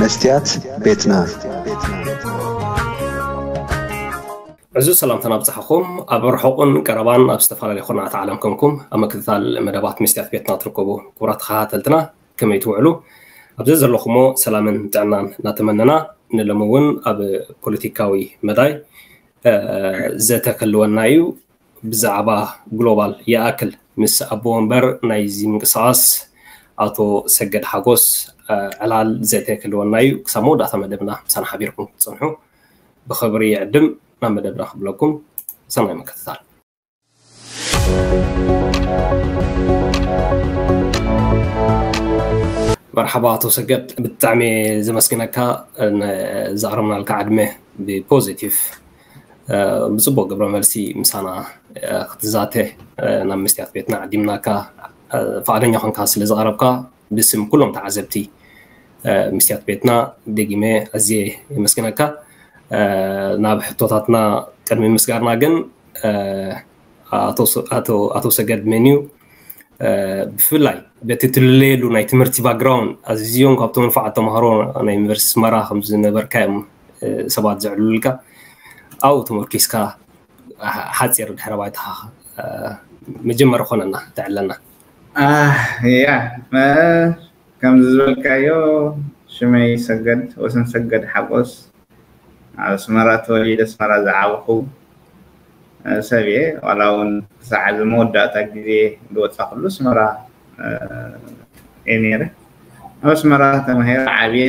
መስትያት ቤትና። ዕዙዝ ሰላምታና ኣብጽሓኹም። ኣብ ርሑቕን ቀረባን ኣብ ዝተፈላለዩ ኩርናዓት ዓለም ኮንኩም ኣብ ምክትታል መደባት መስትያት ቤትና ትርከቡ ክቡራት ተኸታተልትና፣ ከመይ ትውዕሉ? ኣብዚ ዘለኹሞ ሰላምን ጥዕናን እናተመነና፣ ንሎሚ እውን ኣብ ፖለቲካዊ መዳይ ዘተ ክህልወና እዩ። ብዛዕባ ግሎባል ይኣክል ምስ ኣቦ ወንበር ናይዚ ምንቅስቃስ ኣቶ ሰገድ ሓጎስ ዕላል ዘተ ክህልወና እዩ። ክሳብ መወዳእታ መደብና ምሳና ሓቢርኩም ክትጸንሑ ብኽብሪ ይዕድም። ናብ መደብና ክብለኩም፣ ሰናይ ምክትታል። መርሓባ ኣቶ ሰገድ፣ ብጣዕሚ ዘመስግነካ፣ ዘቕረብናልካ ዕድመ ብፖዚቲቭ ብጽቡቅ ግብረ መልሲ ምሳና ክትዛተ ናብ መስትያት ቤትና ዓዲምናካ፣ ፍቓደኛ ኮንካ ስለ ዝቐረብካ ብስም ኩሎም ተዓዘብቲ መስትያት ቤትና ደጊመ ኣዝየ የመስግነካ። ናብ ሕቶታትና ቅድሚ ምስጋርና ግን፣ ኣቶ ሰገድ መን እዩ? ብፍላይ በቲ ትልለየሉ ናይ ትምህርቲ ባክግራውንድ ኣዝዮም ካብቶም ንፉዓት ተምሃሮ ናይ ዩኒቨርሲቲ ኣስመራ ከም ዝነበርካ እዮም ሰባት ዘዕልሉልካ። ኣብኡ ተመርኪስካ ሓፂር ድሕረ ባይታኻ መጀመሪ ኮነና ተዕለና። ያ፣ ከምዚ ዝበልካዮ ሽመይ ሰገድ፣ ወሰን ሰገድ ሓጎስ፣ ኣብ ኣስመራ ተወሊደ ኣስመራ ዝዓበኹ ሰብ እየ። ዋላ እውን ክሳዕ እዚ መወዳእታ ግዜ ዝወፃእኩሉ ኣስመራ እየ ነይረ። ኣብ ኣስመራ ተማሂረ ዓብየ።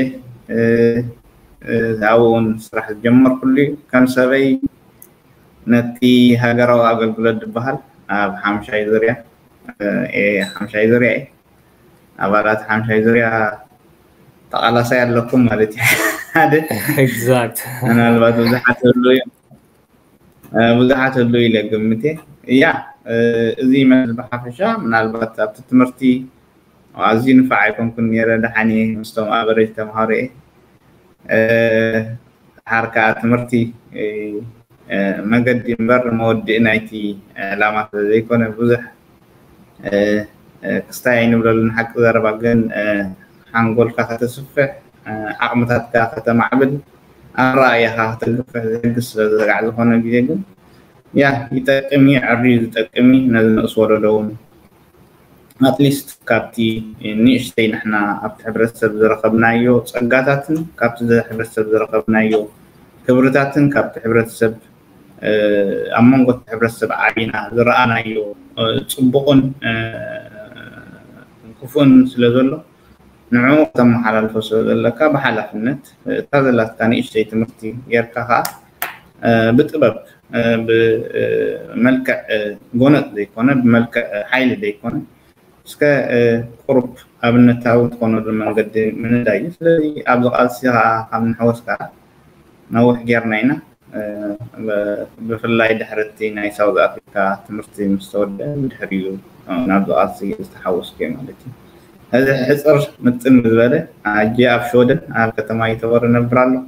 ኣብኡ እውን ስራሕ ዝጀመርኩሉ እዩ። ከም ሰበይ ነቲ ሃገራዊ ኣገልግሎት ዝበሃል ኣብ ሓምሻይ ዙርያ፣ ሓምሻይ ዙርያ እየ። ኣባላት ሓምሻይ ዙርያ ተቓላሳይ ኣለኩም ማለት እዩ። ሓደ ኤግዛክት ምናልባት ብዙሓት ህሉ ብዙሓት ህሉ ኢለ ግምት እየ። ያ፣ እዚ ይመስል ብሓፈሻ። ምናልባት ኣብቲ ትምህርቲ ኣዝዩ ንፋዕ ኣይኮንኩን ነይረ። ደሓን እየ ምስቶም ኣቨሬጅ ተምሃሮ እየ። ሓር ከዓ ትምህርቲ መገዲ እምበር መወድኢ ናይቲ ዕላማ ስለ ዘይኮነ ብዙሕ ክስታይ ኣይንብለሉን። ሓቂ ዘረባ ግን ሓንጎልካ ከተስፍሕ፣ ዓቕምታትካ ከተማዕብል፣ ኣረኣእያኻ ከተግፍሕ ዝሕግዝ ስለ ዝረጋዕ ዝኾነ ግዜ ግን ያ ይጠቅም እዩ፣ ዕርዩ ዝጠቅም እዩ። ነዚ ንእስ ወለዶ እውን ኣትሊስት ካብቲ ንእሽተይ ንሕና ኣብቲ ሕብረተሰብ ዝረኸብናዮ ጸጋታትን ካብቲ ሕብረተሰብ ዝረኸብናዮ ክብርታትን ካብቲ ሕብረተሰብ ኣብ መንጎ እቲ ሕብረተሰብ ዓቢና ዝረኣናዮ ጽቡቕን ክፉእን ስለ ዘሎ ንዕኡ ከተመሓላልፎ ስለ ዘለካ ብሓላፍነት እታ ዘላትካ ንእሽተይ ትምህርቲ ጌርካ ከዓ ብጥበብ ብመልክዕ ጎነጽ ዘይኮነ ብመልክዕ ሓይሊ ዘይኮነ እስከ ቁሩብ ኣብነታዊ ትኾነሉ መንገዲ ምንዳይ እዩ። ስለዚ ኣብዚ ቃልሲ ከዓ ካብ ንሕወስ ከዓ ነዊሕ ጌርና ኢና። ብፍላይ ድሕርቲ ናይ ሳውዝ ኣፍሪካ ትምህርቲ ምስ ተወደ ብድሕሪኡ ናብዚ ቃልሲ ዝተሓወስኩ እየ ማለት እዩ። እዚ ሕፅር ምጥን ዝበለ ኣጀ ኣብ ሽወደን ኣብ ከተማ ይተወር ነብር ኣለኹ።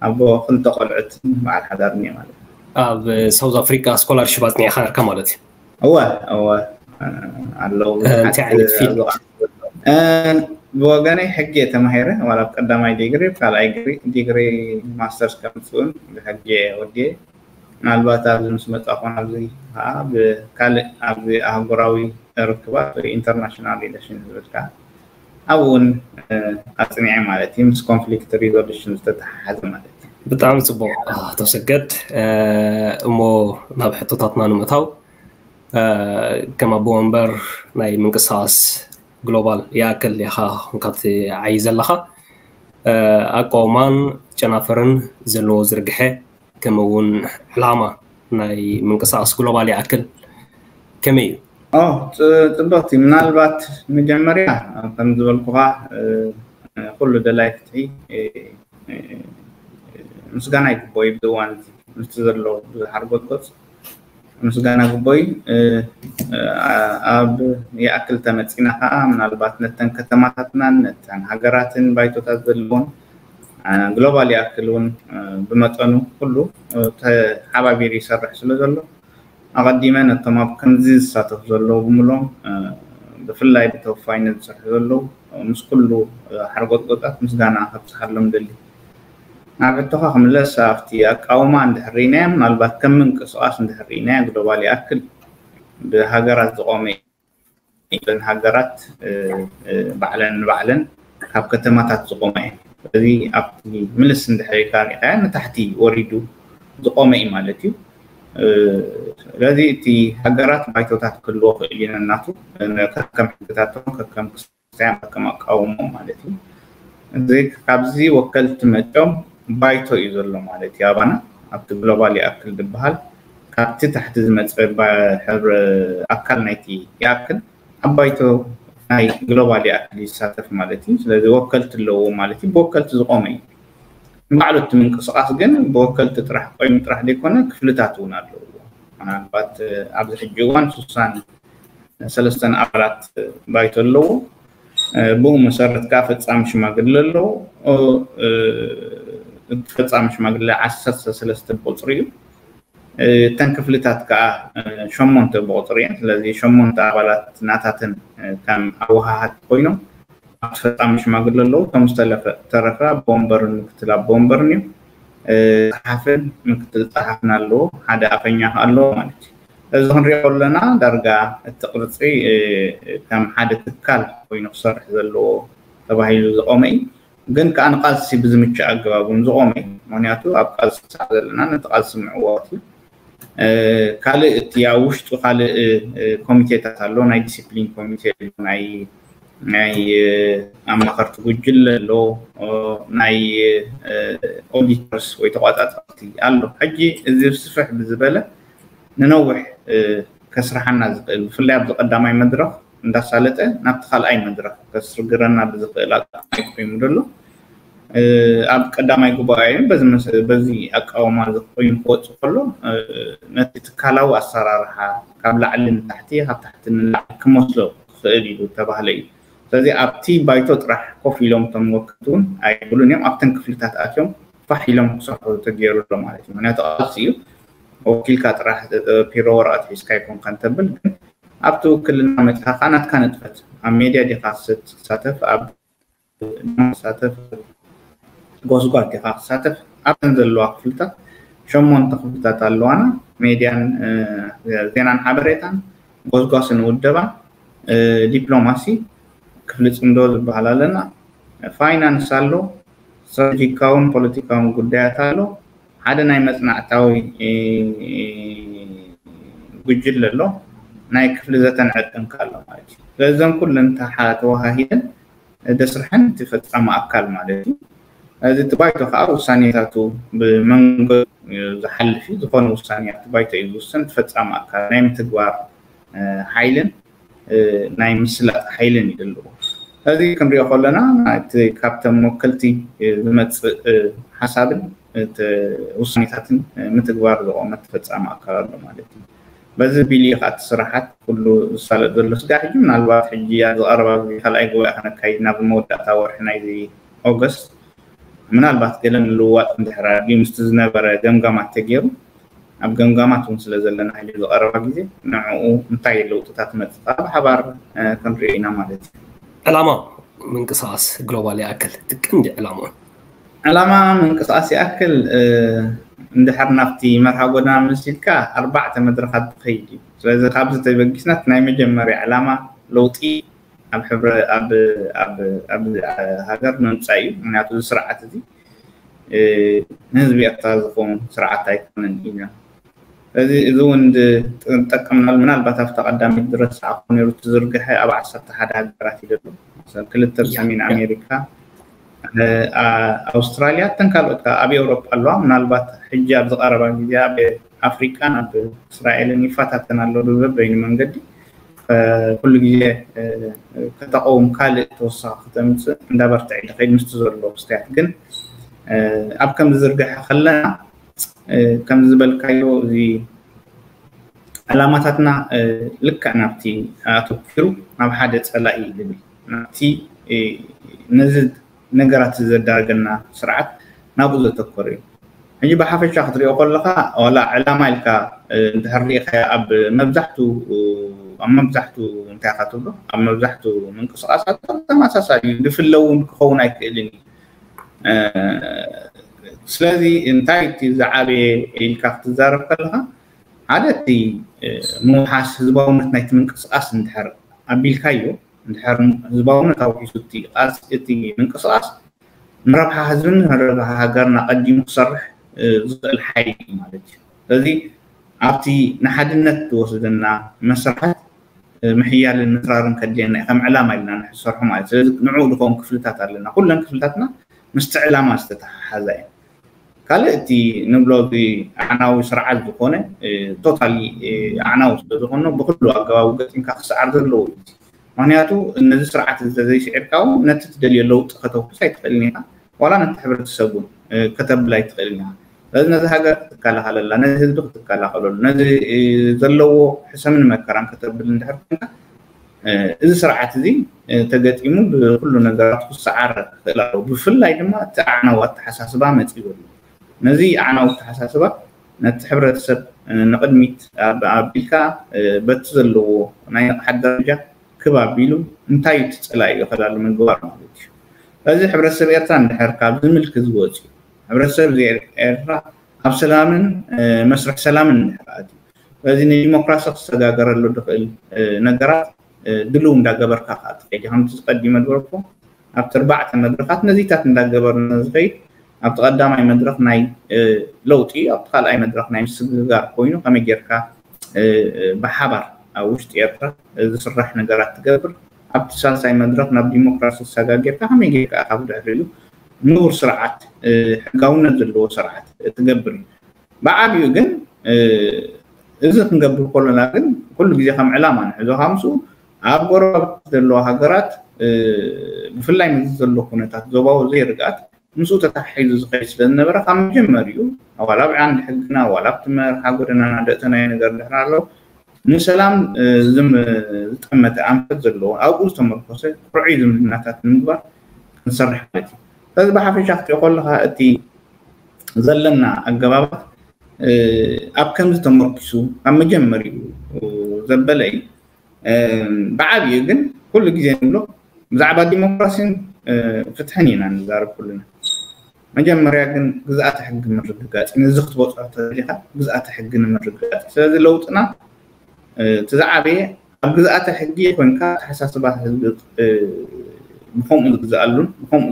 ኣቦ ክልተ ቆልዑት በዓል ሓዳር እኒኦ ማለት እዩ። ኣብ ሳውዝ ኣፍሪካ ስኮላርሽፕ ኣፅኒዕካ ነርካ ማለት እዩ። እወ እወ ኣለዉ። እንታይ ዓይነት ፊልድ? ብወገነይ ሕጊ እየ ተማሂረ፣ ዋላ ኣብ ቀዳማይ ዲግሪ፣ ኣብ ካልኣይ ዲግሪ ማስተርስ ከምፅእን ብሕጊ እየ ወዲየ። ምናልባት ኣብዚ ምስ መፃኹ ኣብዚ ከዓ ብካልእ ኣብዚ ኣህጉራዊ ርክባት ወይ ኢንተርናሽናል ሪሌሽን ዝብል ከዓ ኣብኡ እውን ኣፅኒዐ ማለት እዩ፣ ምስ ኮንፍሊክት ሪዞሉሽን ዝተተሓሓዘ ማለት እዩ። ብጣዕሚ ፅቡቅ ኣቶ ሰገድ። እሞ ናብ ሕቶታትና ንምእታው፣ ከም ኣቦ ወንበር ናይ ምንቅስቃስ ግሎባል ይኣክል ኢኻ ኮንካ ትዓይ ዘለኻ። ኣቃውማን ጨናፍርን ዘለዎ ዝርግሐ ከምኡ እውን ዕላማ ናይ ምንቅስቃስ ግሎባል ይኣክል ከመይ እዩ? ጽብቕቲ፣ ምናልባት መጀመርያ ከም ዝበልኩኻ ኩሉ ደላይ ፍትሒ ምስጋና ይግቦ እዩ። ብዝዋን ምስቲ ዘሎ ብዙሕ ሓርጎጽጎጽ ምስጋና ግቦይ ኣብ ይኣክል ተመፂና ከዓ ምናልባት ነተን ከተማታትናን ነተን ሃገራትን ባይቶታት ዘለዎን ግሎባል ይኣክል እውን ብመጠኑ ኩሉ ተሓባቢሩ ይሰርሕ ስለ ዘሎ ኣቐዲመ ነቶም ኣብ ከምዚ ዝሳተፉ ዘለዉ ብምሎም ብፍላይ ብተወፋይነት ዝሰርሑ ዘለዉ ምስ ኩሉ ሓርጎጥጎጣት ምስጋና ከብፅሓሎም ደሊ። ናብ ሕቶኻ ክምለስ ኣብቲ ኣቃውማ እንድሕር ርኢናዮ ምናልባት ከም ምንቅስቃስ እንድሕር ርኢናዮ ግሎባል ይኣክል ብሃገራት ዝቆመ እዩ። እተን ሃገራት ባዕለን ንባዕለን ካብ ከተማታት ዝቆማ እየን። ስለዚ ኣብቲ ምልስ እንድሕር ኢልካ ርኢኻዮ ንታሕቲ ወሪዱ ዝቆመ እዩ ማለት እዩ። ስለዚ እቲ ሃገራት ባይቶታት ክህልዎ ክእል እዩ ነናቱ ከከም ሕግታቶም ከከም ክስታያን ከከም ኣቃውሞ ማለት እዩ። እዚ ካብዚ ወከልቲ መፅኦም ባይቶ እዩ ዘሎ ማለት እዩ። ኣባና ኣብቲ ግሎባል ይኣክል ዝበሃል ካብቲ ታሕቲ ዝመፀ ኣካል ናይቲ ይኣክል ኣብ ባይቶ ናይ ግሎባል ይኣክል ይሳተፍ ማለት እዩ። ስለዚ ወከልቲ ኣለዎ ማለት እዩ። ብወከልቲ ዝቆመ እዩ። ንባዕሉ እቲ ምንቅስቃስ ግን ብወከልቲ ጥራሕ ቆይሙ ጥራሕ ዘይኮነ ክፍልታት እውን ኣለዎ። ምናልባት ኣብዚ ሕጂ እዋን ስሳን ሰለስተን ኣባላት ባይቶ ኣለዎ። ብኡ መሰረት ከዓ ፈፃሚ ሽማግለ ኣለዎ። ፈፃሚ ሽማግለ ዓሰርተ ሰለስተ ብቁፅሪ እዩ። እተን ክፍልታት ከዓ ሸሞንተ ብቁፅሪ እየን። ስለዚ ሸሞንተ ኣባላት ናታትን ከም ኣወሃሃድቲ ኮይኖም ኣብቲ ፈፃሚ ሽማግለ ኣለዉ። እቶም ዝተረፈ ተረፈ ኣቦ ወንበርን ምክትል ኣቦ ወንበርን እዮም። ጸሓፍን ምክትል ጸሓፍን ኣለዎ። ሓደ ኣፈኛ ከዓ ኣለዎ ማለት እዩ። እዚ ክንሪኦ ከለና ዳርጋ እቲ ቅርፂ ከም ሓደ ትካል ኮይኑ ክሰርሕ ዘለዎ ተባሂሉ ዝቆመ እዩ። ግን ከዓ ንቃልሲ ብዝምችእ ኣገባብ እውን ዝቆመ እዩ። ምክንያቱ ኣብ ቃልሲ ክሳዕ ዘለና ነቲ ቃልሲ ምዕዋት እዩ። ካልእ እቲ ኣብ ውሽጡ ካልእ ኮሚቴታት ኣሎ። ናይ ዲሲፕሊን ኮሚቴ ኣሎ፣ ናይ ናይ ኣማኸርቲ ጉጅለ ኣሎ፣ ናይ ኦዲተርስ ወይ ተቋፃፀርቲ ኣሎ። ሕጂ እዚ ስፍሕ ብዝበለ ንነዊሕ ከስርሓና ዝኽእል ብፍላይ ኣብዚ ቀዳማይ መድረኽ እንዳሳለጠ ናብቲ ካልኣይ መድረኽ ከስግረና ብዝኽእል ኣቃሚ ኮይኑ ዘሎ ኣብ ቀዳማይ ጉባኤ በዚ ኣቃውማ ኮይኑ ክወፅእ ከሎ ነቲ ትካላዊ ኣሰራርሓ ካብ ላዕሊ ንታሕቲ ካብ ታሕቲ ንላዕሊ ክመስሎ ክኽእል ኢሉ ዝተባህለ እዩ። ስለዚ ኣብቲ ባይቶ ጥራሕ ኮፍ ኢሎም እቶም ወከልቲ እውን ኣይብሉን እዮም። ኣብተን ክፍልታት ኣትዮም ፋሕ ኢሎም ክሰርሑ ተገይሩ ኣሎ ማለት እዩ። ምክንያቱ ቃልሲ እዩ። ወኪልካ ጥራሕ ፒሮ ወረቐት ሒዝካ ይኮንካ እንተብል ግን ኣብቲ ውክልና መፅኻ ከዓ ናትካ ንጥፈት ኣብ ሜድያ ዲኻ ትሳተፍ ኣብ ሳተፍ ጎስጓስ ዲኻ ክሳተፍ ኣብተን ዘለዋ ክፍልታት ሸሞንተ ክፍልታት ኣለዋና። ሜድያን ዜናን ሓበሬታን ጎስጓስን ውደባን ዲፕሎማሲ ክፍሊ ፅምዶ ዝበሃል ኣለና። ፋይናንስ ኣሎ፣ ስትራቴጂካውን ፖለቲካውን ጉዳያት ኣሎ። ሓደ ናይ መፅናዕታዊ ጉጅለ ኣሎ፣ ናይ ክፍሊ ዘተን ዕርቅን ኣሎ ማለት እዩ። ስለዘን ኩለን ተዋሃሂደን ደስርሐን እቲ ፈፃሚ ኣካል ማለት እዩ። እዚ እቲ ባይቶ ከዓ ውሳኔታቱ ብመንጎ ዝሓልፍ እዩ። ዝኾነ ውሳኔ ኣብቲ ባይቶ እዩ ዝውሰን። እቲ ፈፃሚ ኣካል ናይ ምትግባር ሓይልን ናይ ምስላጥ ሓይልን እዩ ዘለዎ። እዚ ክንሪኦ ከለና እቲ ካብቶም ወከልቲ ዝመፅእ ሓሳብን ውሳኔታትን ምትግባር ዝቆመ ተፈፃሚ ኣካል ኣሎ ማለት እዩ። በዚ ቢል እዩ ከዓ እቲ ስራሓት ኩሉ ዝሳለጥ ዘሎ። ስጋዕ ሕጂ ምናልባት ሕጂ ኣብ ዝቐረባ ግዜ ካልኣይ ጉባኤ ከነካይድ ናብ መወዳእታ ወርሒ ናይዚ ኦገስት ምናልባት ገለ ምልውዋጥ እንድሕር ኣድልዩ ምስቲ ዝነበረ ገምጋማት ተገይሩ ኣብ ገምጋማት እውን ስለ ዘለና ሕጂ ዝቐረባ ግዜ ንዕኡ እንታይ ለውጥታት መፅእ ከዓ ብሓባር ክንሪኦ ኢና ማለት እዩ። ዕላማ ምንቅስቃስ ግሎባል ይኣክል እቲ ቀንዲ ዕላማ ዕላማ ምንቅስቃስ ይኣክል እንድሕር ናብቲ መርሃ ጎደና መሲልካ ኣርባዕተ መድረኻት ዝኸይድ እዩ። ስለዚ ካብዚ ተበጊስና ናይ መጀመርያ ዕላማ ለውጢ ኣብ ሕብረ ኣብ ኣብ ኣብ ሃገር ምምፃእ እዩ። ምክንያቱ እዚ ስርዓት እዚ ንህዝቢ ኤርትራ ዝኸውን ስርዓት ኣይኮነን ኢና። እዚ እዚ እውን ዝጠቀምናሉ ምናልባት ኣብታ ቀዳሚት ዝረሳዕኩ ነይሩ ትዝርግሐ ኣብ ዓሰርተ ሓደ ሃገራት እዩ ዘሎ። ክልተ ኣብ ሰሜን ኣሜሪካ፣ ኣውስትራልያ፣ እተን ካልኦት ኣብ ኤውሮጳ ኣለዋ። ምናልባት ሕጂ ኣብ ዝቐረባ ግዜ ኣብ ኣፍሪቃን ኣብ እስራኤልን ይፈታተን ኣሎ ብበበይኑ መንገዲ። ኩሉ ግዜ ከተቐውም ካልእ ተወሳኺ ከተምፅእ እንዳበርትዕ ይደኸይድ ምስቲ ዘሎ ክስተያት ግን ኣብ ከም ዝዝርግሐ ከለና ከም ዝበልካዮ እዚ ዕላማታትና ልክዕ ናብቲ ኣተኪሩ ናብ ሓደ ፀላኢ ዝብል ናብቲ ነዚ ነገራት ዘዳረገና ስርዓት ናብኡ ዘተኮረ እዩ። ሕጂ ብሓፈሻ ክትሪኦ ከለካ ዋላ ዕላማ ኢልካ እንድሕር ሪኢካ ኣብ መብዛሕቱ ኣብ መብዛሕትኡ እንታይ ኢኻ ትብሎ ኣብ መብዛሕትኡ ምንቅስቃሳት ተመሳሳሊ እዩ። ዝፍለ እውን ክኸውን ኣይክእልን እዩ። ስለዚ እንታይ እቲ ዝዓበየ ኢልካ ክትዛረብ ከለካ ሓደ እቲ ምውሓስ ህዝባውነት ናይቲ ምንቅስቃስ እንድሕር ኣቢልካዮ እንድሕር ህዝባውነት ኣውሒሱ እቲ ቃልሲ እቲ ምንቅስቃስ ንረብሓ ህዝብን ንረብሓ ሃገርን ኣቐዲሙ ክሰርሕ ዝኽእል ሓይሊ እዩ ማለት እዩ። ስለዚ ኣብቲ ንሓድነት ዝወስደና መስርሓት ምሕያልን ምትራርን ከድልየና እዩ ከም ዕላማ ኢልና ንሕሰርሑ ማለት እዩ። ስለዚ ንዕኡ ዝኸውን ክፍልታት ኣለና። ኩለን ክፍልታትና ምስቲ ዕላማ ዝተተሓሓዛ እየን። ካልእ እቲ ንብሎ እዚ ኣዕናዊ ስርዓት ዝኾነ ቶታሊ ኣዕናዊ ስለዝኾነ ብኩሉ ኣገባቡ ገጢምካ ክሰዓር ዘለዎ እዩ። ምክንያቱ ነዚ ስርዓት እዚ ተዘይስዒርካ እውን ነቲ ትደልዮ ለውጢ ከተውሕስ ኣይትኽእልን ኢኻ። ዋላ ነቲ ሕብረተሰብ እውን ከተብል ኣይትኽእልን ኢኻ። ስለዚ ነዚ ሃገር ክትከላኸለላ፣ ነዚ ህዝቢ ክትከላኸለሉ፣ ነዚ ዘለዎ ሕሰምን መከራን ከተብል እንድሕር ኮንካ እዚ ስርዓት እዚ ተገጢሙ ብኩሉ ነገራት ክሰዓር ክኽእል ኣለዎ። ብፍላይ ድማ እቲ ኣዕናዊ ኣተሓሳስባ መፂኡ ኣሎ። ነዚ ኣዕናዊ ኣተሓሳስባ ነቲ ሕብረተሰብ ንቕድሚት ኣቢልካ በቲ ዘለዎ ናይ ንቕሓት ደረጃ ክብ ኣቢሉ እንታይ እዩ እቲ ፀላኢ እዩ ከላሉ ምግባር ማለት እዩ። በዚ ሕብረተሰብ ኤርትራ እንድሕር ካብዚ ምልኪ ዝወፅዩ ሕብረተሰብ እዚ ኤርትራ ኣብ ሰላምን መስርሕ ሰላምን እንድሕር ኣትዩ በዚ ንዲሞክራሲ ክሰጋገረሉ ዝኽእል ነገራት ድልው እንዳገበርካ ከዓ ትኸይድ። ከምቲ ዝቀዲመ ዝበልኩ ኣብቲ ኣርባዕተ መድረኻት ነዚታት እንዳገበርና ዝኸይድ ኣብቲ ቀዳማይ መድረኽ ናይ ለውጢ ኣብቲ ካልኣይ መድረኽ ናይ ምስግጋር ኮይኑ ከመይ ጌርካ ብሓባር ኣብ ውሽጢ ኤርትራ ዝስራሕ ነገራት ትገብር ኣብቲ ሳልሳይ መድረኽ ናብ ዲሞክራሲ ዝሰጋጌርካ ከመይ ጌርካ ካብ ድሕሪኡ ንቡር ስርዓት ሕጋውነት ዘለዎ ስርዓት ትገብር እዩ። ብዓብዩ ግን እዚ ክንገብር ከሎና ግን ኩሉ ግዜ ከም ዕላማ ንሕዞ ካብ ምስኡ ኣብ ጎረባብቲ ዘለዋ ሃገራት ብፍላይ ምስ ዘሎ ኩነታት ዞባዊ ዘይርግኣት ምስኡ ተታሒዙ ዝኸይድ ስለ ዝነበረ ካብ መጀመሪኡ ዋላ ኣብ ዓንዲ ሕግና ዋላ ኣብቲ መርሓ ጎደናና ደእተናዮ ነገር ድሕር ኣሎ ንሰላም ዝጠመተ ኣንፈት ዘለዎ ኣብኡ ዝተመርኮሰ ቁርዑይ ዝምድናታት ንምግባር ክንሰርሕ ማለት እዩ። ስለዚ ብሓፈሻ ክትሪኦ ከለካ እቲ ዘለና ኣገባባት ኣብ ከምዚ ተመርኪሱ ካብ መጀመሪኡ ዘበለ እዩ። ብዓብዩ ግን ኩሉ ግዜ ንብሎ ብዛዕባ ዲሞክራሲን ፍትሕን ኢና ንዛረብ ኩሉና። መጀመርያ ግን ግዝኣተ ሕጊ ምርግጋፅ ነዚ ክትበፅሖ ተደሊካ ግዝኣተ ሕጊ ንምርግጋፅ። ስለዚ ለውጥና እቲ ዝዓበየ ኣብ ግዝኣተ ሕጊ ኮይንካ ኣተሓሳስባ ህዝቢ ብከምኡ ዝግዝኣሉን ብከምኡ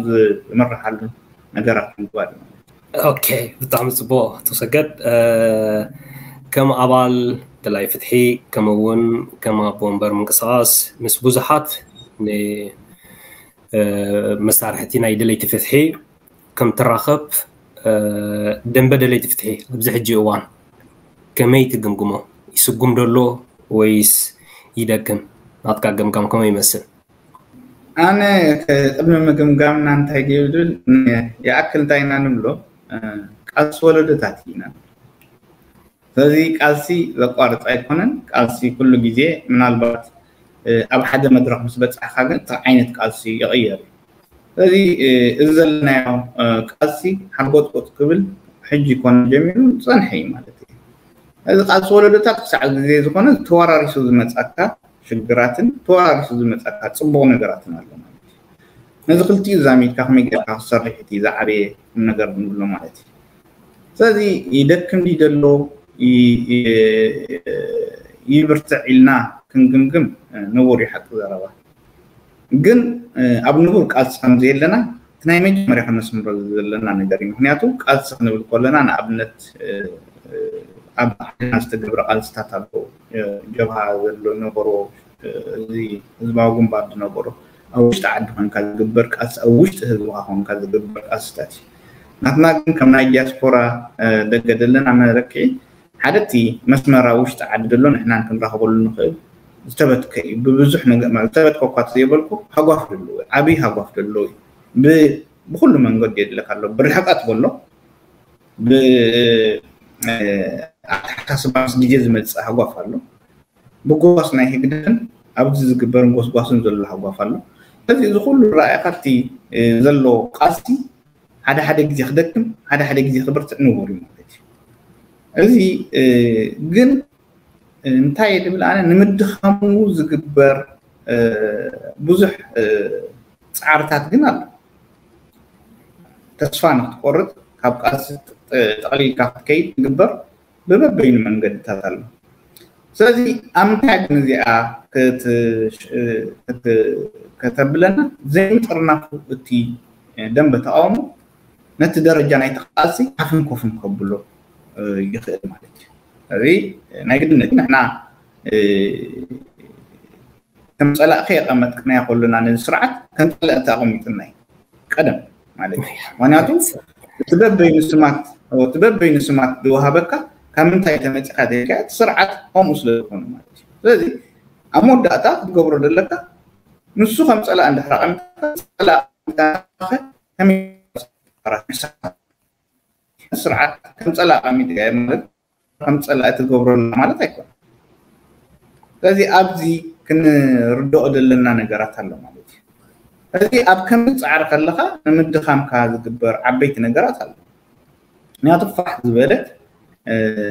ዝመርሓሉን ነገራት ምግባር እዩ ማለት እዩ። ኦኬ፣ ብጣዕሚ ፅቡቅ ኣቶ ሰገድ። ከም ኣባል ደላይ ፍትሒ ከምኡ እውን ከም ኣቦ ወንበር ምንቅስቃስ ምስ ብዙሓት መሳርሕቲ ናይ ደለይቲ ፍትሒ ከም ትራኸብ ደንበ ደለይቲ ፍትሒ ኣብዚ ሕጂ እዋን ከመይ ትግምግሞ? ይስጉም ደሎ ወይስ ይደክም? ናትካ ገምጋም ከመይ ይመስል? ኣነ ቅድሚ ምግምጋምና እንታይ ድብል ይኣክል እንታይ ኢና ንብሎ ቃልሲ ወለዶታት ኢና። ስለዚ ቃልሲ ዘቋርፅ ኣይኮነን። ቃልሲ ኩሉ ግዜ ምናልባት ኣብ ሓደ መድረክ ምስ በፃሕካ ግን እቲ ዓይነት ቃልሲ ይቕየር እዩ። ስለዚ እዚ ዘለናዮ ቃልሲ ሓርጎፅጎፅ ክብል ሕጂ ኮነ ጀሚሩ ዝፀንሐ እዩ ማለት እዩ። እዚ ቃልሲ ወለዶታት ክሳዕ ግዜ ዝኾነ ተወራሪሱ ዝመፃካ ሽግራትን ተወራሪሱ ዝመፃካ ፅቡቕ ነገራትን ኣሎ ማለት እዩ። ነዚ ክልቲኡ ዛሚድካ ከመይ ጌርካ ክሰርሕ እቲ ዝዓበየ ቁም ነገር ንብሎ ማለት እዩ። ስለዚ ይደክም ድዩ ዘሎ ይብርትዕ ኢልና ክንግምግም ንቡር እዩ ሓቂ ዘረባ። ግን ኣብ ንቡር ቃልሲ ከም ዘየለና እቲ ናይ መጀመርያ ከነስምሮ ዘለና ነገር እዩ። ምክንያቱ ቃልሲ ክንብል ከለና ንኣብነት ኣብ ዓድና ዝተገብረ ቃልስታት ኣሎ። ጀብሃ ዘሎ ነበሮ እዚ ህዝባዊ ግንባር ዝነበሮ ኣብ ውሽጢ ዓዲ ኮንካ ዝግበር ቃልሲ ኣብ ውሽጢ ህዝብካ ኮንካ ዝግበር ቃልስታት እዩ። ናትና ግን ከም ናይ ዲያስፖራ ደገ ዘለና መለክዒ ሓደ እቲ መስመር ኣብ ውሽጢ ዓዲ ዘሎ ንሕናን ክንራኸበሉ ንኽእል ዝተበትከ እዩ። ብብዙሕ ዝተበትከ እኳ ዘይበልኩ ሃጓፍ ዘለዎ ዓብዪ ሃጓፍ ዘለዎ እዩ። ብኩሉ መንገዲ የድለካ ኣሎ። ብርሕቀት በሎ ብኣተሓሳስባ ምስ ግዜ ዝመፅእ ሃጓፍ ኣሎ። ብጎስጓስ ናይ ህግደፍን ኣብዚ ዝግበርን ጎስጓስን ዘሎ ሃጓፍ ኣሎ። ስለዚ እዚ ኩሉ ረኣይካ እቲ ዘሎ ቃልሲ ሓደ ሓደ ግዜ ክደክም ሓደ ሓደ ግዜ ክብርትዕ ንቡር እዩ ማለት እዩ። እዚ ግን እንታይ ድብል ኣነ ንምድኻሙ ዝግበር ብዙሕ ፃዕርታት ግን ኣሎ። ተስፋ ንክትቆርጥ ካብ ቃልሲ ጠቕሊልካ ክትከይድ ዝግበር ብበበይኑ መንገድታት ኣሎ። ስለዚ ኣብ ምንታይ ግን እዚኣ ከተብለና ዘይምጥርናፉ እቲ ደንበ ተቃውሞ ነቲ ደረጃ ናይ ተቃልሲ ሓፍን ኮፍን ከብሎ ይኽእል ማለት እዩ። እዚ ናይ ግድነት ንሕና ከም ፀላእኺ የቐመጥክናዮ ከሎና ነዚ ስርዓት ከም ፀላእቲ ኣቐሚጥና እዩ ቀደም ማለት እዩ። ምክንያቱ እቲ በበይኑ ስማት እቲ በበይኑ ስማት ዝወሃበካ ካብ ምንታይ ተመፂኻ ዘይካ እቲ ስርዓት ከምኡ ስለ ዝኾነ ማለት እዩ። ስለዚ ኣብ መወዳእታ ክትገብሮ ዘለካ ንሱ ከም ፀላእ እንድሕር ኣቐሚጥካ ፀላእ ከመይ ስርዓት ከም ፀላእ ኣቐሚጥካ ማለት ከም ፀላእ ትገብረሉ ማለት ኣይኮነ። ስለዚ ኣብዚ ክንርድኦ ዘለና ነገራት ኣሎ ማለት እዩ። እዚ ኣብ ከም ፃዕሪ ከለካ ንምድኻምካ ዝግበር ዓበይቲ ነገራት ኣሎ። ምክንያቱ ፋሕ ዝበለት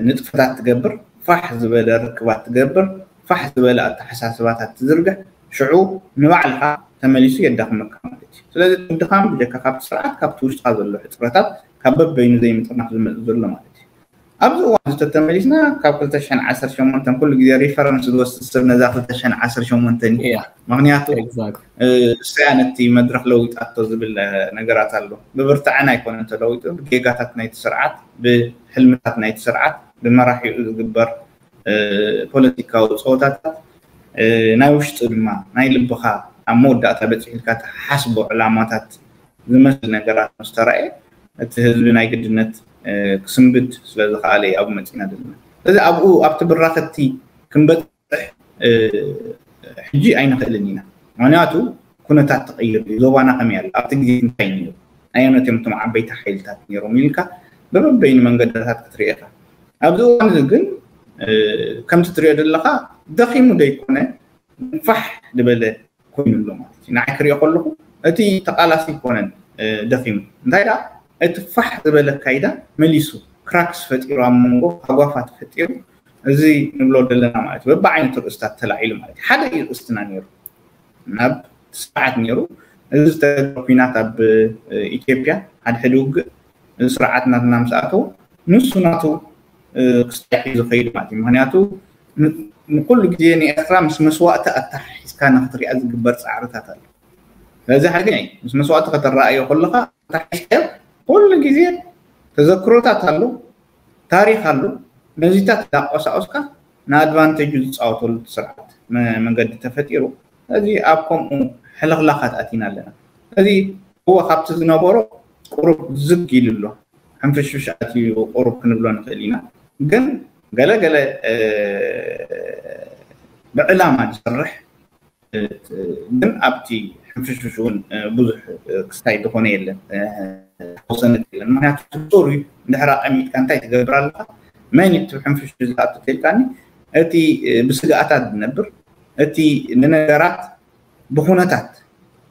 ንጥፈታት ትገብር፣ ፋሕ ዝበለ ርክባት ትገብር፣ ፋሕ ዝበለ ኣተሓሳስባታት ትዝርግሕ፣ ሽዑ ንባዕልካ ተመሊሱ የዳኽመካ ማለት እዩ። ስለዚ ድኻም ብጀካ ካብቲ ስርዓት ካብቲ ውሽጥካ ዘሎ ሕፅረታት ካብ በበይኑ ዘይምጥርናፍ ዝመፅእ ዘሎ ማለት እዩ። ኣብዚ እዋን እዚ ተተመሊስና ካብ ክልተ ሽሕን ዓሰርተ ሸሞንተን ኩሉ ግዜ ሪፈረንስ ዝወስድ ሰብ ነዛ ክልተ ሽሕን ዓሰርተ ሸሞንተን እዩ። ምክንያቱ እሳያ ነቲ መድረክ ለዊጣቶ ዝብል ነገራት ኣሎ። ብብርትዐን ኣይኮነን ተለዊጡ፣ ብጌጋታት ናይቲ ስርዓት፣ ብሕልምታት ናይቲ ስርዓት፣ ብመራሒኡ ዝግበር ፖለቲካዊ ፀወታታት ናይ ውሽጡ ድማ ናይ ልብኻ ኣብ መወዳእታ በፂሕልካ ተሓስቦ ዕላማታት ዝመስል ነገራት ምስ ተራእየ እቲ ህዝቢ ናይ ግድነት ክስንብድ ስለ ዝኸኣለ እዩ ኣብኡ መፂና ዘለና። ስለዚ ኣብኡ ኣብቲ ብራኸቲ ክንበፅሕ ሕጂ ኣይንኽእልን ኢና። ምክንያቱ ኩነታት ተቐይሩ እዩ። ዞባና ከመይ ኣሎ? ኣብቲ ግዜ እንታይ ነይሩ? ኣየኖት እዮም እቶም ዓበይቲ ሓይልታት ነይሮም ኢልካ በበበይኑ መንገድታት ክትርኢ ኢኻ። ኣብዚ እዋን እዚ ግን ከምቲ ትሪኦ ዘለኻ ደኺሙ ደይኮነ ፋሕ ዝበለ ኮይኑ ኣሎ ማለት እዩ። ንዓይ ክሪኦ ከለኹ እቲ ተቃላሲ ይኮነን ደኺሙ። እንታይ ደኣ እቲ ፋሕ ዝበለ ኣካይዳ መሊሱ ክራክስ ፈጢሩ ኣብ መንጎ ሃጓፋት ፈጢሩ እዚ ንብሎ ዘለና ማለት እዩ። በብዓይነቱ ርእስታት ተላዒሉ ማለት እዩ። ሓደ እዩ ርእስትና ነይሩ ናብ ስርዓት ነይሩ። እዚ ዝተገብረ ኲናት ኣብ ኢትዮጵያ ሓድሕድ ውግእ እዚ ስርዓት ናትና ምስ ኣተው ንሱ ናቱ ክስታይ ሒዙ ከይዱ ማለት እዩ። ምክንያቱ ንኩሉ ግዜ ንኤርትራ ምስ መስዋእቲ ኣተሓሒዝካ ንክትሪኣ ዝግበር ፃዕርታት ኣሎ። ስለዚ ሓቂ ናይ ምስ መስዋእቲ ከተረኣዮ ከለካ ኣተሓሒዝካዮ ኩሉ ግዜ ተዘክሮታት ኣሎ፣ ታሪክ ኣሎ። ነዚታት እንዳቆሳቆስካ ንኣድቫንቴጁ ዝፃወተሉ ስርዓት መንገዲ ተፈጢሩ። እዚ ኣብ ከምኡ ሕልኽላኻት ኣቲና ኣለና። እዚ እወ ካብቲ ዝነበሮ ቁሩብ ዝግ ኢሉ ኣሎ። ሕንፍሽፍሽ ኣትዩ ቁሩብ ክንብሎ ንኽእል ኢና። ግን ገለ ገለ ብዕላማ ዝሰርሕ ግን ኣብቲ ሕንፍሽፍሽ እውን ብዙሕ ክስታይ ዝኾነ የለን፣ ተወሰነ የለን። ምክንያቱ ሶሪ እንድሕር ኣቐሚጥካ እንታይ ትገብር ኣለካ? መን እዩ እቲ ሕንፍሽፍሽ ዝኣቱ ተልካኒ? እቲ ብስግኣታት ዝነብር፣ እቲ ንነገራት ብኩነታት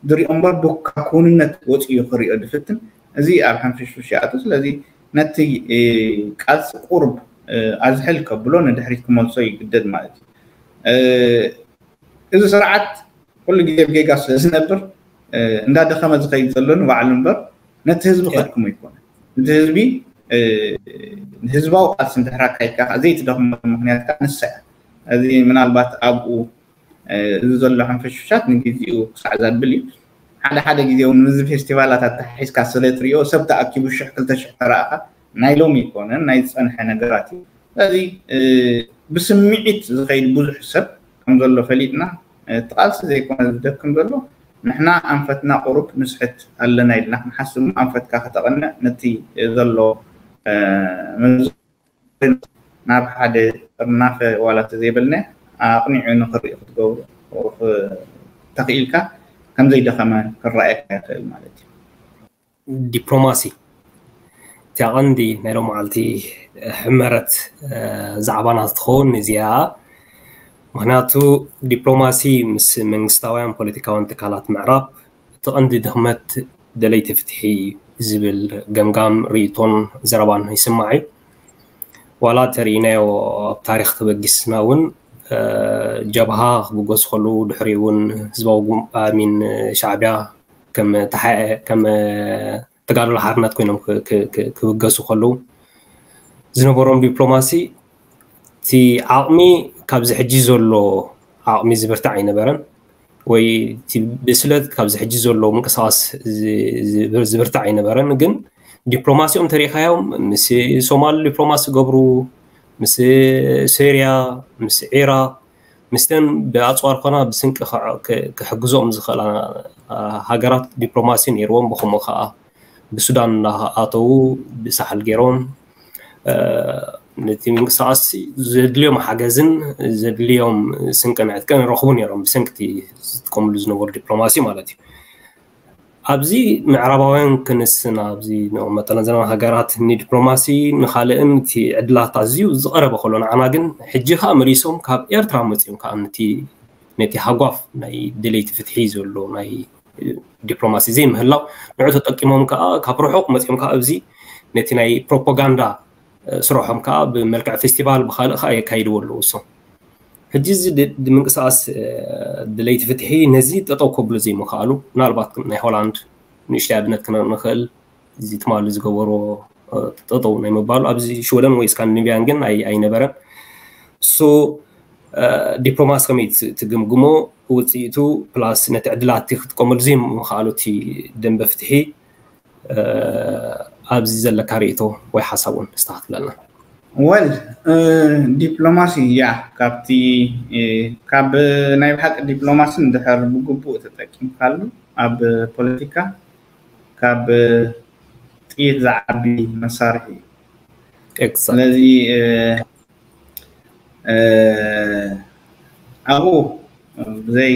ዝሪኦ እምበር ካብ ክውንነት ወፂኡ ክሪኦ ዝፍትን እዚ ኣብ ሕንፍሽፍሽ ይኣቱ። ስለዚ ነቲ ቃልሲ ቁሩብ ኣዝሕል ከብሎ ንድሕሪት ክመልሶ ይግደድ ማለት እዩ። እዚ ስርዓት ኩሉ ግዜ ብጌጋ ስለ ዝነብር እንዳደኸመ ዝኸይድ ዘሎ ንባዕሉ እምበር ነቲ ህዝቢ ከድክሞ ይኮነ። እቲ ህዝቢ ህዝባዊ ቃልሲ እንድሕር ኣካይድካ ዘይትደኽመሉ ምክንያት ከዓ ንሳ እያ። እዚ ምናልባት ኣብኡ እዚ ዘሎ ሕንፍሽፍሻት ንግዜኡ ክሳዕ ዘብል እዩ። ሓደ ሓደ ግዜ እውን ምስዚ ፌስቲቫላት ኣተሓሒዝካ ስለ ትሪኦ ሰብ ተኣኪቡ ሽሕ ክልተ ሽሕ ተረኣኻ ናይ ሎሚ ኣይኮነን ናይ ዝፀንሐ ነገራት እዩ። ስለዚ ብስምዒት ዝኸይድ ብዙሕ ሰብ ከም ዘሎ ፈሊጥና እቲ ቃልሲ ዘይኮነ ዝደክም ዘሎ ንሕና ኣንፈትና ቁሩብ ንስሕት ኣለና ኢልና ክንሓስብ ኣንፈትካ ከተቐንዕ ነቲ ዘሎ ናብ ሓደ ጥርናፈ ዋላ ተዘይበልና ኣቕኒዑ ንኽርኢ ክትገብሩ ተኽኢልካ ከምዘይደኸመ ክረኣየካ ይኽእል ማለት እዩ። ዲፕሎማሲ እቲያ ቀንዲ ናይ ሎም መዓልቲ ሕመረት ዛዕባና ትኸውን እዚኣ። ምክንያቱ ዲፕሎማሲ ምስ መንግስታውያን ፖለቲካውያን ትካላት ምዕራብ እቲ ቀንዲ ድኽመት ደለይቲ ፍትሒ ዝብል ገምጋም ርእቶን ዘረባን ይስማዕ እዩ። ዋላ ተርእናዮ ኣብ ታሪክ ተበጊስና እውን ጀብሃ ክብገሱ ከለዉ ድሕሪ እውን ህዝባዊ ሚን ሻዕብያ ከም ተጋድሎ ሓርነት ኮይኖም ክብገሱ ከለዉ ዝነበሮም ዲፕሎማሲ እቲ ዓቕሚ ካብዚ ሕጂ ዘሎ ዓቕሚ ዝብርታዕ ኣይነበረን ወይ ብስለት ካብዚ ሕጂ ዘሎ ምንቅስቃስ ዝብርታዕ ኣይነበረን። ግን ዲፕሎማሲኦም ተሪካዮም ምስ ሶማል ዲፕሎማሲ ገብሩ፣ ምስ ሶርያ፣ ምስ ዒራቅ፣ ምስተን ብኣፅዋር ኮና ብስንቂ ክሕግዞም ዝኽእላ ሃገራት ዲፕሎማሲ ነይርዎም። ብከምኡ ከዓ ብሱዳን እናኣተዉ ብሳሕል ገይሮም ነቲ ምንቅስቃስ ዘድልዮም ሓገዝን ዘድልዮም ስንቅን ዕጥቅን ረኽቡ ነይሮም ብሰንክቲ ዝጥቀምሉ ዝነበሩ ዲፕሎማሲ ማለት እዩ። ኣብዚ ምዕራባውያን ክንስና ኣብዚ መጠነ ዘመን ሃገራት ንዲፕሎማሲ ንካልእን እቲ ዕድላት ኣዝዩ ዝቐረበ ከሎ ንዓና ግን ሕጂ ከዓ መሊሶም ካብ ኤርትራ መፅኦም ከዓ ነቲ ነቲ ሃጓፍ ናይ ደለይቲ ፍትሒ ዘሎ ናይ ዲፕሎማሲ ዘይምህላው ንዑ ተጠቂሞም ከዓ ካብ ርሑቕ መፅኦም ከዓ ኣብዚ ነቲ ናይ ፕሮፓጋንዳ ስርሖም ከዓ ብመልክዕ ፌስቲቫል ብካልእ ከዓ የካይድዎ ኣለዉ እሶም። ሕጂ እዚ ምንቅስቃስ ድለይቲ ፍትሒ ነዚ ጠጠው ከብሉ ዘይምክኣሉ ምናልባት ናይ ሆላንድ ንእሽተይ ኣብነት ክነርኢ ንኽእል። እዚ ትማሊ ዝገበሮ ጠጠው ናይ ምባሉ ኣብዚ ሽወደን ወይ ስካንዲኔቪያን ግን ኣይነበረን። ሶ ዲፕሎማሲ ከመይ ትግምግሞ ውፅኢቱ ፕላስ ነቲ ዕድላት ክጥቀመሉ ዘይምኽኣሉ እቲ ደንበ ፍትሒ ኣብዚ ዘለካ ርእቶ ወይ ሓሳብ እውን ኣስተኻኽለልና። ወል ዲፕሎማሲ ያ ካብቲ ካብ ናይ ብሓቂ ዲፕሎማሲ እንድሕር ብግቡእ ተጠቂምካሉ ኣብ ፖለቲካ ካብ ጥይት ዝዓቢ መሳርሒ እዩ። ስለዚ ኣብኡ ብዘይ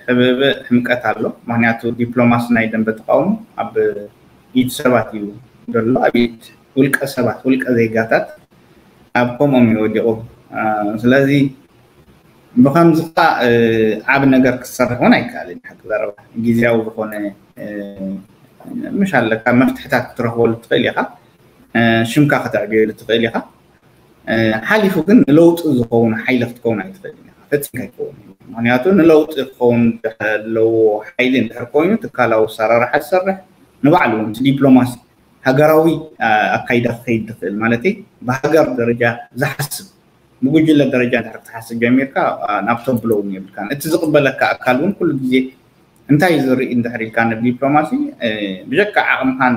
ሕብእብእ ሕምቀት ኣሎ። ምክንያቱ ዲፕሎማሲ ናይ ደንበ ተቃውሞ ኣብ ኢድ ሰባት እዩ ዘሎ፣ ኣብ ኢድ ውልቀ ሰባት ውልቀ ዜጋታት ኣብ ከምኦም እዩ ወዲቑ። ስለዚ ብከምዚ ከዓ ዓብ ነገር ክትሰርሕ እውን ኣይከኣልን። ሓቂ ዘረባ ግዜያዊ ዝኾነ ምሽ ኣለካ መፍትሕታት ክትረኽበሉ ትኽእል ኢኻ፣ ሽምካ ከተዕብየሉ ትኽእል ኢኻ። ሓሊፉ ግን ንለውጢ ዝኸውን ሓይሊ ክትከውን ኣይትኽእልን ኢኻ፣ ፈፂምካ ኣይትኸውን። ምክንያቱ ንለውጢ ክኸውን ዘለዎ ሓይሊ እንድሕር ኮይኑ ትካላዊ ኣሰራርሓ ዝሰርሕ ንባዕሉ እውን ዲፕሎማሲ ሃገራዊ ኣካይዳ ክኸይድ ትኽእል ማለት ብሃገር ደረጃ ዝሓስብ ብጉጅለ ደረጃ እንድሕር ክትሓስብ ጀሚርካ ናብ ተብሎ እውን የብልካን። እቲ ዝቕበለካ ኣካል እውን ኩሉ ግዜ እንታይ ዝርኢ እንድሕር ኢልካ ንዲፕሎማሲ ብጀካ ዓቕምካን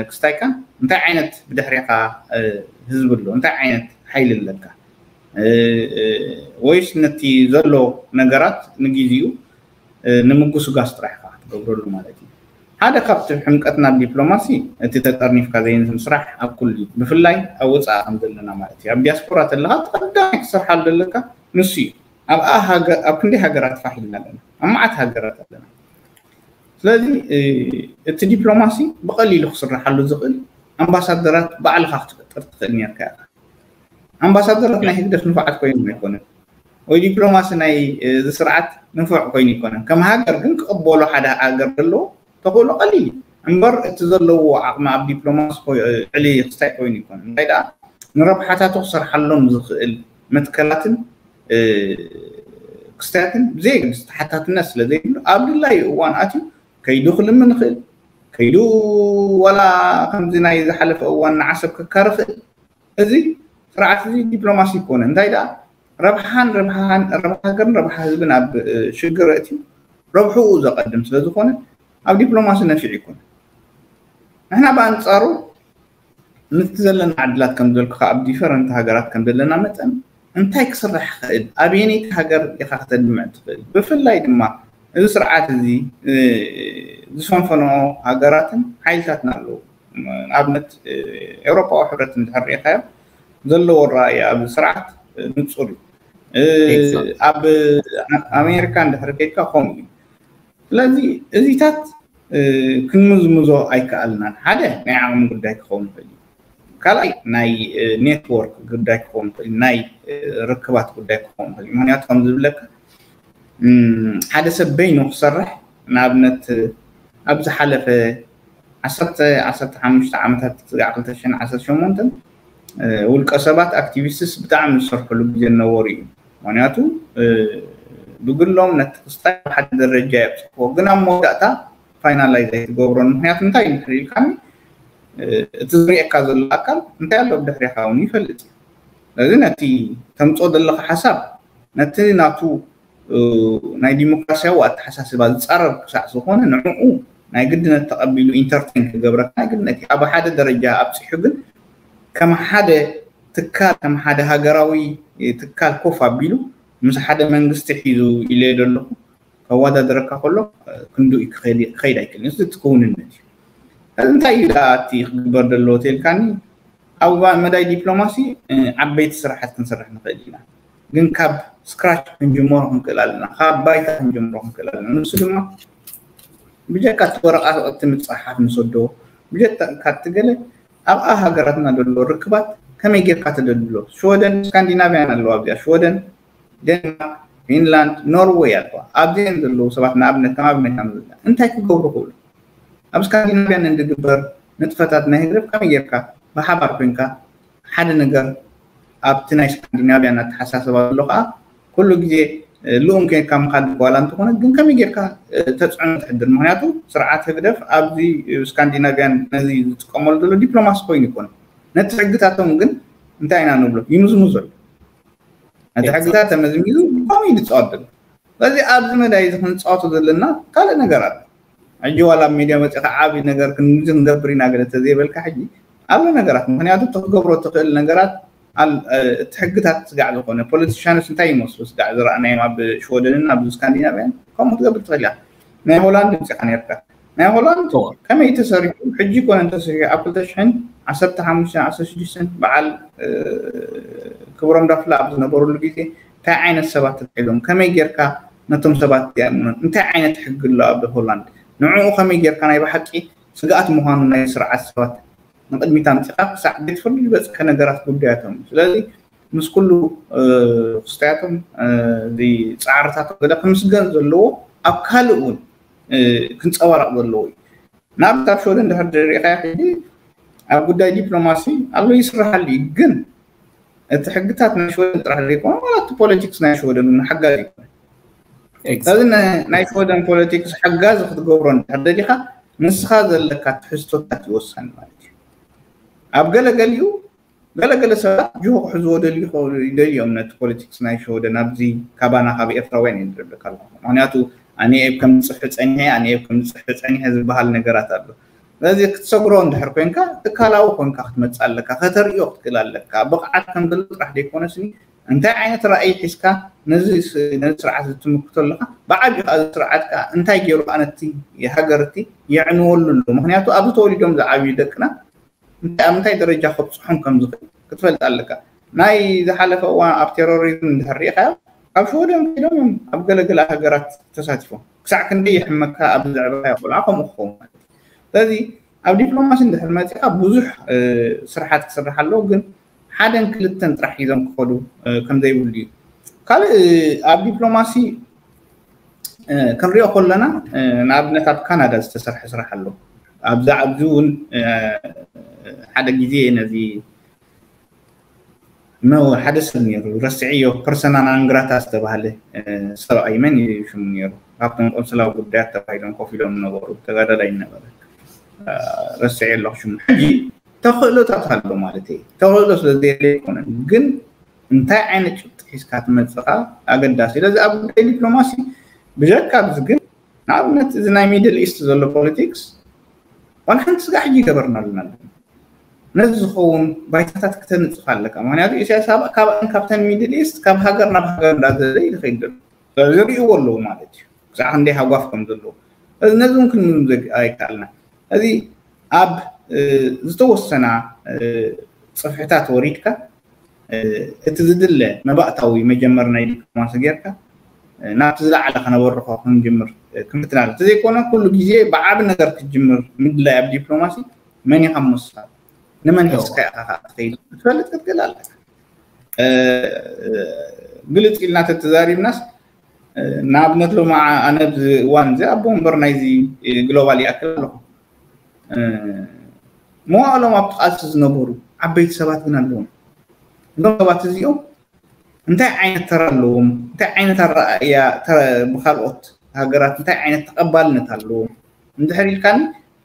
ክስታይካን እንታይ ዓይነት ብድሕሪካ ህዝቢ ኣሎ እንታይ ዓይነት ሓይሊ ኣለካ ወይስ ነቲ ዘሎ ነገራት ንግዜኡ ንምጉስጋስ ጥራሕ ኢኻ ክትገብረሉ ማለት እዩ። ሓደ ካብቲ ሕምቀትና ኣብ ዲፕሎማሲ እቲ ተጠርኒፍካ ዘይንስም ስራሕ ኣብ ኩሉ እዩ፣ ብፍላይ ኣብ ወፃኢ ከም ዘለና ማለት እዩ። ኣብ ዲያስፖራ ተለካ እቲ ቀዳማይ ክትሰርሓሉ ዘለካ ንሱ እዩ። ኣብኣ ኣብ ክንደይ ሃገራት ፋሕ ኢልና ኣለና፣ ኣብ መዓት ሃገራት ኣለና። ስለዚ እቲ ዲፕሎማሲ ብቐሊሉ ክስርሓሉ ዝኽእል ኣምባሳደራት ባዕልኻ ክትፈጥር ትኽእል ነርካ ኢኻ። ኣምባሳደራት ናይ ህግደፍ ንፉዓት ኮይኖም ኣይኮነን ወይ ዲፕሎማሲ ናይ እዚ ስርዓት ንፉዕ ኮይኑ ኣይኮነን። ከም ሃገር ግን ክቕበሎ ሓደ ሃገር ዘለዎ ተኽእሎ ቀሊል እዩ። እምበር እቲ ዘለዎ ዓቕሚ ኣብ ዲፕሎማሲ ልዕሊ ክስታይ ኮይኑ ኣይኮነን። እንታይ ደኣ ንረብሓታቱ ክሰርሓሎም ዝኽእል መትከላትን ክስታያትን ብዘየገድስ ተሓታትነት ስለ ዘይብሉ ኣብ ድላዩ እዋን ኣትዩ ከይዱ ክልምን ይኽእል፣ ከይዱ ዋላ ከምዚ ናይ ዝሓለፈ እዋን ንዓሰብ ከካሪ ይኽእል። እዚ ስርዓት እዚ ዲፕሎማሲ ይኮነ እንታይ ደኣ ረብሓን ረብሓን ረብሓ ሃገርን ረብሓ ህዝብን ኣብ ሽግር እትዩ ረብሕኡ ዘቐድም ስለ ዝኾነ ኣብ ዲፕሎማሲ ነፊዕ ይኮነ። ንሕና ብኣንፃሩ ንቲ ዘለና ዕድላት ከም ዘልኩ ኣብ ዲፈረንት ሃገራት ከም ዘለና መጠን እንታይ ክስራሕ ክእል ኣበየነይቲ ሃገር ኢኻ ክተድምዕ ትኽእል? ብፍላይ ድማ እዚ ስርዓት እዚ ዝፈንፈኖ ሃገራትን ሓይልታትን ኣለዉ። ንኣብነት ኤውሮጳዊ ሕብረት እንድሕር ርኢኻዮ ዘለዎ ኣረኣእያ ኣብዚ ስርዓት ንፁር እዩ። ኣብ ኣሜሪካ እንድሕር ከይድካ ከምኡ እዩ። ስለዚ እዚታት ክንምዝምዞ ኣይከኣልናን። ሓደ ናይ ዓቕሚ ጉዳይ ክኸውን ይኽእል እዩ። ካልኣይ ናይ ኔትወርክ ጉዳይ ክኸውን ይኽእል፣ ናይ ርክባት ጉዳይ ክኸውን ይኽእል እዩ። ምክንያቱ ከም ዝብለካ ሓደ ሰብ በይኑ ክሰርሕ ንኣብነት ኣብ ዝሓለፈ ዓሰርተ ዓሰርተ ሓሙሽተ ዓመታት ስጋዕ ክልተ ሽሕን ዓሰርተ ሸሞንተን ውልቀ ሰባት ኣክቲቪስትስ ብጣዕሚ ዝሰርሕሉ ግዜ ነበሩ እዩ። ምክንያቱ ብግሎም ነቲ ክስታይ ሓደ ደረጃ የብፅሕዎ፣ ግን ኣብ መወዳእታ ፋይናላይዝ ኣይትገብሮን። ምክንያቱ እንታይ እንድሕር ኢልካኒ እቲ ዝሪኤካ ዘሎ ኣካል እንታይ ኣሎ ብድሕሪካ እውን ይፈልጥ እዩ። ስለዚ ነቲ ተምፅኦ ዘለካ ሓሳብ ነቲ ናቱ ናይ ዲሞክራሲያዊ ኣተሓሳስባ ዝፃረር ክሳዕ ዝኾነ ንዕኡ ናይ ግድነት ተቐቢሉ ኢንተርቴን ክገብረካ ናይ ግድነት እዩ። ኣብ ሓደ ደረጃ ኣብፂሑ ግን ከም ሓደ ትካል ከም ሓደ ሃገራዊ ትካል ኮፍ ኣቢሉ ምስ ሓደ መንግስቲ ሒዙ ኢለ ዘለኹ ከወዳደረካ ከሎ ክንዱ ክኸይድ ኣይክእልን። እዚ ትክውንነት እዩ። እንታይ እዩ እቲ ክግበር ዘለዎ ተልካኒ ኣብ መዳይ ዲፕሎማሲ ዓበይቲ ስራሓት ክንሰርሕ ንኽእል ኢና፣ ግን ካብ ስክራች ክንጅመሮ ክንክእል ኣለና፣ ካብ ባይታ ክንጅምሮ ክንክእል ኣለና። ንሱ ድማ ብጀካ እቲ ወረቓት እቲ ምፅሓፍ ንሰዶ ብጀካ እቲ ገለ ኣብኣ ሃገራትና ዘሎ ርክባት ከመይ ጌርካ ተደልድሎ። ሽወደን ስካንዲናቪያን ኣለዋ ኣብዚኣ፣ ሽወደን፣ ዴንማርክ፣ ፊንላንድ፣ ኖርወይ ኣለዋ። ኣብዚአን ዘለዉ ሰባት ንኣብነት ከም ኣብነት ኣምፅእ እንታይ ክገብሩ ክእሉ ኣብ ስካንዲናቪያን እንድግበር ንጥፈታት ናይ ህግደፍ ከመይ ጌርካ ብሓባር ኮንካ ሓደ ነገር ኣብቲ ናይ ስካንዲናቪያን ኣተሓሳስባ ዘሎ ከዓ ኩሉ ግዜ ልኡም ኮንካ ምኻድ ጓላ እንተኾነ ግን ከመይ ጌርካ ተፅዕኖ ትሕድር? ምክንያቱ ስርዓት ህግደፍ ኣብዚ ስካንዲናቪያን ነዚ ዝጥቀመሉ ዘሎ ዲፕሎማሲ ኮይኑ ይኮነ ነቲ ሕግታቶም ግን እንታይ ኢና ንብሎ ይምዝምዞ ኣሎ። ነቲ ሕግታት ተመዝሚዙ ከምኡ እዩ ዝፃወት ዘሎ። ስለዚ ኣብዚ መዳይ እዚ ክንፃወቶ ዘለና ካልእ ነገር ኣሎ። ሕጂ ዋላ ኣብ ሜድያ መፂኻ ዓብዪ ነገር ክንዚ ክንገብር ኢና ገለ ተዘይበልካ ሕጂ ኣሎ ነገራት ምክንያቱ እቲ ክገብሮ ትኽእል ነገራት እቲ ሕግታት ስጋዕ ዝኾነ ፖለቲሻንስ እንታይ ይመስሉ ስጋዕ ዝረኣናዮም ኣብ ሽወደንን ኣብ ስካንዲናቪያን ከምኡ ክትገብር ትኽእል እያ። ናይ ሆላንድ ምፂኻ ነርካ ናይ ሆላንድ ከመይ ተሰሪሑ ሕጂ ኮነ እንተሰሪሑ ኣብ ክልተ ሽሕን ዓሰርተ ሓሙሽተን ዓሰርተ ሽዱሽተን በዓል ክብሮም ዳፍላ ኣብ ዝነበሩሉ ግዜ እንታይ ዓይነት ሰባት ተታሒዞም ከመይ ጌርካ ነቶም ሰባት ዚኣምኖን እንታይ ዓይነት ሕጊ ኣሎ ኣብ ሆላንድ ንዕኡ ከመይ ጌርካ ናይ ብሓቂ ስግኣት ምዃኑ ናይ ስርዓት ሰባት ንቅድሚት ኣምፂኻ ክሳዕ ቤት ፍርዲ ዝበፅሐ ነገራት ጉዳያቶም ስለዚ ምስ ኩሉ ክስታያቶም ፃዕርታቶም ገለ ክምስገን ዘለዎ ኣብ ካልእ እውን ክንፀባረቕ ዘለዎ እዩ። ንኣብነት ኣብ ሽወደን ድሕር ሪኢኻዮ ሕጂ ኣብ ጉዳይ ዲፕሎማሲ ኣሎ ይስራሓሉ እዩ፣ ግን እቲ ሕግታት ናይ ሽወደን ጥራሕ ዘይኮነ ዋላ እቲ ፖለቲክስ ናይ ሽወደን እውን ሓጋዚ ይኮነ። ስለዚ ናይ ሽወደን ፖለቲክስ ሓጋዚ ክትገብሮ እንድሕር ደሊኻ ንስኻ ዘለካ ትሕዝቶታት ይወሳኒ ማለት እዩ። ኣብ ገለገሊኡ ገለገለ ሰባት ጅሆ ክሕዝዎ ደልዩ ይደልዮም ነቲ ፖለቲክስ ናይ ሽወደን ኣብዚ ካባና ካብ ኤርትራውያን እየ ዝረብለካ ኣለኹ። ምክንያቱ ኣነ እየ ከም ዝፅሒ ፀኒሐ ኣነ እየ ከም ዝፅሒ ፀኒሐ ዝበሃል ነገራት ኣሎ። ስለዚ ክትሰግሮ እንድሕር ኮንካ ትካላዊ ኮንካ ክትመፅእ ኣለካ፣ ከተርእዮ ክትክእል ኣለካ። ብቕዓት ከም ዘሎ ጥራሕ ዘይኮነስኒ እንታይ ዓይነት ራእይ ሒዝካ ነዚ ነዚ ስርዓት ዝትምክቶ ኣለካ፣ ብዓብዩ ከዓ እዚ ስርዓት ከዓ እንታይ ገይሩ ኣነቲ ሃገርቲ የዕንወሉ ኣሎ። ምክንያቱ ኣብዚ ተወሊዶም ዝዓብዩ ደቅና እንታይ ኣብ ምንታይ ደረጃ ከብፅሖም ከም ዝኽእል ክትፈልጥ ኣለካ። ናይ ዝሓለፈ እዋን ኣብ ቴሮሪዝም እንድሕር ሪኢኻዮ ኣብ ሽወደን ከይዶም እዮም ኣብ ገለገለ ሃገራት ተሳቲፎም። ክሳዕ ክንደይ ይሕመካ ኣብዚ ዘዕበኻዮ ቆልዓ ከምኡ ክኸውን ማለት እዩ። ስለዚ ኣብ ዲፕሎማሲ እንድሕር መፂኻ ብዙሕ ስራሓት ክስራሕ ኣለዎ፣ ግን ሓደን ክልተን ጥራሕ ሒዞም ክኸዱ ከም ዘይብሉ እዩ። ካልእ ኣብ ዲፕሎማሲ ክንሪኦ ከለና ንኣብነት ኣብ ካናዳ ዝተሰርሐ ስራሕ ኣሎ። ኣብዛ ኣብዚ እውን ሓደ ግዜ ነዚ ሓደ ሰብ ነይሩ ረስዕዮ ፐርሰና ናንግራታ ዝተባሃለ ሰብኣይ መን እዩ ሽሙ ነይሩ ካብቶም ቆንስላዊ ጉዳያት ተባሂሎም ኮፍ ኢሎም ዝነበሩ ተጋዳላይ ነበረ። ረስዐ ኣለኹ ሽሙ። ሕጂ ተኽእሎታት ኣሎ ማለት እዩ። ተኽእሎ ስለ ዘየለ ኣይኮነን፣ ግን እንታይ ዓይነት ጭብጢ ሒዝካ ትመፅእ ከዓ ኣገዳሲ። ስለዚ ኣብ ጉዳይ ዲፕሎማሲ ብጀካ ኣብዚ ግን ንኣብነት እዚ ናይ ሚድል ኢስት ዘሎ ፖለቲክስ ዋላ ሓንቲ ስጋዕ ሕጂ ይገበርና ኣለና። ነዚ ዝኸውን ባይታታት ክተንፅፍ ኣለካ። ምክንያቱ ኢሳያስ ካብኣን ካብተን ሚድል ኢስት ካብ ሃገር ናብ ሃገር እንዳዘለ ይኸይድ ዘሎ ዝሪእዎ ኣለዉ ማለት እዩ። ክሳዕ ክንደይ ሃጓፍ ከም ዘለዎ ነዚ እውን ክንምዝምዞ ኣይከኣልና። እዚ ኣብ ዝተወሰና ፅፍሕታት ወሪድካ እቲ ዝድለ መባእታዊ መጀመር ናይ ዲፕሎማሲ ጌርካ ናብቲ ዝለዓለ ከነበርኾ ክንጅምር ክምትናል እንተዘይኮነ ኩሉ ግዜ ብዓቢ ነገር ክትጅምር ምድላይ ኣብ ዲፕሎማሲ መን ኢኻ ምወስኻ ንመን ሒዝካ ኢኻ ከዓ ትኸይድ ክትፈልጥ ክትክእል ኣለካ። ግልፅ ኢልና ተተዛሪብናስ ንኣብነት ሎማ ኣነ ኣብዚ እዋን እዚ ኣቦ ወንበር ናይዚ ግሎባል ይኣክል ኣለኹ። መዋእሎም ኣብቲ ቃልሲ ዝነበሩ ዓበይቲ ሰባት ግን ኣለዎም። እዞም ሰባት እዚኦም እንታይ ዓይነት ተራ ኣለዎም? እንታይ ዓይነት ኣረኣእያ ብካልኦት ሃገራት እንታይ ዓይነት ተቐባልነት ኣለዎም? እንድሕር ኢልካኒ፣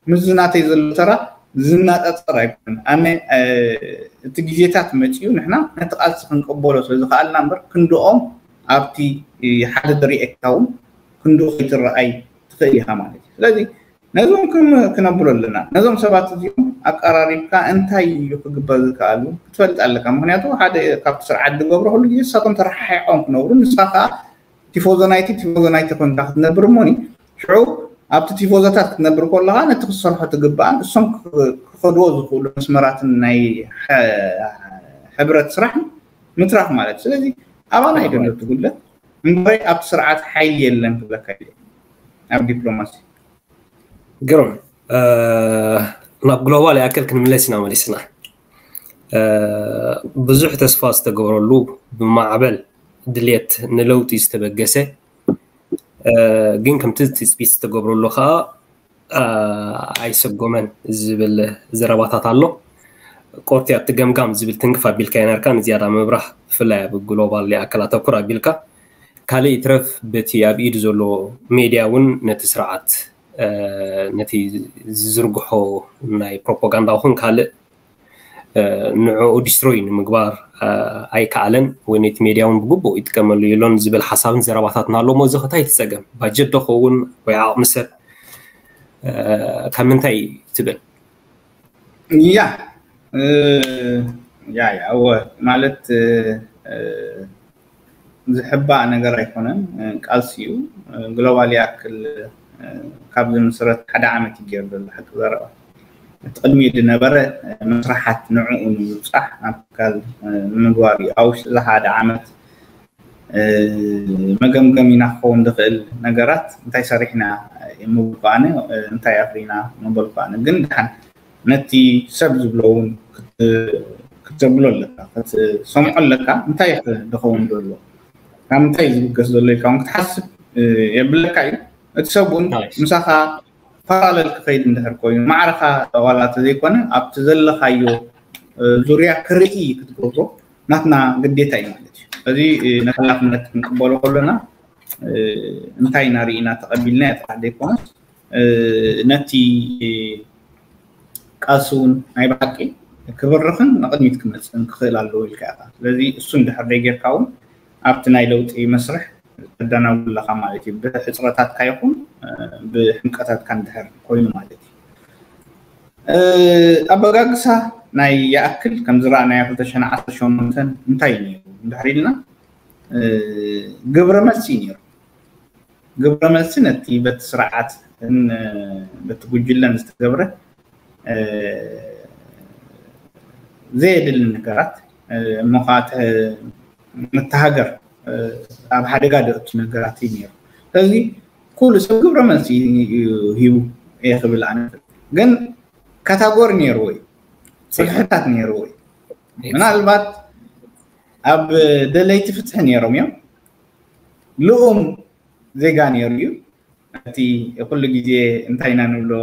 ምስ ዝናተይ ዘሎ ተራ ዝናጻጸር ኣይኮነን። ኣነ እቲ ግዜታት መጺኡ ንሕና ነቲ ቃልሲ ክንቀበሎ ስለ ዝኸኣልና እምበር ክንድኦም ኣብቲ ሓደ ደሪኤካ እውን ክንድኡ ከይትረኣይ ትኽእል ኢኻ ማለት እዩ። ስለዚ ነዞም ክነብሎ ኣለና። ነዞም ሰባት እዚኦም ኣቀራሪብካ እንታይ እዩ ክግበር ዝከኣሉ ክትፈልጥ ኣለካ። ምክንያቱ ሓደ ካብቲ ስርዓት ዝገብሮ ኩሉ ግዜ ንሳቶም ተረሓሒቆም ክነብሩ፣ ንስኻ ከዓ ቲፎዞ ናይቲ ቲፎዞ ናይቲ ኮንካ ክትነብር እሞኒ ሽዑ ኣብቲ ቲፎዞታት ክትነብር ከለካ ነቲ ክትሰርሖ ትግባእን እሶም ክኸድዎ ዝኽእሉ መስመራትን ናይ ሕብረት ስራሕ ምትራፍ ማለት። ስለዚ ኣባና ይደሎ ትጉለት እምበይ ኣብቲ ስርዓት ሓይሊ የለን ክብለካ የ ኣብ ዲፕሎማሲ። ግሩም። ናብ ግሎባል ይኣክል ክንምለስ ኢና መሊስና። ብዙሕ ተስፋ ዝተገብረሉ ብማዕበል ድልየት ንለውጢ ዝተበገሰ ግን ከምቲ ትፅቢት ዝተገብረሉ ከዓ ኣይሰጎመን ዝብል ዘረባታት ኣሎ። ቆርቲ ኣብቲ ገምጋም ዝብል ትንክፍ ኣቢልካ ይነርካ ንዝያዳ ምብራህ ብፍላይ ኣብ ግሎባል ይኣክል ኣተኩር ኣቢልካ ካልእ ይትረፍ በቲ ኣብ ኢዱ ዘሎ ሜድያ እውን ነቲ ስርዓት ነቲ ዝዝርግሖ ናይ ፕሮፓጋንዳ ኹን ካልእ ንዕኡ ዲስትሮይ ንምግባር ኣይከኣለን ወይ ነቲ ሜድያ እውን ብግቡእ ይጥቀመሉ የሎን ዝብል ሓሳብን ዘረባታትን ኣሎ። እሞ እዚ ከታይ ትፀገም ባጀት ዶ ኸውን ወይ ዓቕሚ ሰብ ካብ ምንታይ ትብል? ያ ያ ያ እወ ማለት ዝሕባእ ነገር ኣይኮነን። ቃልሲ እዩ። ግሎባል ይኣክል ካብ ዝምስረት ሓደ ዓመት እዩ ገይሩ ዘሎ ሓቂ ዘረባ። እቲ ቅድሚኡ ዝነበረ መስራሓት ንዕኡ ንምብፃሕ ናብ ትካል ንምግባር እዩ። ኣብ ውሽጢ እዚ ሓደ ዓመት መገምገም ኢና ክኸውን ዝኽእል ነገራት እንታይ ሰሪሕና ምብል ከኣነ እንታይ ኣፍሪና ምበል ከኣነ ግን ድሓን ነቲ ሰብ ዝብሎ እውን ክትዘብሎ ኣለካ ክትሰምዖ ኣለካ እንታይ ዝኸውን ዘሎ ካብ ምንታይ ዝብገስ ዘሎ ኢልካ እውን ክትሓስብ የብለካ እዩ። እቲ ሰብ እውን ምሳኻ ፓራለል ክኸይድ እንድሕር ኮይኑ ማዕረኻ ዋላ ተዘይኮነ ኣብቲ ዘለኻዮ ዙርያ ክርኢ ክትገብሮ ናትና ግዴታ እዩ ማለት እዩ። ስለዚ ነቲ ሓላፍነት ክንቅበሎ ከለና እንታይ ኢና ርኢና ተቐቢልና እያ ጥራሕ ዘይኮነስ ነቲ ቃልሲ እውን ናይ ብሓቂ ክብርኽን ንቕድሚት ክመፅእን ክኽእል ኣለዎ ኢልካ ኢኻ። ስለዚ እሱ እንድሕር ዘይጌርካ እውን ኣብቲ ናይ ለውጢ መስርሕ ተዳናጉ ኣለኻ ማለት እዩ። ብሕፅረታትካ ይኹን ብሕምቀታትካ እንድሕር ኮይኑ ማለት እዩ። ኣበጋግሳ ናይ ይኣክል ከም ዝረኣናዮ ክልተ ሽሕን ዓሰርተ ሸሞንተን እንታይ እዩ ነይሩ እንድሕር ኢልና ግብረ መልሲ እዩ ነይሩ። ግብረ መልሲ ነቲ በቲ ስርዓት በቲ ጉጅለን ዝተገብረ ዘየድሊ ነገራት እሞ ከዓ ነቲ ሃገር ኣብ ሓደጋ ዘእቱ ነገራት እዩ ነይሩ። ስለዚ ኩሉ ሰብ ግብረ መልሲ ሂቡ እየ ክብል ኣነ ግን ካታጎሪ ነይርዎ እዩ፣ ፅፍሕታት ነይርዎ እዩ። ምናልባት ኣብ ደለይቲ ፍትሒ ነይሮም እዮም። ልኡም ዜጋ ነይሩ እዩ። እቲ ኩሉ ግዜ እንታይ ኢና ንብሎ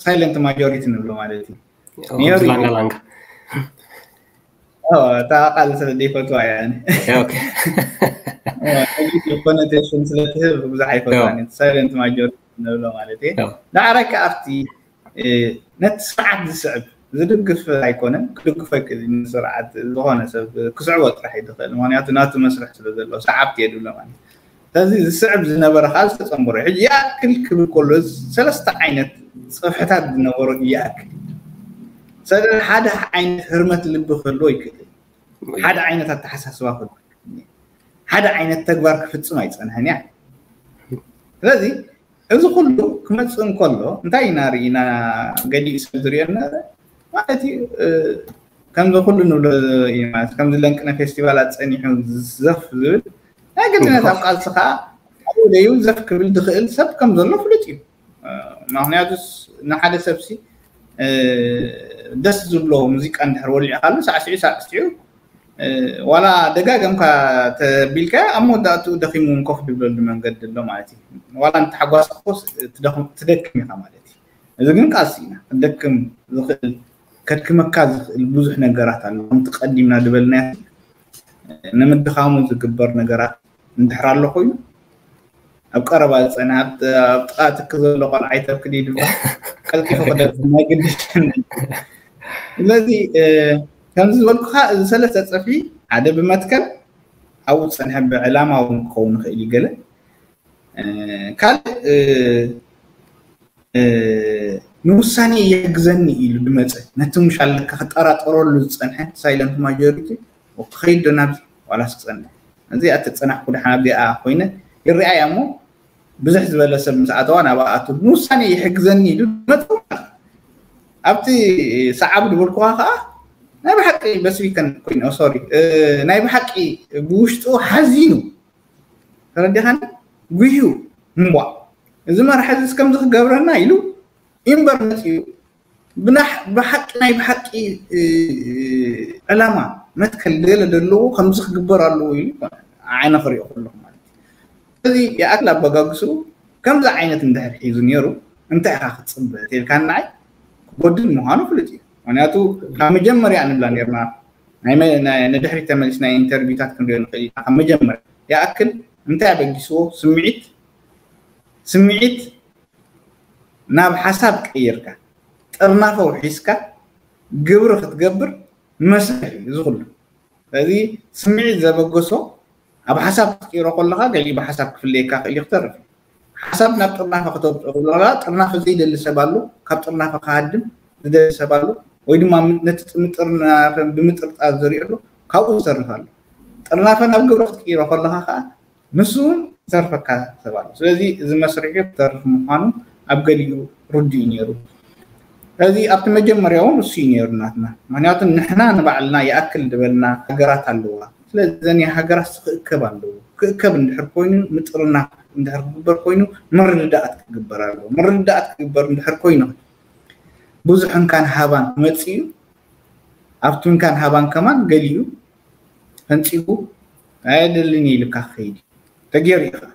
ሳይለንት ማጆሪቲ ንብሎ ማለት እዩ። ላንጋ ላንጋ እታ ቃል ስለ ዘይፈትዋ እያ። ኮኖቴሽን ስለ ትህብ ብዙሕ ኣይፈትዋን። ሳይለንት ማጆሪቲ ንብሎ ማለት እዩ። ዳዕረካ ኣብቲ ነቲ ስርዓት ዝስዕብ ዝድግፍ ኣይኮነን፣ ክድግፎ ኣይክእልን። ስርዓት ዝኾነ ሰብ ክስዕቦ ጥራሕ እዩ ዝኽእል፣ ምክንያቱ ናቱ መስርሕ ስለ ዘለዎ ሰዓብቲ እየ ዝብሎ ማለት እዩ። ስለዚ ዝስዕብ ዝነበረ ከዓ ዝተፀንበሮ እዩ። ሕጂ ይኣክል ክብል ከሎ ሰለስተ ዓይነት ፅፍሕታት ዝነበሮ ይኣክል እዩ። ስለዚ ሓደ ዓይነት ህርመት ልቢ ክህልዎ ይክእል፣ ሓደ ዓይነት ኣተሓሳስባ ክህልዎ፣ ሓደ ዓይነት ተግባር ክፍፅም ኣይፀንሐን እያ። ስለዚ እዚ ኩሉ ክመፅእ እንከሎ እንታይ ኢና ርኢና? ገሊኡ ሰብ ዝሪኦ ነበረ ማለት እዩ። ከምዚ ኩሉ ንብሎ እዩ ማለት ከምዚ ለንቅነ ፌስቲቫላት ፀኒሑ ዘፍ ዝብል ናይ ግድነት ኣብ ቃልሲ ከዓ ኣብኡ ደዩ ዘፍ ክብል ዝኽእል ሰብ ከም ዘሎ ፍሉጥ እዩ። ምክንያቱ ንሓደ ሰብሲ ደስ ዝብሎ ሙዚቃ እንድሕር ወሊዕካሉ ሳዕስዒ ሳዕስዒ ዋላ ደጋገምካ ተቢልካ ኣብ መወዳእትኡ ደኺሙ እውን ኮፍ ድብለሉ መንገዲ ኣሎ ማለት እዩ። ዋላ እንተሓጓስካ ኮስ ትደክም ኢኻ ማለት እዩ። እዚ ግን ቃልሲ ኢና ክደክም ዝኽእል ከድክመካ ዝኽእል ብዙሕ ነገራት ኣሎ። ከምቲ ቀዲምና ዝበልናዮ ንምድኻሙ ዝግበር ነገራት እንድሕር ኣሎ ኮይኑ ኣብ ቀረባ ዝፀንሐ ኣብ ጥቓ ትክ ዘሎ ቆልዓ ይተብክድ ይድባ ቀልጢፉ ክደርስ ናይ ግድሽን። ስለዚ ከምዚ ዝበልኩኻ እዚ ሰለስተ ፀፍሒ ሓደ ብመትከል ኣብኡ ዝፀንሐ ብዕላማ እውን ክኸውን ይኽእል እዩ። ገለ ካልእ ንውሳኔ ይሕግዘኒ ኢሉ ድመፀ ነቲ ምሻለካ ክጠራጠረሉ ዝፀንሐ ሳይለንት ማጆሪቲ ክኸይድ ዶ ናብዚ ዋላስ ክፀንሕ? እዚ ኣተፀናሕኩ ድሓን ኣብዚኣ ኮይነ ይረኣያ እሞ ብዙሕ ዝበለ ሰብ ምስ ኣተዋ ናብ ኣቱ ንውሳኔ ይሕግዘኒ ኢሉ ድመፀ። ኣብቲ ሰዓብ ዝበልኩኻ ከዓ ናይ ብሓቂ በስቢከን ኮይኑ ሶሪ ናይ ብሓቂ ብውሽጡ ሓዚኑ ተረዲኻኒ ጉህዩ እምቧ እዚ መራሒ እዚ ከምዚ ክገብረና ኢሉ ኢምበር መፅኡ ብሓቂ ናይ ብሓቂ ዕላማ መትከል ገለ ዘለዎ ከምዚ ክግበር ኣለዎ ኢሉ ዓይነ ክሪኦ ከለኹ ማለት እዩ። ስለዚ ይኣክል ኣበጋግስኡ ከምዚ ዓይነት እንድሕር ሒዙ ነይሩ እንታይ ኢኻ ክትፅበ ተልካ ንዓይ ክጎድል ምዃኑ ፍሉጥ እዩ። ምክንያቱ ካብ መጀመርያ ንብላ ነርና ንድሕሪት ተመሊስና ኢንተርቪውታት ክንሪኦ ንኽእል ኢና። ካብ መጀመርያ ይኣክል እንታይ ኣበጊስዎ ስምዒት ስምዒት ናብ ሓሳብ ቀይርካ ጥርናፈ ውሒስካ ግብሪ ክትገብር መስርሕ እዩ እዚ ኩሉ። ስለዚ ስምዒት ዘበገሶ ኣብ ሓሳብ ክትቅይሮ ከለኻ ገሊኡ ብሓሳብ ክፍለየካ ክእል እዩ ክተርፍ ሓሳብ ናብ ጥርናፈ ከተውፅኦ ከለኻ ጥርናፈ ዘይደሊ ሰብ ኣሎ፣ ካብ ጥርናፈ ክሃድም ዝደሊ ሰብ ኣሎ፣ ወይ ድማ ነቲ ምጥርናፈ ብምጥርጣር ዝሪኦ ኣሎ፣ ካብኡ ዝተርፍ ኣሎ። ጥርናፈ ናብ ግብሪ ክትቅይሮ ከለኻ ከዓ ንሱ እውን ዝተርፈካ ሰብ ኣሎ። ስለዚ እዚ መስርሒ ክተርፍ ምዃኑ ኣብ ገሊኡ ርዱእ እዩ ነይሩ። ስለዚ ኣብቲ መጀመርያ እውን እሱ እዩ ነይሩ ናትና። ምክንያቱ ንሕና ንባዕልና ይኣክል ዝበልና ሃገራት ኣለዋ። ስለዚ እዘን ሃገራት ክእከብ ኣለዎ። ክእከብ እንድሕር ኮይኑ ምጥርናፍ እንድሕር ክግበር ኮይኑ ምርድዳኣት ክግበር ኣለዎ። ምርድዳኣት ክግበር እንድሕር ኮይኑ ብዙሕ እንካን ሃባን ክመፅእ እዩ። ኣብቲ እንካን ሃባን ከማን ገሊኡ ፈንፂጉ ኣየደልን ኢልካ ክኸይድ እዩ። ተገይሩ እዩ ከዓ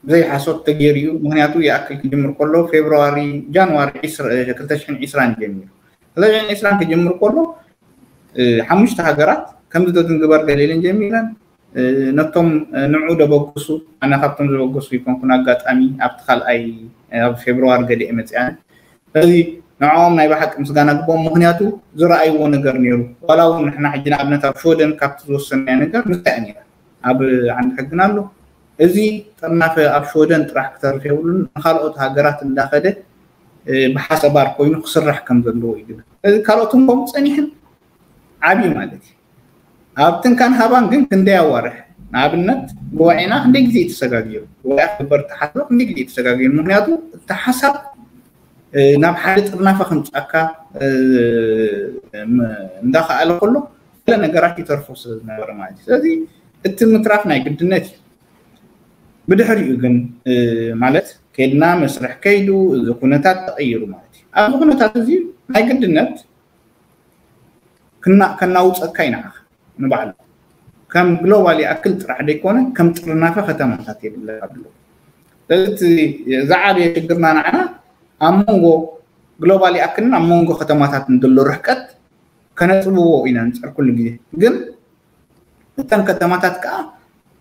ብዘይ ሓሶት ተገይሩ እዩ። ምክንያቱ ይኣክል ክጅምር ከሎ ፌብርዋሪ ጃንዋሪ ክልተ ሽሕን ዕስራን ጀሚሩ ክልተ ሽሕን ዕስራን ክጅምር ከሎ ሓሙሽተ ሃገራት ከምዚ ዶ ዝንግበር ገለ ኢለን ጀሚረን ነቶም ንዑ ደበግሱ ኣነ ካብቶም ዝበገሱ ይኮንኩን ኣጋጣሚ ኣብቲ ካልኣይ ኣብ ፌብርዋሪ ገሊኤ መፅኣን ስለዚ ንዕኦም ናይ ብሓቂ ምስጋና ግብኦም ምክንያቱ ዝረኣይዎ ነገር ነይሩ ዋላ እውን ንሕና ሕጂ ንኣብነት ኣብ ሽወደን ካብቲ ዝወሰናዮ ነገር ንሳ እያ ነይራ ኣብ ዓንዲ ሕግና ኣሎ እዚ ጥርናፈ ኣብ ሽወደን ጥራሕ ክተርፍ የብሉን ንካልኦት ሃገራት እንዳኸደ ብሓሰባር ኮይኑ ክስራሕ ከም ዘለዎ እዩ ዝብል እዚ ካልኦት እንኮም ፀኒሕን ዓብዩ ማለት እዩ ኣብቲ እንካን ሃባን ግን ክንደይ ኣዋርሕ ንኣብነት ጉባኤና ክንደይ ግዜ እዩ ተሰጋጊሩ ጉባኤ ክግበር ተሓስበ ክንደይ ግዜ እዩ ተሰጋጊሩ ምክንያቱ እቲ ሓሳብ ናብ ሓደ ጥርናፈ ከምፃካ እንዳኸኣለ ከሎ ገለ ነገራት ይተርፎ ስለዝነበረ ማለት እዩ ስለዚ እቲ ምትራፍ ናይ ግድነት እዩ ብድሕሪኡ ግን ማለት ከድና መስርሕ ከይዱ እዚ ኩነታት ተቐይሩ ማለት እዩ ኣብዚ ኩነታት እዚ ናይ ግድነት ከናውፀካ ይንዓኻ ንባዕሉ ከም ግሎባል ይኣክል ጥራሕ ዘይኮነ ከም ጥርናፈ ከተማታት የብለካ ብሎ ስለዚ ዝዓበየ ሽግርና ንዓና ኣብ መንጎ ግሎባል ይኣክልን ኣብ መንጎ ከተማታት ንድሎ ርሕቀት ከነፅብዎ ኢና ንፅር ኩሉ ግዜ ግን እተን ከተማታት ከዓ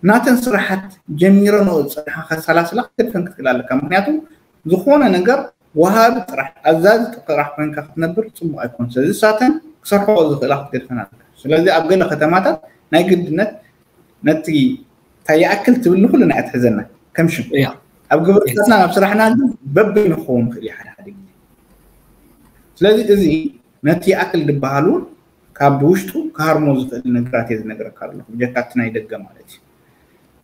ናተን ስራሓት ጀሚረንኦ ዝፀንሓ ከሰላስላ ክትገድፈን ክትክእል ኣለካ ምክንያቱ ዝኾነ ነገር ወሃቢ ጥራሕ ኣዛዚ ጥራሕ ኮይንካ ክትነብር ፅቡቅ ኣይኮን ስለዚ ሳተን ክሰርሕኦ ዝኽእላ ክትገድፈን ኣለካ ስለዚ ኣብ ገለ ከተማታት ናይ ግድነት ነቲ እንታይ ይኣክል ትብል ንኩልና እያ ትሕዘና ከም ሽም ኣብ ግብርታትና ናብ ስራሕና ግን በበይኑ ክኸውን ይኽእል እዩ ሓደ ሓደ ግዜ ስለዚ እዚ ነቲ ይኣክል ዝበሃል እውን ካብ ብውሽጡ ክሃርሞ ዝኽእል ነገራት እየ ዝነግረካ ኣለኹ ብጀካ እቲ ናይ ደገ ማለት እዩ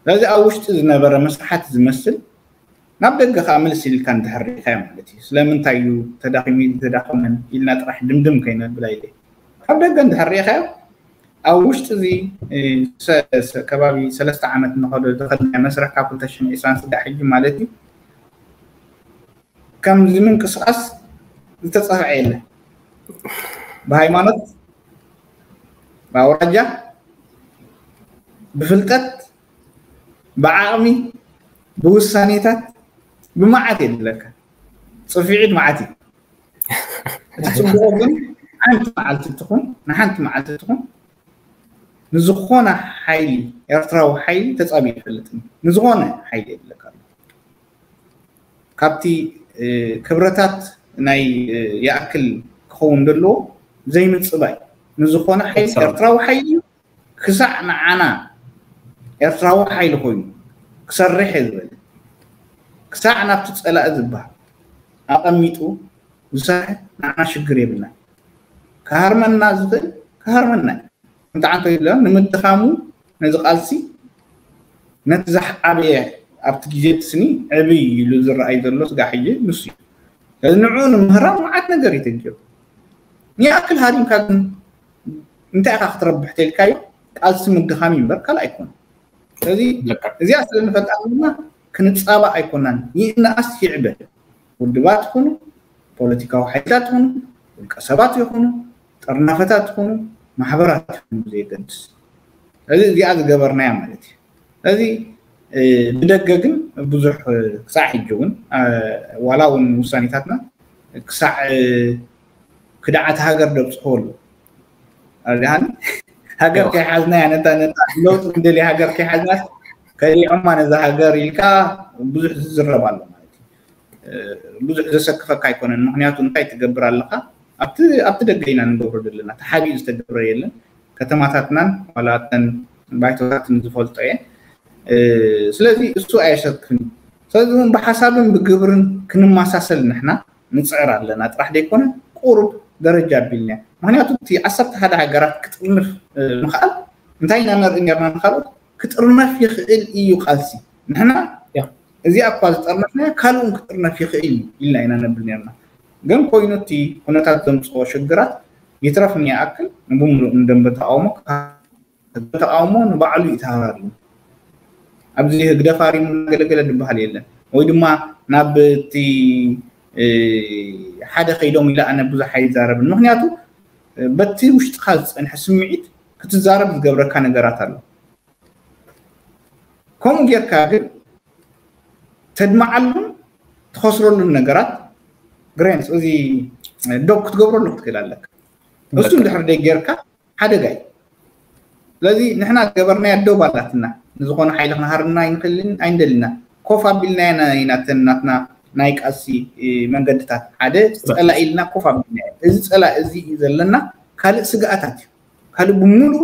ስለዚ ኣብ ውሽጢ ዝነበረ መስርሓት ዝመስል ናብ ደገ ከዓ ምልስ ኢልካ እንድሕር ርኢኻዮ ማለት እዩ ስለምንታይ እዩ ተዳኺሙ ተዳኸመን ኢልና ጥራሕ ድምድም ከይነብል ኣይለ ካብ ደገ እንድሕር ርኢኻዮ ኣብ ውሽጢ እዚ ከባቢ ሰለስተ ዓመት ንኸዶ ዝኸድናዮ መስርሕ ካብ ክልተ ሽሕን ዕስራን ስጋዕ ሕጂ ማለት እዩ ከምዚ ምንቅስቃስ ዝተፀፍዐ የለን ብሃይማኖት ብኣውራጃ ብፍልጠት ብዓቕሚ ብውሳኔታት ብመዓት የድለካ ፅፊዒት መዓት እዩ እቲ ፅቡቁ ግን ሓንቲ መዓልቲ ትኹን ንሓንቲ መዓልቲ ትኹን ንዝኾነ ሓይሊ ኤርትራዊ ሓይሊ ተጻቢ ይፈልጥን ንዝኾነ ሓይሊ የብለካ። ካብቲ ክብረታት ናይ ይኣክል ክኸውን ዘለዎ ዘይምጽባይ ንዝኾነ ሓይሊ ኤርትራዊ ሓይሊ እዩ። ክሳዕ ንዓና ኤርትራዊ ሓይሊ ኮይኑ ክሰርሕ እየ ዝበለ ክሳዕ ናብቲ ጸላኢ ዝበሃል ኣቐሚጡ ዝሰርሐ ንዓና ሽግር የብልና። ክሃርመና ዝኽእል ክሃርመና እዩ። እንተዓንቶ ይብለ ንምድኻሙ ነዚ ቃልሲ ነቲ ዝዓበየ ኣብቲ ግዜ እቲ ስኒ ዕብይ ኢሉ ዝረኣይ ዘሎ ስጋ ሕጂ ንሱ እዩ። ስለዚ ንዕኡ ንምህራም መዓት ነገር እዩ ተንኪሩ። ንኣክል ሃሪምካ ግን እንታይ ኢኻ ክትረብሕ ተልካዮ ቃልሲ ምድኻም እዩ እምበር ካልእ ኣይኮነ። ስለዚ እዚኣ ስለ ንፈልጣ ድማ ክንጻባእ ኣይኮናን። ይእናኣስ ይዕበ ውድባት ይኹኑ ፖለቲካዊ ሓይልታት ይኹኑ ውልቀ ሰባት ይኹኑ ጥርናፈታት ይኹኑ ማሕበራት ይኹኑ ብዘየገድስ እዚ እዚኣ ዝገበርናያ ማለት እዩ። ስለዚ ብደገ ግን ብዙሕ ክሳዕ ሕጂ እውን ዋላ እውን ውሳኔታትና ክሳዕ ክድዓት ሃገር ደብፅሕዎ ኣለዉ። ኣብዚሓን ሃገር ከይሓዝናያ ነታ ነታ ለውጢ እንደልያ ሃገር ከይሓዝናስ ከሊዖማ ነዛ ሃገር ኢልካ ብዙሕ ዝዝረብ ኣሎ ማለት እዩ። ብዙሕ ዘሰክፈካ ኣይኮነን። ምክንያቱ እንታይ ትገብር ኣለካ? ኣብቲ ደገ ኢና ንገብሮ ዘለና። ተሓቢኡ ዝተገብረ የለን። ከተማታትናን ዋላ እተን ባይቶታትን ዝፈልጦ እየ። ስለዚ እሱ ኣየሰክፍን እዩ። ስለዚ እውን ብሓሳብን ብግብርን ክንመሳሰል ንሕና ንፅዕር ኣለና ጥራሕ ዘይኮነ ቁሩብ ደረጃ ኣቢልና። ምክንያቱ እቲ ዓሰርተ ሓደ ሃገራት ክጥርንፍ ምክኣል እንታይ ኢና ነርኢ ነርና ንካልኦት ክጥርነፍ ይኽእል እዩ ቃልሲ። ንሕና እዚኣ እኳ ዝጠርነፍናያ ካልእ እውን ክጥርነፍ ይኽእል እዩ ኢልና ኢና ነብል ነርና። ግን ኮይኑ እቲ ኩነታት ዘምፅኦ ሽግራት ይትረፍ ንይኣክል ንብምሉእ ንደንበ ተቃውሞ ተቃውሞ ንባዕሉ እዩ ተሃራሪ። ኣብዚ ህግደፍ ሃሪሙ እናገለገለ ዝበሃል የለን። ወይ ድማ ናብ እቲ ሓደ ከይዶም ኢለ ኣነ ብዙሕ ኣይዛረብን። ምክንያቱ በቲ ውሽጥካ ዝፀንሐ ስምዒት ክትዛረብ ዝገብረካ ነገራት ኣሎ። ከምኡ ጌርካ ግን ተድምዓሉን ትኸስረሉን ነገራት ግሬንስ እዚ ዶብ ክትገብረሉ ክትክእል ኣለካ። እሱ እንድሕር ደይ ጌርካ ሓደጋ እዩ። ስለዚ ንሕና ዝገበርናያ ዶብ ኣላትና ንዝኾነ ሓይሊ ክንሃርና ኣይንኽእልን ኣይንደልና። ኮፍ ኣቢልናያ ኢና ተን ናትና ናይ ቃልሲ መንገድታት ሓደ ፀላኢ ኢልና ኮፍ ኣቢልናያ። እዚ ፀላኢ እዚ እዩ ዘለና። ካልእ ስግኣታት እዩ። ካልእ ብምሉኡ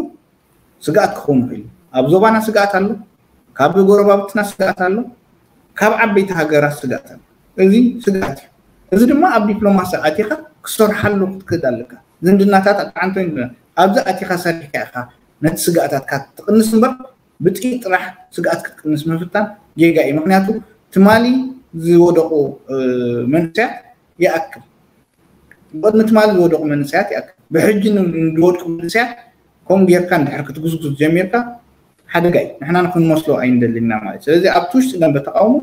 ስግኣት ክኸውን ይኽእል እዩ። ኣብ ዞባና ስግኣት ኣሎ፣ ካብ ጎረባብትና ስግኣት ኣሎ፣ ካብ ዓበይቲ ሃገራት ስግኣት ኣሎ። እዚ ስግኣት እዩ። እዚ ድማ ኣብ ዲፕሎማሲ ኣቲኻ ክሰርሓሉ ክትክእል ኣለካ። ዝምድናታት ኣጣዓንቶ ይንብና ኣብዚ ኣቲኻ ሰሪሕካ ኢኻ ነቲ ስግኣታትካ ትቕንስ እምበር ብጥይት ጥራሕ ስግኣት ክትቅንስ ምፍታን ጌጋ እዩ። ምክንያቱ ትማሊ ዝወደቑ መንእሰያት ይኣክል ብቅድሚ ትማሊ ዝወደቁ መንእሰያት ይኣክል ብሕጂ ንዝወድቁ መንእሰያት ከምኡ ጌርካ እንድሕር ክትጉዝጉዝ ጀሚርካ ሓደጋ እዩ። ንሕና ንክንመስሎ ኣይንደልን ኢና ማለት እዩ። ስለዚ ኣብቲ ውሽጢ ደንበ ተቃውሞ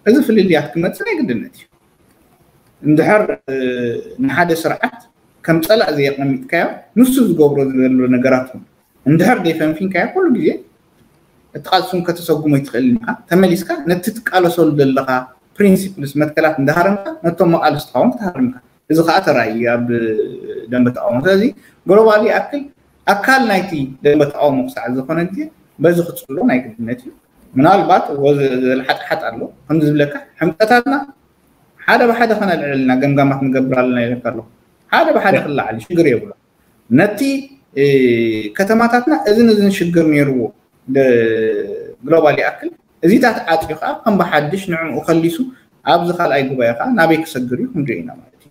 እዚ ፍልልያት ክመፅእ ናይ ግድነት እዩ። እንድሕር ንሓደ ስርዓት ከም ፀላእ ዘየቀሚጥካዮ ንሱ ዝገብሮ ዘሎ ነገራት እውን እንድሕር ደይፈንፊንካዮ ኩሉ ግዜ እቲ ቃልሲ እውን ከተሰጉሞ ኣይትኽእልን ኢኻ። ተመሊስካ ነቲ ትቃለሰሉ ዘለኻ ፕሪንሲፕልስ መትከላት እንዳሃረምካ ነቶም መቃልስትኻ እውን ክትሃርም ኢኻ። እዚ ከዓ ተራእዩ ኣብ ደንበ ተቃውሞ። ስለዚ ግሎባል ይኣክል ኣካል ናይቲ ደንበ ተቃውሞ ክሳዕ ዝኾነ ግዜ በዚ ክፅሎ ናይ ግድነት እዩ። ምናልባት ወዘልሓጥሓጥ ኣሎ ከምዚ ዝብለካ ሕምቀታትና ሓደ ብሓደ ከነልዕል ኢና ገምጋማት ንገብር ኣለና ኢለካ ኣለኹ። ሓደ ብሓደ ክለዓል ሽግር የብሎ። ነቲ ከተማታትና እዝን እዝን ሽግር ነይርዎ ግሎባል ይኣክል እዚታት ዓፅዩ ከዓ ከም ብሓድሽ ንዕኡ ከሊሱ ኣብዚ ካልኣይ ጉባኤ ከዓ ናበይ ክሰግር እዩ ክንሪኦ ኢና ማለት እዩ።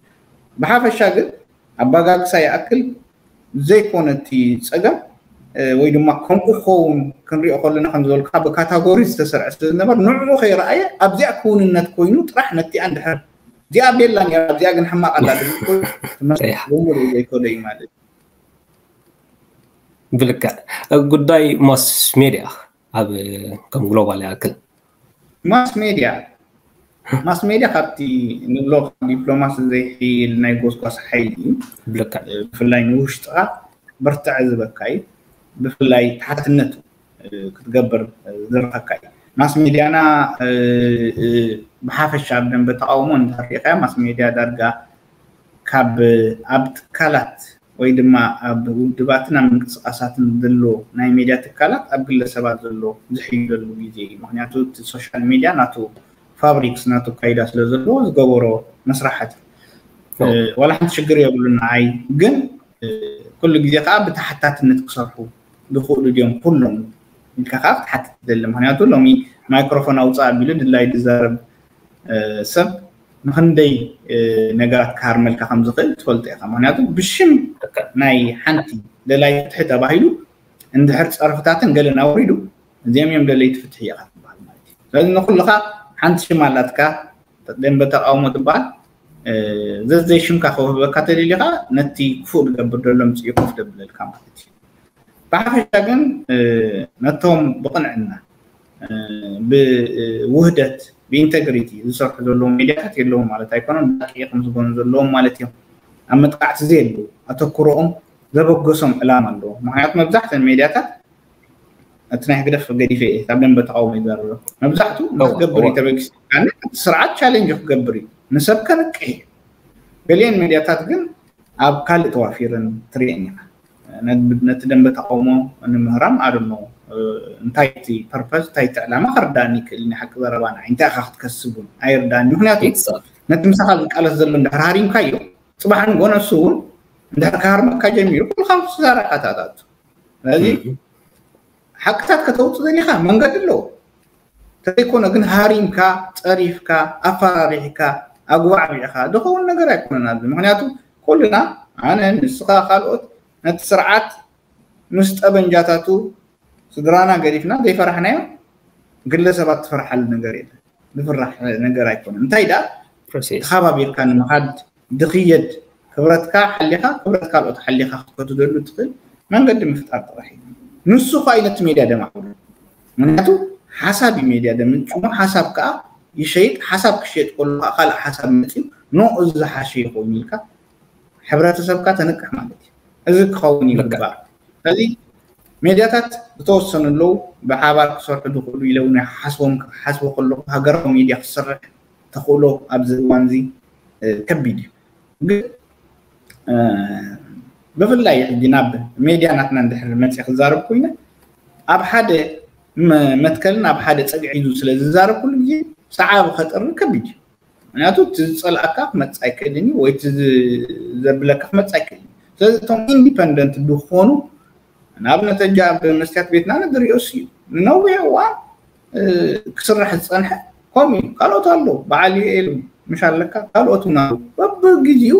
ብሓፈሻ ግን ኣባጋግሳ ይኣክል ዘይኮነ እቲ ፀገም ወይ ድማ ከምኡ ክኸውን ክንሪኦ ከለና ከም ዝበልካ ብካታጎሪ ዝተሰርዐ ስለ ዝነበር ንዕኡ ከይረኣየ ኣብዚኣ ክውንነት ኮይኑ ጥራሕ ነቲኣ እንድሕር እዚኣ ቤላ ነራ እዚኣ ግን ሕማቕ ኣላ ዝብል ኮይኑ ትመስል ብምሉእ ዘይከዶ እዩ ማለት እዩ። ብልክዕ ጉዳይ ማስ ሜድያ ኣብ ከም ግሎባል ይኣክል ማስ ሜድያ ማስ ሜድያ ካብቲ ንብሎ ዲፕሎማሲ ዘይሕይል ናይ ጎስጓስ ሓይሊ እዩ። ብልክዕ ብፍላይ ንውሽጥኻ በርትዐ ዝበካ እዩ። ብፍላይ ተሓትነቱ ክትገብር ዝረኸካ እዩ። ማስ ሜድያና ብሓፈሻ ኣብ ደንበ ተቃውሞ እንተሪእካ ማስ ሜድያ ዳርጋ ካብ ኣብ ትካላት ወይ ድማ ኣብ ውድባትን ኣብ ምንቅስቃሳትን ዘሎ ናይ ሜድያ ትካላት ኣብ ግለሰባት ዘሎ ዝሕይለሉ ግዜ እዩ። ምክንያቱ እቲ ሶሻል ሜድያ ናቱ ፋብሪክስ ናቱ ካይዳ ስለ ዘለዎ ዝገበሮ መስራሓት እዩ። ዋላ ሓንቲ ሽግር የብሉን። ንዓይ ግን ኩሉ ግዜ ከዓ ብተሓታትነት ክሰርሑ ዝኽእሉ ድዮም ኩሎም ኢልካ ከዓ ክትሓትት ትደሊ። ምክንያቱ ሎሚ ማይክሮፎን ኣውፅእ ኣቢሉ ድላይ ዝዛረብ ሰብ ንክንደይ ነገራት ክሃርመልካ ከም ዝኽእል ትፈልጦ ኢኻ። ምክንያቱ ብሽም ናይ ሓንቲ ደላይ ፍትሒ ተባሂሉ እንድሕር ፀርፍታትን ገለን ኣውሪዱ እዚኦም እዮም ደለይቲ ፍትሒ ኢኻ ትበሃል ማለት እዩ። ስለዚ ንኩልኻ ሓንቲ ሽም ኣላትካ፣ ደንበ ተቃውሞ ትበሃል። ዘዘይ ሽምካ ክውህበካ ተደሊኻ ነቲ ክፉእ ዝገብር ዘሎ ምፅኡ ኮፍ ደብለልካ ማለት እዩ። ብሓፈሻ ግን ነቶም ብቕንዕና ብውህደት ብኢንተግሪቲ ዝሰርሑ ዘለዎም ሜድያታት የለዎም ማለት ኣይኮነን። ብሓቂ ከም ዝኮኑ ዘለዎም ማለት እዮም። ኣብ መጥቃዕቲ ዘየሉ ኣተኩሮኦም ዘበገሶም ዕላማ ኣለዎ። ምክንያቱ መብዛሕተን ሜድያታት እቲ ናይ ህግደፍ ገዲፈ እየ ኣብ ደንበ ተቃውሞ ይዛረብ። መብዛሕቱ ንክገብር እዩ ተበጊሱ። ስርዓት ቻሌንጅ ክገብር እዩ፣ ንሰብ ከንቅሕ እዩ። ገሊአን ሜድያታት ግን ኣብ ካልእ ተዋፊረን ትሪአን ኢኻ። ነቲ ደንበ ተቃውሞ ንምህራም ኣድኖ እንታይ እቲ ፐርፐስ እንታይ እቲ ዕላማ ክርዳእኒ ይክእል። ናይ ሓቂ ዘረባ ንዓይ እንታይ ኢኻ ክትከስብ እውን ኣይርዳእኒ። ምክንያቱ ነቲ ምሳኻ ዝቃለስ ዘሎ እንድሕር ሃሪምካዮ ፅባሕ ንጎ ነሱ እውን እንድሕር ክሃርመካ ጀሚሩ ኩልካ ምስ ተዛረብካ ተኣታቱ። ስለዚ ሓቅታት ከተውፅእ ዘሊካ መንገዲ ኣለዎ። ተዘይኮነ ግን ሃሪምካ፣ ፀሪፍካ፣ ኣፈራሪሕካ፣ ኣጉባዕቢዕካ ዝኸውን ነገር ኣይኮነን ኣብዚ። ምክንያቱ ኩልና ኣነ፣ ንስኻ፣ ካልኦት ነቲ ስርዓት ምስ ጠበንጃታቱ ስድራና ገዲፍና ዘይፈራሕናዮ ግለሰባት ትፈርሓሉ ነገር የለን። ዝፍራሕ ነገር ኣይኮነን። እንታይ ደኣ ተኻባቢርካ ንምኻድ ድኽየድ ክብረትካ ሓሊኻ ክብረት ካልኦት ሓሊኻ ክትከትደሉ ትኽእል መንገዲ ምፍጣር ጥራሕ እዩ። ንሱ ኳ እዩ ነቲ ሜድያ ደማዕብሉ። ምክንያቱ ሓሳብ እዩ ሜድያ ደምንጭሞ፣ ሓሳብ ከዓ ይሸይጥ። ሓሳብ ክሸይጥ ከሎ ከዓ ካልእ ሓሳብ መፅዩ ኖ እዚ ዝሓሸ ይኸውን ኢልካ ሕብረተሰብካ ተንቅሕ ማለት እዩ። እዚ ክኸውን ይግባእ። ስለዚ ሜድያታት ዝተወሰኑ ኣለዉ፣ ብሓባር ክሰርሑ ዝኽእሉ ኢለ እውን ይሓስቦም። ክሓስቦ ከለኹ ሃገራዊ ሜድያ ክሰርሕ ተኽእሎ ኣብዚ እዋን እዚ ከቢድ እዩ። ግን ብፍላይ ሕጂ ናብ ሜድያ ናትና እንድሕር መፅእ ክዛረብ ኮይነ ኣብ ሓደ መትከልን ኣብ ሓደ ፀግዒ ሒዙ ስለ ዝዛረብ ኩሉ ግዜ ሰዓቢ ከጥሪ ከቢድ እዩ። ምክንያቱ እቲ ዝፀልኣካ ክመፅእ ኣይክእልን እዩ ወይ እቲ ዘብለካ ክመፅእ ኣይክእልን እዩ። ስለዚ እቶም ኢንዲፐንደንት ዝኾኑ ንኣብነት ሕጂ ኣብ መስትያት ቤትና ንድሪኦስ እዩ ንነዊሕ እዋን ክስራሕ ዝፀንሐ ከምኡ እዩ። ካልኦት ኣለዉ በዓል ዩኤል ምሽ ኣለካ ካልኦት እውን ኣለዉ በብግዜኡ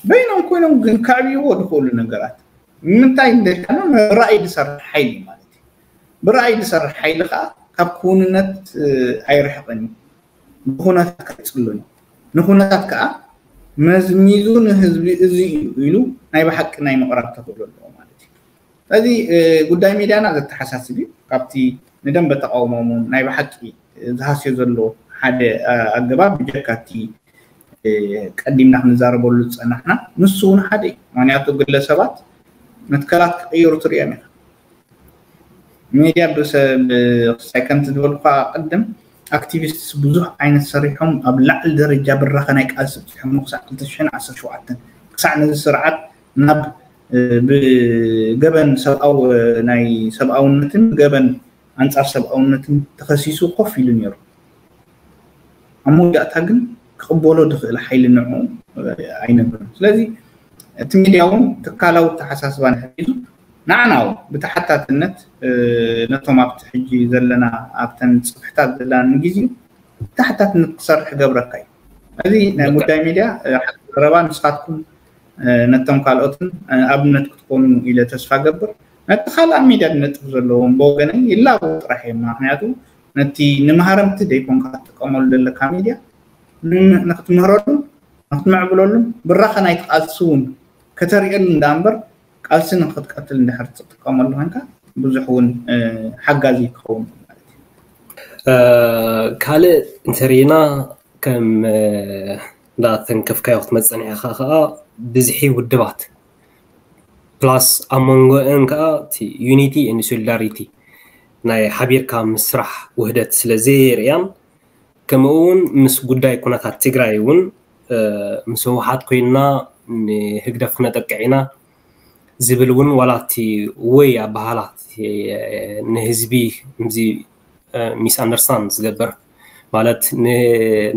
በይኖም ኮይኖም ግን ከዕብይዎ ዝኽእሉ ነገራት ንምንታይ እንደልካኖ ራእይ ዝሰርሕ ሓይሊ ማለት እዩ። ብራእይ ዝሰርሕ ሓይሊ ከዓ ካብ ክውንነት ኣይርሕቕን እዩ። ብኩነታት ከይፅሉን ንኩነታት ከዓ መዝሚዙ ንህዝቢ እዚ እዩ ኢሉ ናይ ብሓቂ ናይ ምቕራብ ተኽእሎ ኣለዎ ማለት እዩ። ስለዚ ጉዳይ ሚድያና ዘተሓሳስብ እዩ። ካብቲ ንደንበ ተቃውሞም ናይ ብሓቂ ዝሃስዮ ዘሎ ሓደ ኣገባብ ብጀካ እቲ ቀዲምና ክንዛረበሉ ዝፀናሕና ንሱ እውን ሓደ እዩ። ምክንያቱ ግለሰባት መትከላት ክቅይሩ ትሪኦም ኢኻ። ሚድያ ብሰብ ክሳይ ከምቲ ዝበልኳ ቅድም ኣክቲቪስትስ ብዙሕ ዓይነት ሰሪሖም ኣብ ላዕሊ ደረጃ ብራኸ ናይ ቃልሲ ኣብፂሖም ክሳዕ ክልተ ሽሕን ዓሰርተ ሸውዓተን ክሳዕ ነዚ ስርዓት ናብ ብገበን ሰብኣዊ ናይ ሰብኣውነትን ገበን ኣንፃር ሰብኣውነትን ተኸሲሱ ኮፍ ኢሉ ነይሩ። ኣብ መወዳእታ ግን ክቕበሎ ዝኽእል ሓይሊ ንዕኡ ኣይነበረን። ስለዚ እቲ ሚድያ እውን ትካላዊ ኣተሓሳስባ ንሕር ሒዙ ንዓና እውን ብተሓታትነት ነቶም ኣብቲ ሕጂ ዘለና ኣብተን ፅፍሕታት ዘለና ንግዜኡ ብተሓታትነት ክሰርሕ ክገብረካ እዩ። እዚ ናይ ጉዳይ ሚድያ ሓቂ ዘረባ ንስኻትኩም ነቶም ካልኦትን ኣብነት ክትኮኑ ኢለ ተስፋ ገብር። ነቲ ካልእ ኣብ ሚድያ ዝነጥፍ ዘለዎም ብወገነይ ይላበው ጥራሕ እዮም። ምክንያቱ ነቲ ንመሃረምቲ ዘይኮንካ ክትጥቀመሉ ዘለካ ሚድያ ንክትምህረሉን ንክትምዕብለሉን ብራኸ ናይቲ ቃልሲ እውን ከተርእየሉ እንዳ እምበር ቃልሲ ንክትቀትል እንድሕር ትጥቀመሉ ኮንካ ብዙሕ እውን ሓጋዚ ክኸውን ማለት እዩ። ካልእ እንተሪእና ከም እንዳተንከፍካዮ ክትመፅእ ኢኻ ከዓ ብዝሒ ውድባት ፕላስ ኣብ መንጎአን ከዓ ዩኒቲ ን ሶሊዳሪቲ ናይ ሓቢርካ ምስራሕ ውህደት ስለ ዘየርእያን ከምኡ እውን ምስ ጉዳይ ኩነታት ትግራይ እውን ምስ ህወሓት ኮይንና ንህግደፍ ክነጠቅዕ ኢና ዝብል እውን ዋላ እቲ ወይ ኣበሃላ ንህዝቢ እዚ ሚስ ኣንደርስታንድ ዝገብር ማለት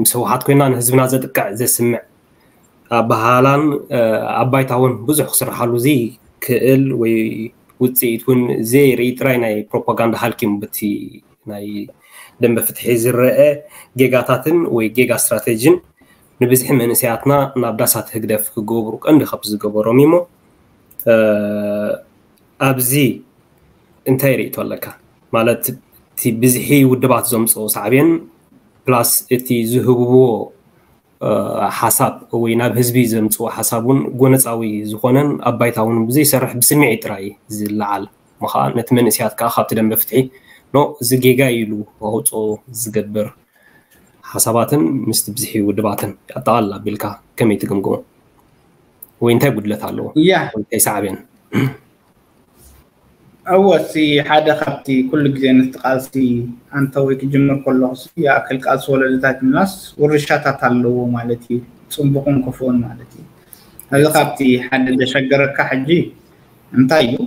ምስ ህወሓት ኮይና ንህዝብና ዘጥቅዕ ዘስምዕ ኣበሃላን ኣብ ባይታ እውን ብዙሕ ክስርሓሉ ዘይክእል ወይ ውፅኢት እውን ዘይርኢ ጥራይ ናይ ፕሮፓጋንዳ ሃልኪ ዩ በቲ ናይ ደንበ ፍትሒ ዝረአ ጌጋታትን ወይ ጌጋ ስትራቴጂን ንብዝሒ መንእሰያትና ናብ ዳሳት ህግደፍ ክገብሩ ቀንዲ ካብ ዝገበሮም እሞ ኣብዚ እንታይ ርእቶ ኣለካ ማለት እቲ ብዝሒ ውድባት ዘምፅኦ ሳዕቤን ፕላስ እቲ ዝህብዎ ሓሳብ ወይ ናብ ህዝቢ ዘምፅዎ ሓሳብ እውን ጎነፃዊ ዝኾነን ኣብ ባይታ እውን ብዘይሰርሕ ብስምዒት ጥራይ ዝለዓል ምኻ ነቲ መንእስያት ከዓ ካብቲ ደንበ ፍትሒ ኖ እዚ ጌጋ ኢሉ ኣውፅኦ ዝገብር ሓሳባትን ምስቲ ብዝሒ ውድባትን ኣጠቓልል ኣቢልካ ከመይ ትግምግሞ ወይ እንታይ ጉድለት ኣለዎ እያ እንታይ ሳዕቤን እወ እቲ ሓደ ካብቲ ኩሉ ግዜ ነቲ ቃልሲ ኣንተ ወይ ክጅምር ከለኹ ይኣክል ቃልሲ ወለድታት ምናስ ውርሻታት ኣለዎ ማለት እዩ ፅቡቕን ክፉኡን ማለት እዩ እዚ ካብቲ ሓደ ዘሸገረካ ሕጂ እንታይ እዩ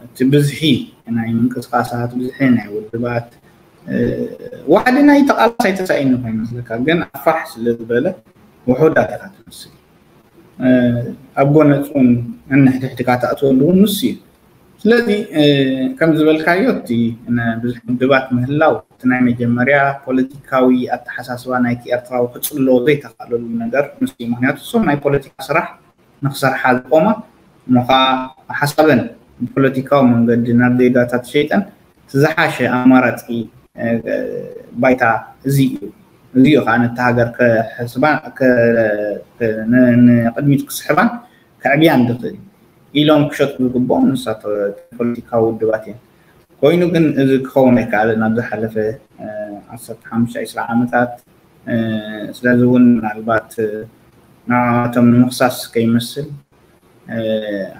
እቲ ብዝሒ ናይ ምንቅስቃሳት ብዝሒ ናይ ውድባት ዋሕዲ ናይ ተቃላሳይ ተሳኢኑ ከይመስለካ ግን ኣፋሕ ስለ ዝበለ ውሑዳት ኢካ ትመስል ኣብ ጎነፁን እንሕድሕድካ ተኣትወሉ እውን ንሱ እዩ ስለዚ ከም ዝበልካዮ እቲ ብዙሕ ውድባት ምህላው እቲ ናይ መጀመርያ ፖለቲካዊ ኣተሓሳስባ ናይቲ ኤርትራዊ ክፅሎ ዘይተካለሉ ነገር ንሱ እዩ ምክንያቱ እሶም ናይ ፖለቲካ ስራሕ ንክሰርሓ ዝቆማ እሞ ከዓ ሓሳበን ብፖለቲካዊ መንገዲ ናብ ዜጋታት ሸይጠን እቲ ዝሓሸ ኣማራፂ ባይታ እዚ እዩ እዚ እዩ ከዓ ነቲ ሃገር ከሕስባን ንቅድሚት ክስሕባን ከዕብያን ዝኽእል ኢሎም ክሸጡ ዝግብኦም ንሳቶ ፖለቲካዊ ውድባት እዮም ኮይኑ ግን እዚ ክኸውን ኣይከኣልን ኣብ ዝሓለፈ ዓሰርተ ሓሙሽተ ዓመታት ስለዚ እውን ምናልባት ንዓቶም ንምኽሳስ ከይመስል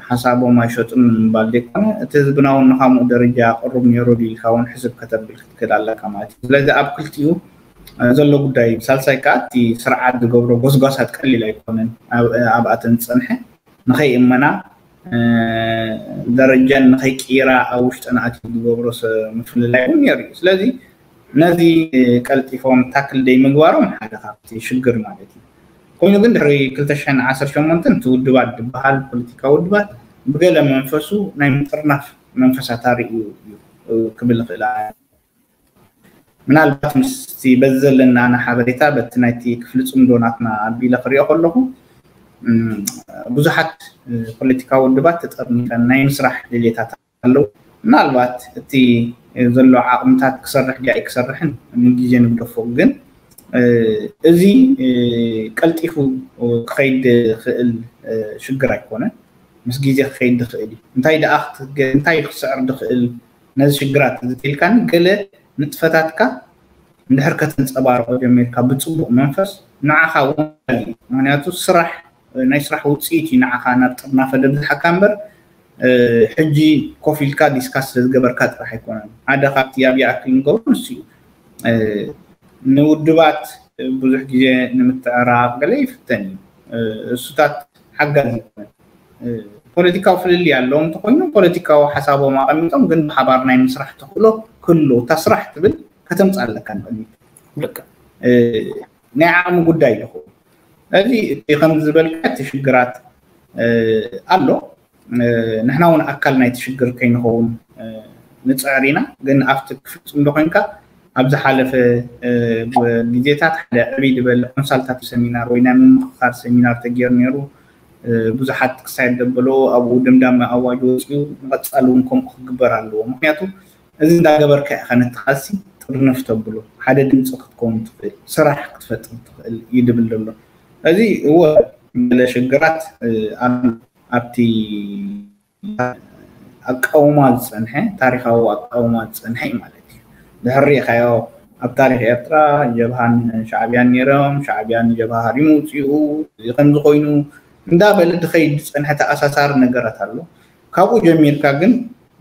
ሓሳቦም ኣይሸጡን ንምባል ዘይኮነ እቲ ህዝብና እውን ንካምኡ ደረጃ ቅሩብ ነይሩ ኢልካ እውን ሕስብ ከተብል ክትክእል ኣለካ ማለት እዩ ስለዚ ኣብ ክልቲኡ ዘሎ ጉዳይ እዩ ሳልሳይ ከዓ እቲ ስርዓት ዝገብሮ ጎስጓሳት ቀሊል ኣይኮነን ኣብኣተን ዝፀንሐ ንኸይእመና ደረጀን ንኸይቅይራ ኣብ ውሽጥና ኣትዩ ዝገብሮ ምፍልላይ እውን ነይሩ እዩ ስለዚ ነዚ ቀልጢፎም ታክል ደይ ምግባሮም ሓደ ካብቲ ሽግር ማለት እዩ ኮይኑ ግን ድሕሪ ክልተ ሽሕን ዓሰርተ ሸሞንተን እቲ ውድባት ዝበሃል ፖለቲካ ውድባት ብገለ መንፈሱ ናይ ምጥርናፍ መንፈሳት ኣርእዩ እዩ ክብል ይኽእል ምናልባት ምስቲ በዚ ዘለና ኣነ ሓበሬታ በቲ ናይቲ ክፍሊ ፅምዶ ናትና ኣቢለ ክሪኦ ከለኹ ብዙሓት ፖለቲካዊ ውድባት ተጠርኒፈን ናይ ምስራሕ ድሌታት ኣለዉ ምናልባት እቲ ዘሎ ዓቕምታት ክሰርሕ ጃኢ ክሰርሕን ንግዜ ንግደፎ ግን እዚ ቀልጢፉ ክኸይድ ዝኽእል ሽግር ኣይኮነን ምስ ግዜ ክኸይድ ዝኽእል እዩ እንታይ ደኣ እንታይ ክስዕር ዝኽእል ነዚ ሽግራት እዚ ኢልካኒ ገለ ንጥፈታትካ እንድሕር ከተንፀባርቆ ጀሚርካ ብፅቡቅ መንፈስ ንዓኻ እውን ምክንያቱ ስራሕ ናይ ስራሕ ውፅኢት እዩ ንዓኻ ናብ ጥርናፈ ደብዝሓካ እምበር ሕጂ ኮፍ ኢልካ ዲስካስ ስለዝገበርካ ጥራሕ ኣይኮነን ሓደ ካብቲ ኣብ ይኣክል ንገብሮ ንሱ እዩ ንውድባት ብዙሕ ግዜ ንምትዕራቕ ገለ ይፍተን እዩ እሱታት ሓጋዚ ይኮነን ፖለቲካዊ ፍልልይ ኣለዎም እንተኮይኑ ፖለቲካዊ ሓሳቦም ኣቐሚጦም ግን ብሓባር ናይ ምስራሕ ተኽእሎ ክህሉ እታ ስራሕ ትብል ከተምፅእ ኣለካ ንቅድሚት ልክ ናይ ዓቕሚ ጉዳይ ይኸውን እዚ እቲ ከም ዝበልካ እቲ ሽግራት ኣሎ ንሕና እውን ኣካል ናይቲ ሽግር ከይንኸውን ንፅዕር ኢና ግን ኣብቲ ክፍፅም ዶ ኮይንካ ኣብ ዝሓለፈ ግዜታት ሓደ ዕብይ ዝበለ ኮንሳልታቲቭ ሰሚናር ወይ ናይ ምምክኻር ሰሚናር ተገይሩ ነይሩ ብዙሓት ክሳየት ዘበለዎ ኣብኡ ድምዳመ ኣዋጅ ወፅኡ ንቐፃሊ እውን ከምኡ ክግበር ኣለዎ ምክንያቱ እዚ እንዳገበርካ ኢኻ ነቲ ቃልሲ ጥርንፍ ተብሎ ሓደ ድምፂ ክትከውን ትኽእል ስራሕ ክትፈጥር ትኽእል እዩ ድብል ዘሎ እዚ እወ ገለ ሽግራት ኣብቲ ኣቃውማ ዝፀንሐ ታሪካዊ ኣቃውማ ዝፀንሐ እዩ ማለት እዩ ድሕር ሪኢኻዮ ኣብ ታሪክ ኤርትራ ጀብሃን ሻዕብያን ነይሮም ሻዕብያን ጀብሃ ሃሪሙ ውፅኡ እዚ ከምዚ ኮይኑ እንዳበለ ድኸይድ ዝፀንሐ ተኣሳሳሪ ነገራት ኣሎ ካብኡ ጀሚርካ ግን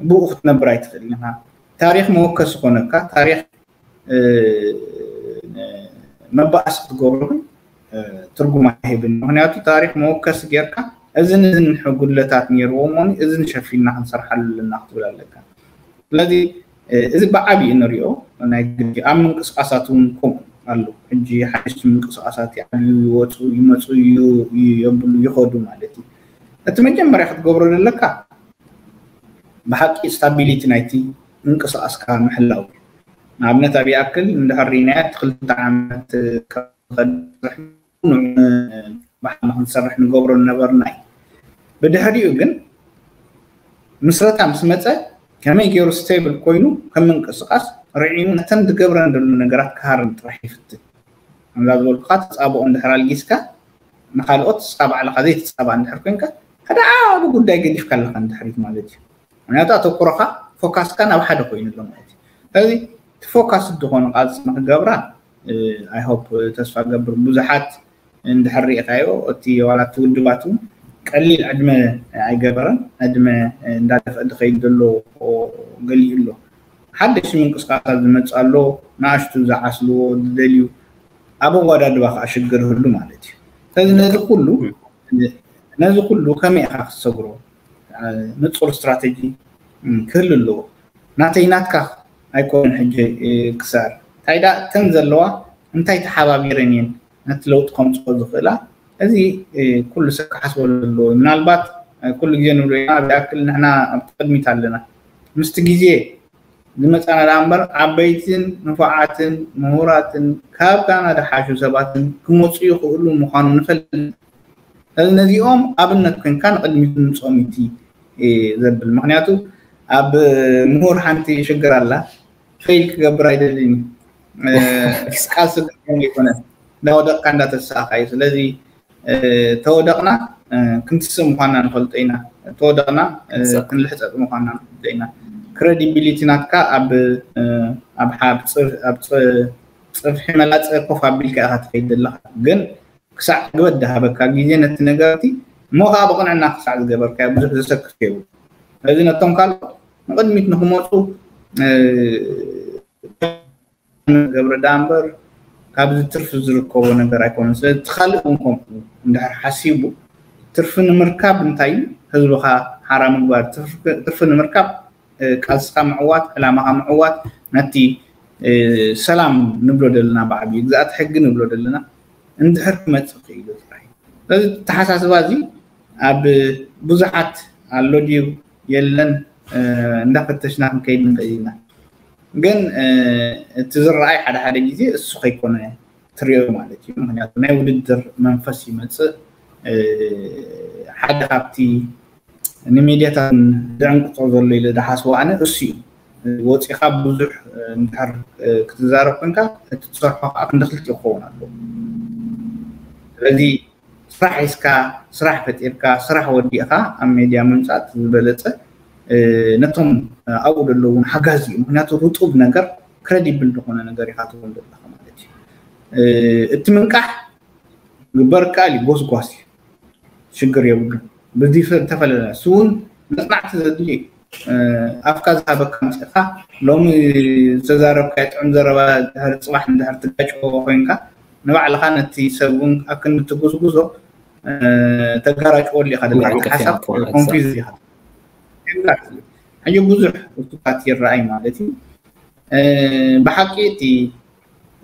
ብኡ ክትነብር ኣይትኽእል ኢኻ ታሪክ መወከሲ ኮነካ ታሪክ መባእሲ ክትገብሮ ግን ትርጉም ኣይህብን ምክንያቱ ታሪክ መወከሲ ጌርካ እዝን እዝን ጉድለታት ነይርዎ እሞ እዝን ሸፊንና ክንሰርሓሉ ኣለና ክትብል ኣለካ። ስለዚ እዚ ብዓብዩ ንሪኦ ናይ ግዲ ኣብ ምንቅስቃሳት እውን ከምኡ ኣሎ። ሕጂ ሓደሽቲ ምንቅስቃሳት ይዓብዩ ይወፁ ይመፁ የብሉ ይኸዱ ማለት እዩ። እቲ መጀመርያ ክትገብሮ ዘለካ ብሓቂ ስታቢሊቲ ናይቲ ምንቅስቃስካ ምሕላው እዩ። ንኣብነት ኣብ ይኣክል እንድሕር ሪናያ እቲ ክልተ ዓመት ንክንሰርሕ ንገብሮ ነበርና እዩ። ብድሕሪኡ ግን ምስረታ ምስ መፀ ከመይ ገይሩ ስቴብል ኮይኑ ከም ምንቅስቃስ ርዒሙ ነተን ዝገብረን ዘሎ ነገራት ክሃርም ጥራሕ ይፍትን። ከምዛ ዝበልኩካ ተፃብኦ እንድሕር ኣልጊስካ ንካልኦት ንስካ ባዕልካ ዘይትፃባእ እንድሕር ኮንካ ሓደ ዓቢ ጉዳይ ገዲፍካ ኣለካ ንድሕሪት ማለት እዩ። ምክንያቱ ኣተኩሮካ ፎካስካ ናብ ሓደ ኮይኑ ኣሎ ማለት እዩ። ስለዚ እቲ ፎካስ ዝኾነ ቃልሲ ንክገብራ I hope ተስፋ ገብር ብዙሓት እንድሕር ሪኢኻዮ እቲ ዋላ እቲ ውድባት እውን ቀሊል ዕድመ ኣይገበረን። ዕድመ እንዳደፍአ ዝኸይድ ዘሎ ገሊኡ ኣሎ። ሓደሽቲ ምንቅስቃሳት ዝመፅእ ኣሎ፣ ንኣሽቱ ዝዓስልዎ ዝደልዩ ኣብ ኣወዳድባ ከዓ ሽግር ህሉ ማለት እዩ። ስለዚ ነዚ ኩሉ ነዚ ኩሉ ከመይ ኢኻ ክትሰግሮ? ንፁር ስትራተጂ ክህሉ ኣለዎ። ናተይ ናትካ ኣይኮነን ሕጂ ክሳር እንታይ ዳ እተን ዘለዋ እንታይ ተሓባቢረን እየን ነቲ ለውጢ ከምፅኦ ዝኽእላ? እዚ ኩሉ ሰብ ክሓስበሉ ኣለዎ። ምናልባት ኩሉ ግዜ ንብሎ ኢና ብኣክል ንሕና ኣብ ቅድሚት ኣለና ምስቲ ግዜ ዝመፃና ደኣ እምበር ዓበይትን ንፉዓትን ምሁራትን ካብ ካናዳ ሓሹ ሰባትን ክመፁ ይኽእሉ ምዃኑ ንፈልጥ። ስለዚ ነዚኦም ኣብነት ኮንካ ንቅድሚት ምምፅኦም እቲ ዘብል ምክንያቱ ኣብ ምሁር ሓንቲ ሽግር ኣላ። ፌል ክገብር ኣይደልን እዩ። ቃልሲ ክገብር ኣይኮነን እንዳወደቅካ እንዳተሳእካ እዩ። ስለዚ ተወደቕና ክንትስእ ምኳንና ንፈልጦ ኢና። ተወደቕና ክንልሕፀጥ ምኳንና ንፈልጦ ኢና። ክረዲቢሊቲ ናትካ ኣብ ኣብ ሓብ ኣብ ፅፍሒ መላፀ ኮፍ ኣቢልካ ኢካ ትኸይድ ዘለካ ግን ክሳዕ ግበት ዝሃበካ ግዜ ነቲ ነገርቲ እሞ ከዓ ብቕንዕና ክሳዕ ዝገበርካዮ ብዙሕ ዘሰክፍ የብሉ። ስለዚ ነቶም ካልኦት ንቕድሚት ንክመፁ ገብረ ዳ እምበር ካብዚ ትርፊ ዝርከቦ ነገር ኣይኮነን። ስለዚ እቲ ካልእ እውን ከምኡ እንድሕር ሓሲቡ ትርፊ ንምርካብ እንታይ እዩ ህዝብካ ሓራ ምግባር ትርፊ ንምርካብ ቃልስካ ምዕዋት ዕላማካ ምዕዋት ነቲ ሰላም ንብሎ ዘለና ብዓብዩ ግዛኣት ሕጊ ንብሎ ዘለና እንድሕር ክመፅእ ክኢሉ ጥራይ። ስለዚ ተሓሳስባ እዚ ኣብ ብዙሓት ኣሎ ድዩ የለን እንዳፈተሽና ክንከይድ ንኽእል ኢና። ግን እቲ ዝረኣይ ሓደ ሓደ ግዜ እሱ ከይኮነ ትሪኦ ማለት እዩ። ምክንያቱ ናይ ውድድር መንፈስ ይመፅእ። ሓደ ካብቲ ንሜድያታት ድዕንቅፆ ዘሎ ኢለ ዝሓስቦ ኣነ እሱ እዩ። ወፂኻ ብዙሕ እንድሕር ክትዛረብ ኮንካ እቲ ትሰርሖ ከዓ ክንዲ ክልቲኡ ክኸውን ኣለዎ። ስለዚ ስራሕ ሒዝካ ስራሕ ፈጢርካ ስራሕ ወዲእካ ኣብ ሜድያ ምምፃእ ዝበለፀ ነቶም ኣብኡ ዘለውን ሓጋዚ እዩ። ምክንያቱ ርጡብ ነገር ክረዲብል ዝኾነ ነገር ኢካ ትኾን ዘለካ ማለት እዩ። እቲ ምንቃሕ ግበር ካል ጎስጓስ እዩ። ሽግር የብሉን። ብዚ ተፈለለ እሱ እውን መፅናዕቲ ዘድሊ እዩ። ኣፍካ ዝሃበካ ምፅእካ ሎሚ ዝተዛረብካ ጥዑም ዘረባ ድሕር ፅባሕ እንድሕር ትጋጭዎ ኮይንካ ንባዕልካ ነቲ ሰብ እውን ኣብ ክንዲ ትጉስጉዞ ተጋራጭወሉ ኢካ ደለካ ሓሳብ ኮንፊዝ ኢካ። ሕጂ ብዙሕ እሱታት ይረኣይ ማለት እዩ። ብሓቂ እቲ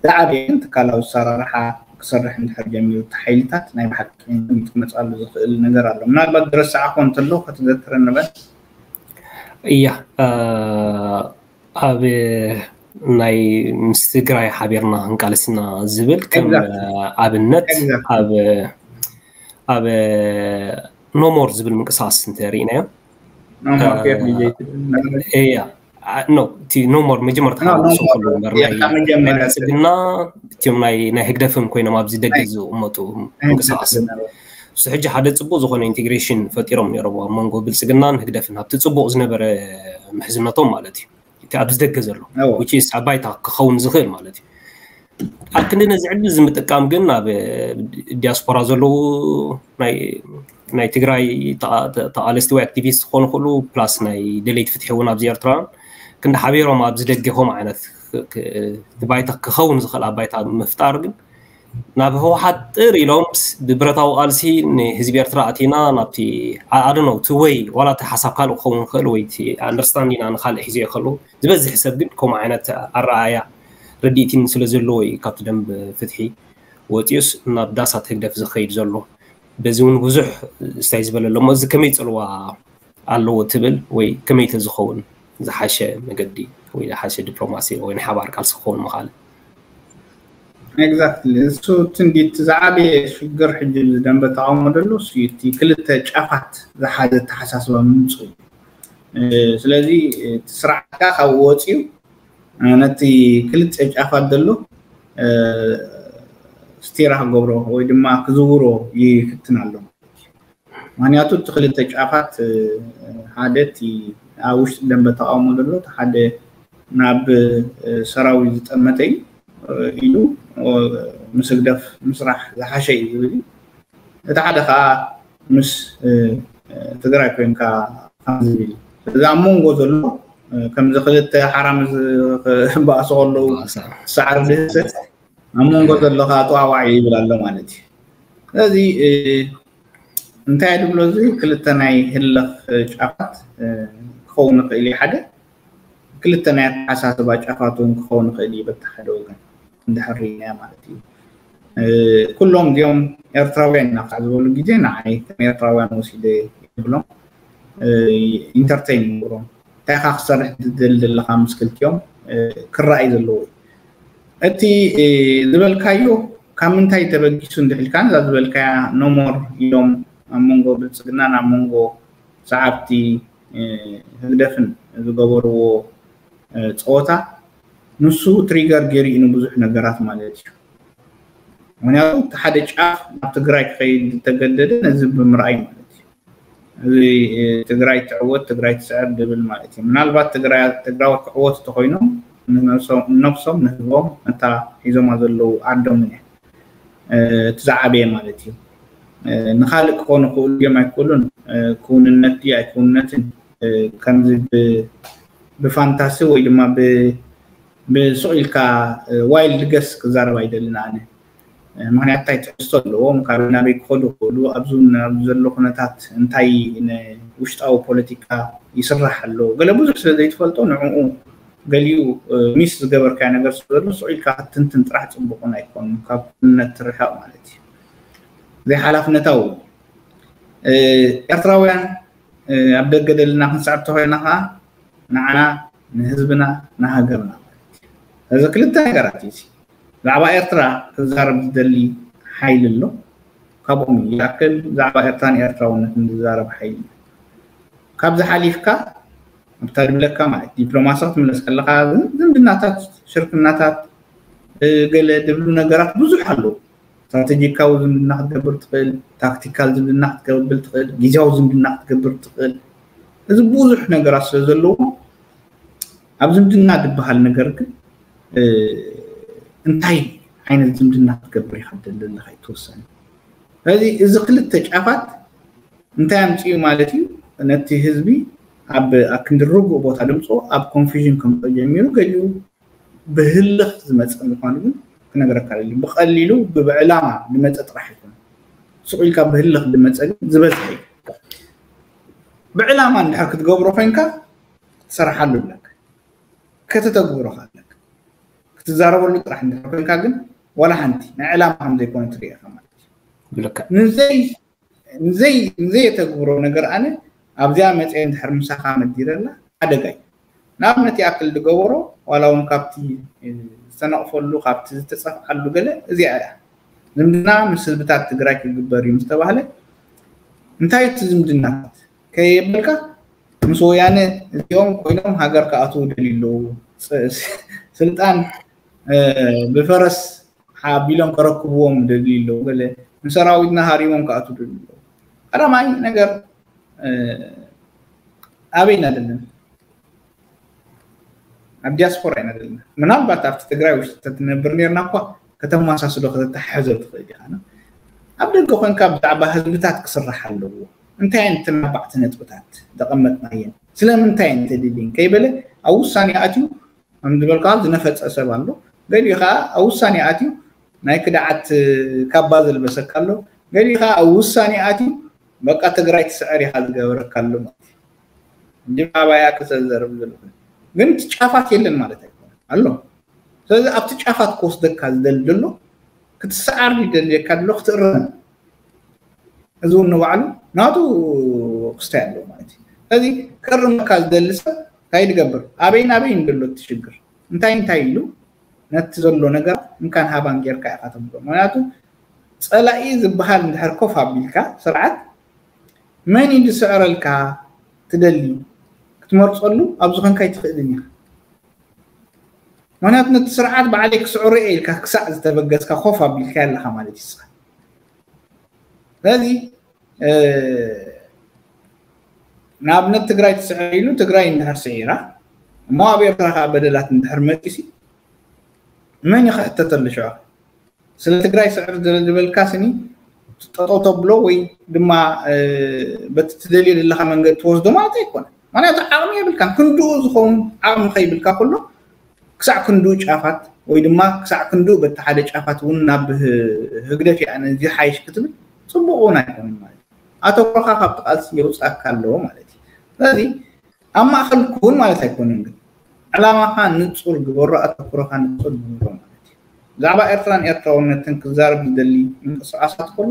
ዝዓበየ ግን ትካላዊ ኣሰራርሓ ክሰርሕ እንድሕር ጀሚሩ እቲ ሓይልታት ናይ ብሓቂ ክመፅኣሉ ዝኽእል ነገር ኣሎ። ምናልባት ዝረሳዕኮ እንተሎ ከተዘክረኒ በል። እያ ኣብ ናይ ምስ ትግራይ ሓቢርና ክንቃለስና ዝብል ከም ኣብነት ኣብ ኣብ ኖሞር ዝብል ምንቅስቃስ እንተሪእናዮ እያ ኖ እቲ ኖሞር መጀመርታ ዝሰፈሉ እምበር ናይ ብልፅግና እቲኦም ናይ ናይ ህግደፍን ኮይኖም ኣብዚ ደገ ዝቕመጡ ምንቅስቃስ እሱ ሕጂ ሓደ ፅቡቅ ዝኾነ ኢንቴግሬሽን ፈጢሮም ነይሮም ኣብ መንጎ ብልፅግናን ህግደፍን ኣብቲ ፅቡቅ ዝነበረ ምሕዝነቶም ማለት እዩ እቲ ኣብዚ ደገ ዘሎ which is ኣብ ባይታ ክኸውን ዝኽእል ማለት እዩ ኣብ ክንዲ ነዚ ዕድል እዚ ምጥቃም ግን ኣብ ዲያስፖራ ዘለዉ ናይ ትግራይ ተቓለስቲ ወይ ኣክቲቪስት ክኾኑ ክእሉ ፕላስ ናይ ደለይቲ ፍትሒ እውን ኣብዚ ኤርትራ ክንዲ ሓቢሮም ኣብዚ ደገ ከምኡ ዓይነት ባይታ ክኸውን ዝኽእል ኣብ ባይታ ምፍጣር ግን ናብ ህወሓት ጥር ኢሎም ብብረታዊ ቃልሲ ንህዝቢ ኤርትራ ኣቲና ናብቲ ኣደነው እቲ ወይ ዋላ እቲ ሓሳብ ካልእ ክኸውን ይኽእል ወይ እቲ ኣንደርስታንዲና ንካልእ ሒዘ ይኽእሉ ዝበዝሕ ሰብ ግን ከምኡ ዓይነት ኣረኣያ ረዲእቲን ስለ ዘለዎ እዩ ካብቲ ደንብ ፍትሒ ወፂኡስ ናብ ዳሳት ህግደፍ ዝኸይድ ዘሎ። በዚ እውን ብዙሕ ስታይ ዝበለ ኣሎ እሞ እዚ ከመይ ፅልዋ ኣለዎ ትብል ወይ ከመይ ተዝኸውን ዝሓሸ መገዲ ወይ ዝሓሸ ዲፕሎማሲ ወይ ንሓባር ቃልሲ ክኸውን ምኻል? Exactly። እሱ ትንዲት ዝዓበየ ሽግር ሕጂ ደንበ ተቃውሞ ደሎ እሱ እቲ ክልተ ጫፋት ዝሓዘ ተሓሳስባ ምምፁ እዩ። ስለዚ እቲ ስርዓትካ ካብ ወፂኡ ነቲ ክልተ ጫፋት ደሎ ስቲራ ክገብሮ ወይ ድማ ክዝውሮ ይፍትን ኣሎ። ምክንያቱ እቲ ክልተ ጫፋት ሓደ እቲ ኣብ ውሽጢ ደንበ ተቃውሞ ዘሎ እቲ ሓደ ናብ ሰራዊት ዝጠመተ እዩ ኢሉ ምስ ህግደፍ ምስራሕ ዝሓሸ እዩ ዝብል እዩ። እቲ ሓደ ከዓ ምስ ትግራይ ኮይንካ ዝብል እዩ። ስለዚ ኣብ መንጎ ዘሎ ከምዚ ክልተ ሓራምዝ ክበኣሱ ከለዉ ሳዕሪ ድህሰት ኣብ መንጎ ዘሎ ከዓ ጠዋዋዒ ይብል ኣሎ ማለት እዩ። ስለዚ እንታይ ድብሎ እዚ ክልተ ናይ ህለኽ ጫፋት ክኸውን ይኽእል እዩ። ሓደ ክልተ ናይ ኣተሓሳስባ ጫፋት እውን ክኸውን ይኽእል እዩ። በቲ ሓደ ወገን እንድሕር ርኢናዮ ማለት እዩ። ኩሎም እዚኦም ኤርትራውያን ኢና ክሳዕ ዝበሉ ግዜ ንዓይ ከም ኤርትራውያን ወሲደ ይብሎም ኢንተርቴን ይገብሮም። እንታይ ኢኻ ክሰርሕ ትደሊ ዘለኻ ምስ ክልቲኦም ክረኣይ ዘለዎ እዩ። እቲ ዝበልካዮ ካብ ምንታይ ተበጊሱ እንድሕልካ እዛ ዝበልካያ ኖሞር ኢሎም ኣብ መንጎ ብልፅግናን ኣብ መንጎ ሰዓብቲ ህግደፍን ዝገበርዎ ፀወታ ንሱ ትሪገር ገይሩ እዩ ንብዙሕ ነገራት ማለት እዩ። ምክንያቱ እቲ ሓደ ጫፍ ናብ ትግራይ ክኸይድ ዝተገደደ ነዚ ብምርኣይ ማለት እዩ። እዚ ትግራይ ትዕወት ትግራይ ትስዕር ድብል ማለት እዩ። ምናልባት ትግራይ ትግራወት ክዕወት እንተኮይኖም ንነብሶም ንህዝቦም ነታ ሒዞማ ዘለዉ ዓዶምን እያ እቲ ዝዓበየ ማለት እዩ። ንካልእ ክኾኑ ክእሉ እዮም ኣይክእሉን ክውንነት ድዩ ኣይክውንነትን ከምዚ ብፋንታሲ ወይ ድማ ብስቕ ኢልካ ዋይልድ ገስ ክዛረብ ኣይደልን ኣነ። ምክንያት እንታይ ትሕዝቶ ኣለዎም፣ ካብ ናበይ ክኸዱ ክእሉ፣ ኣብዚ ዘሎ ኩነታት እንታይ ውሽጣዊ ፖለቲካ ይስራሕ ኣሎ፣ ገለ ብዙሕ ስለ ዘይትፈልጦ ንዕኡ ገሊኡ ሚስ ዝገበርካዮ ነገር ስለ ዘሎ ስቕ ኢልካ ክትንትን ጥራሕ ፅቡቕን ኣይኮኑን፣ ካብ ክውንነት ትርሕቕ ማለት እዩ። ዘይሓላፍነታዊ ኤርትራውያን ኣብ ደገ ደልና ክንስዕብ ተኮይና ከዓ ንዓና ንህዝብና ንሃገርና ማለት እዩ። እዚ ክልተ ነገራት እዩ። ብዛዕባ ኤርትራ ክዛረብ ዝደሊ ሓይሊ ኣሎ። ካብኦም ይኣክል ብዛዕባ ኤርትራን ኤርትራውነትን ዝዛረብ ሓይሊ እዩ። ካብዚ ሓሊፍካ ኣብታ ድብለካ ማለት ዲፕሎማሲ ክትምለስ ከለካ ዝምድናታት ሽርክናታት ገለ ድብሉ ነገራት ብዙሕ ኣለዉ። ስትራቴጂካዊ ዝምድና ክትገብር ትኽእል፣ ታክቲካል ዝምድና ክትገብር ትኽእል፣ ግዜያዊ ዝምድና ክትገብር ትኽእል። እዚ ብዙሕ ነገራት ስለ ዘለዎ ኣብ ዝምድና ዝበሃል ነገር ግን እንታይ ዓይነት ዝምድና ክትገብር ኢኻ ትደሊ ዘለኻ ይትወሰን። ስለዚ እዚ ክልተ ጫፋት እንታይ ኣምፅኡ ማለት እዩ? ነቲ ህዝቢ ኣብ ኣክንዲ ርጉእ ቦታ ድምፆ ኣብ ኮንፊዥን ከምፅኦ ጀሚሩ ገሊኡ ብህልኽ ዝመፀ ምኳኑ ግን ክነግረካ ደሊ። ብቐሊሉ ብዕላማ ዝመፀ ጥራሕ ይኮነ። ስቕ ኢልካ ብህልኽ ዝመፀ ግን ዝበዝሐ እዩ። ብዕላማ እንድሕር ክትገብሮ ኮይንካ ክትሰርሓሉ ኣለካ፣ ከተተግብሮ ኣለካ። ክትዛረበሉ ጥራሕ እንድሕር ኮይንካ ግን ዋላ ሓንቲ ናይ ዕላማ ከም ዘይኮነ ትርኢ ኢኻ ማለት እዩ። ብልክዕ ንዘይ ንዘይ ንዘየተግብሮ ነገር ኣነ ኣብዚኣ መፅየ እንድሕር ምሳኻ መዲረላ ሓደጋ እዩ። ንኣብነት ይኣክል ዝገበሮ ዋላ እውን ካብቲ ዝተነቕፈሉ ካብቲ ዝተፀፍዓሉ ገለ እዚኣ እያ። ዝምድና ምስ ህዝብታት ትግራይ ክግበር እዩ ምስተባህለ እንታይ እቲ ዝምድናታት ከየበልካ ምስ ወያነ እዚኦም ኮይኖም ሃገር ክኣትዉ ደልዩ ኣለዉ። ስልጣን ብፈረስ ሓቢሎም ከረክብዎም ደልዩ ኣለዉ። ገለ ንሰራዊትና ሃሪሞም ክኣትዉ ደልዩ ኣለዉ። ቀዳማይ ነገር ኣበይ ኢና ዘለና? ኣብ ዲያስፖራ ኢና ዘለና። ምናልባት ኣብቲ ትግራይ ውሽጢ ተትነብር ነርና እኳ ከተመሳስሎ ከተተሓሕዞ ትኽእል ኢኻ። ኣብ ደገ ኮንካ ብዛዕባ ህዝብታት ክስራሕ ኣለዎ። እንታይ እየን እተን ኣርባዕተ ነጥብታት ዘቐመጥናየን? ስለምንታይ እየን ተደልየን? ከይበለ ኣብ ውሳኔ ኣትዩ ከም ዝበልካ ዝነፈፀ ሰብ ኣሎ። ገሊኡ ከዓ ኣብ ውሳኔ ኣትዩ ናይ ክድዓት ካባ ዘልበሰካ ኣሎ። ገሊኻ ኣብ ውሳኔ ኣትዩ በቃ ትግራይ ትስዕር ኢኻ ዝገበረካ ኣሎ ማለት እዩ። እንዲ ኣባያ ክሰዘርብ ዘለኹ ግን እቲ ጫፋት የለን ማለት ኣይኮነን ኣሎ። ስለዚ ኣብቲ ጫፋት ክወስደካ ዝደሊ ዘሎ ክትሰዓር ይደልየካ ኣሎ ክትእረም። እዚ እውን ንባዕሉ ናቱ ክስታይ ኣለዎ ማለት እዩ። ስለዚ ክእርመካ ዝደሊ ሰብ እንታይ ዝገብር ኣበይን ኣበይን ዘሎ እቲ ሽግር እንታይ እንታይ ኢሉ ነቲ ዘሎ ነገር እንካን ሃባን ጌርካ ኢኻ ተምሮ። ምክንያቱ ፀላኢ ዝበሃል እንድሕር ኮፍ ኣቢልካ ስርዓት መን እዩ ዝስዕረልካ ትደሊ ክትመርፀሉ ኣብ ዝኾንካ ኣይትኽእልን ኢኻ። ምክንያቱ ነቲ ስርዓት ባዕለይ ክስዕሮ እየ ኢልካ ክሳዕ ዝተበገስካ ኮፍ ኣቢልካ ኣለኻ ማለት እዩ። ስለዚ ንኣብነት ትግራይ ትስዕር ኢሉ ትግራይ እንድሕር ስዒራ እሞ ኣብ ኤርትራ ከዓ በደላት እንድሕር መፂሲ መን እዩ ክሕተተሉ ሽዑ? ስለ ትግራይ ስዕር ዝበልካ ስኒ ጠጠው ተብሎ ወይ ድማ በቲ ትደልዮ ዘለካ መንገዲ ትወስዶ ማለት ኣይኮነ። ምክንያቱ ዓቕሚ የብልካን። ክንድኡ ዝኸውን ዓቕሚ ከይብልካ ከሎ ክሳዕ ክንድኡ ጫፋት ወይ ድማ ክሳዕ ክንድኡ በቲ ሓደ ጫፋት እውን ናብ ህግደፍ እያ ነዚ ሓይሽ ክትብል ፅቡቅ እውን ኣይኮነን ማለት እዩ። ኣተኩሮኻ ካብቲ ቃልሲ የውፅኣካ ኣለዎ ማለት እዩ። ስለዚ ኣብ ማእኸል ኩን ማለት ኣይኮነን፣ ግን ዕላማኻ ንፁር ግበሮ፣ ኣተኩሮኻ ንፁር ግበሮ ማለት እዩ። ብዛዕባ ኤርትራን ኤርትራውነትን ክዛረብ ዝደሊ ምንቅስቃሳት ከሎ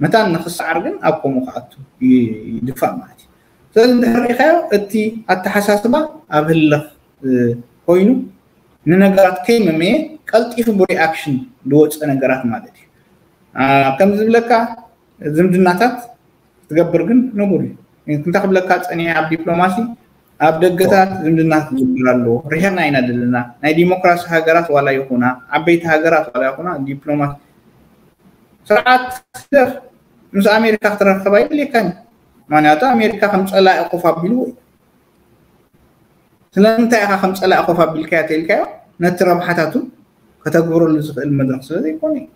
መታን ንክሰዓር ግን ኣብ ከምኡ ክኣቱ ይድፋእ ማለት እዩ። ስለዚ እንድሕር ሪኢኻዮ እቲ ኣተሓሳስባ ኣብ ህልኽ ኮይኑ ንነገራት ከይመመየ ቀልጢፉ ብሪኣክሽን ዝወፀ ነገራት ማለት እዩ። ከምዚ ዝብለካ ዝምድናታት ክትገብር ግን ንቡር እዩ። እንታይ ክብለካ ፀኒሐ ኣብ ዲፕሎማሲ ኣብ ደገታት ዝምድና ክግበር ኣለዎ። ርሒቕና ኢና ዘለና። ናይ ዲሞክራሲ ሃገራት ዋላ ይኹና ዓበይቲ ሃገራት ዋላ ይኹና ዲፕሎማሲ ስርዓት ምስ ኣሜሪካ ክትራኸብ ኣይድልየካን። ምክንያቱ ኣሜሪካ ከም ፀላኢ ኮፍ ኣቢልዎ እዩ። ስለምንታይ ኢኻ ከም ፀላኢ ኮፍ ኣቢልካዮ ተኢልካዮ ነቲ ረብሓታቱ ከተግብረሉ ዝኽእል መድረክ ስለ ዘይኮነ እዩ።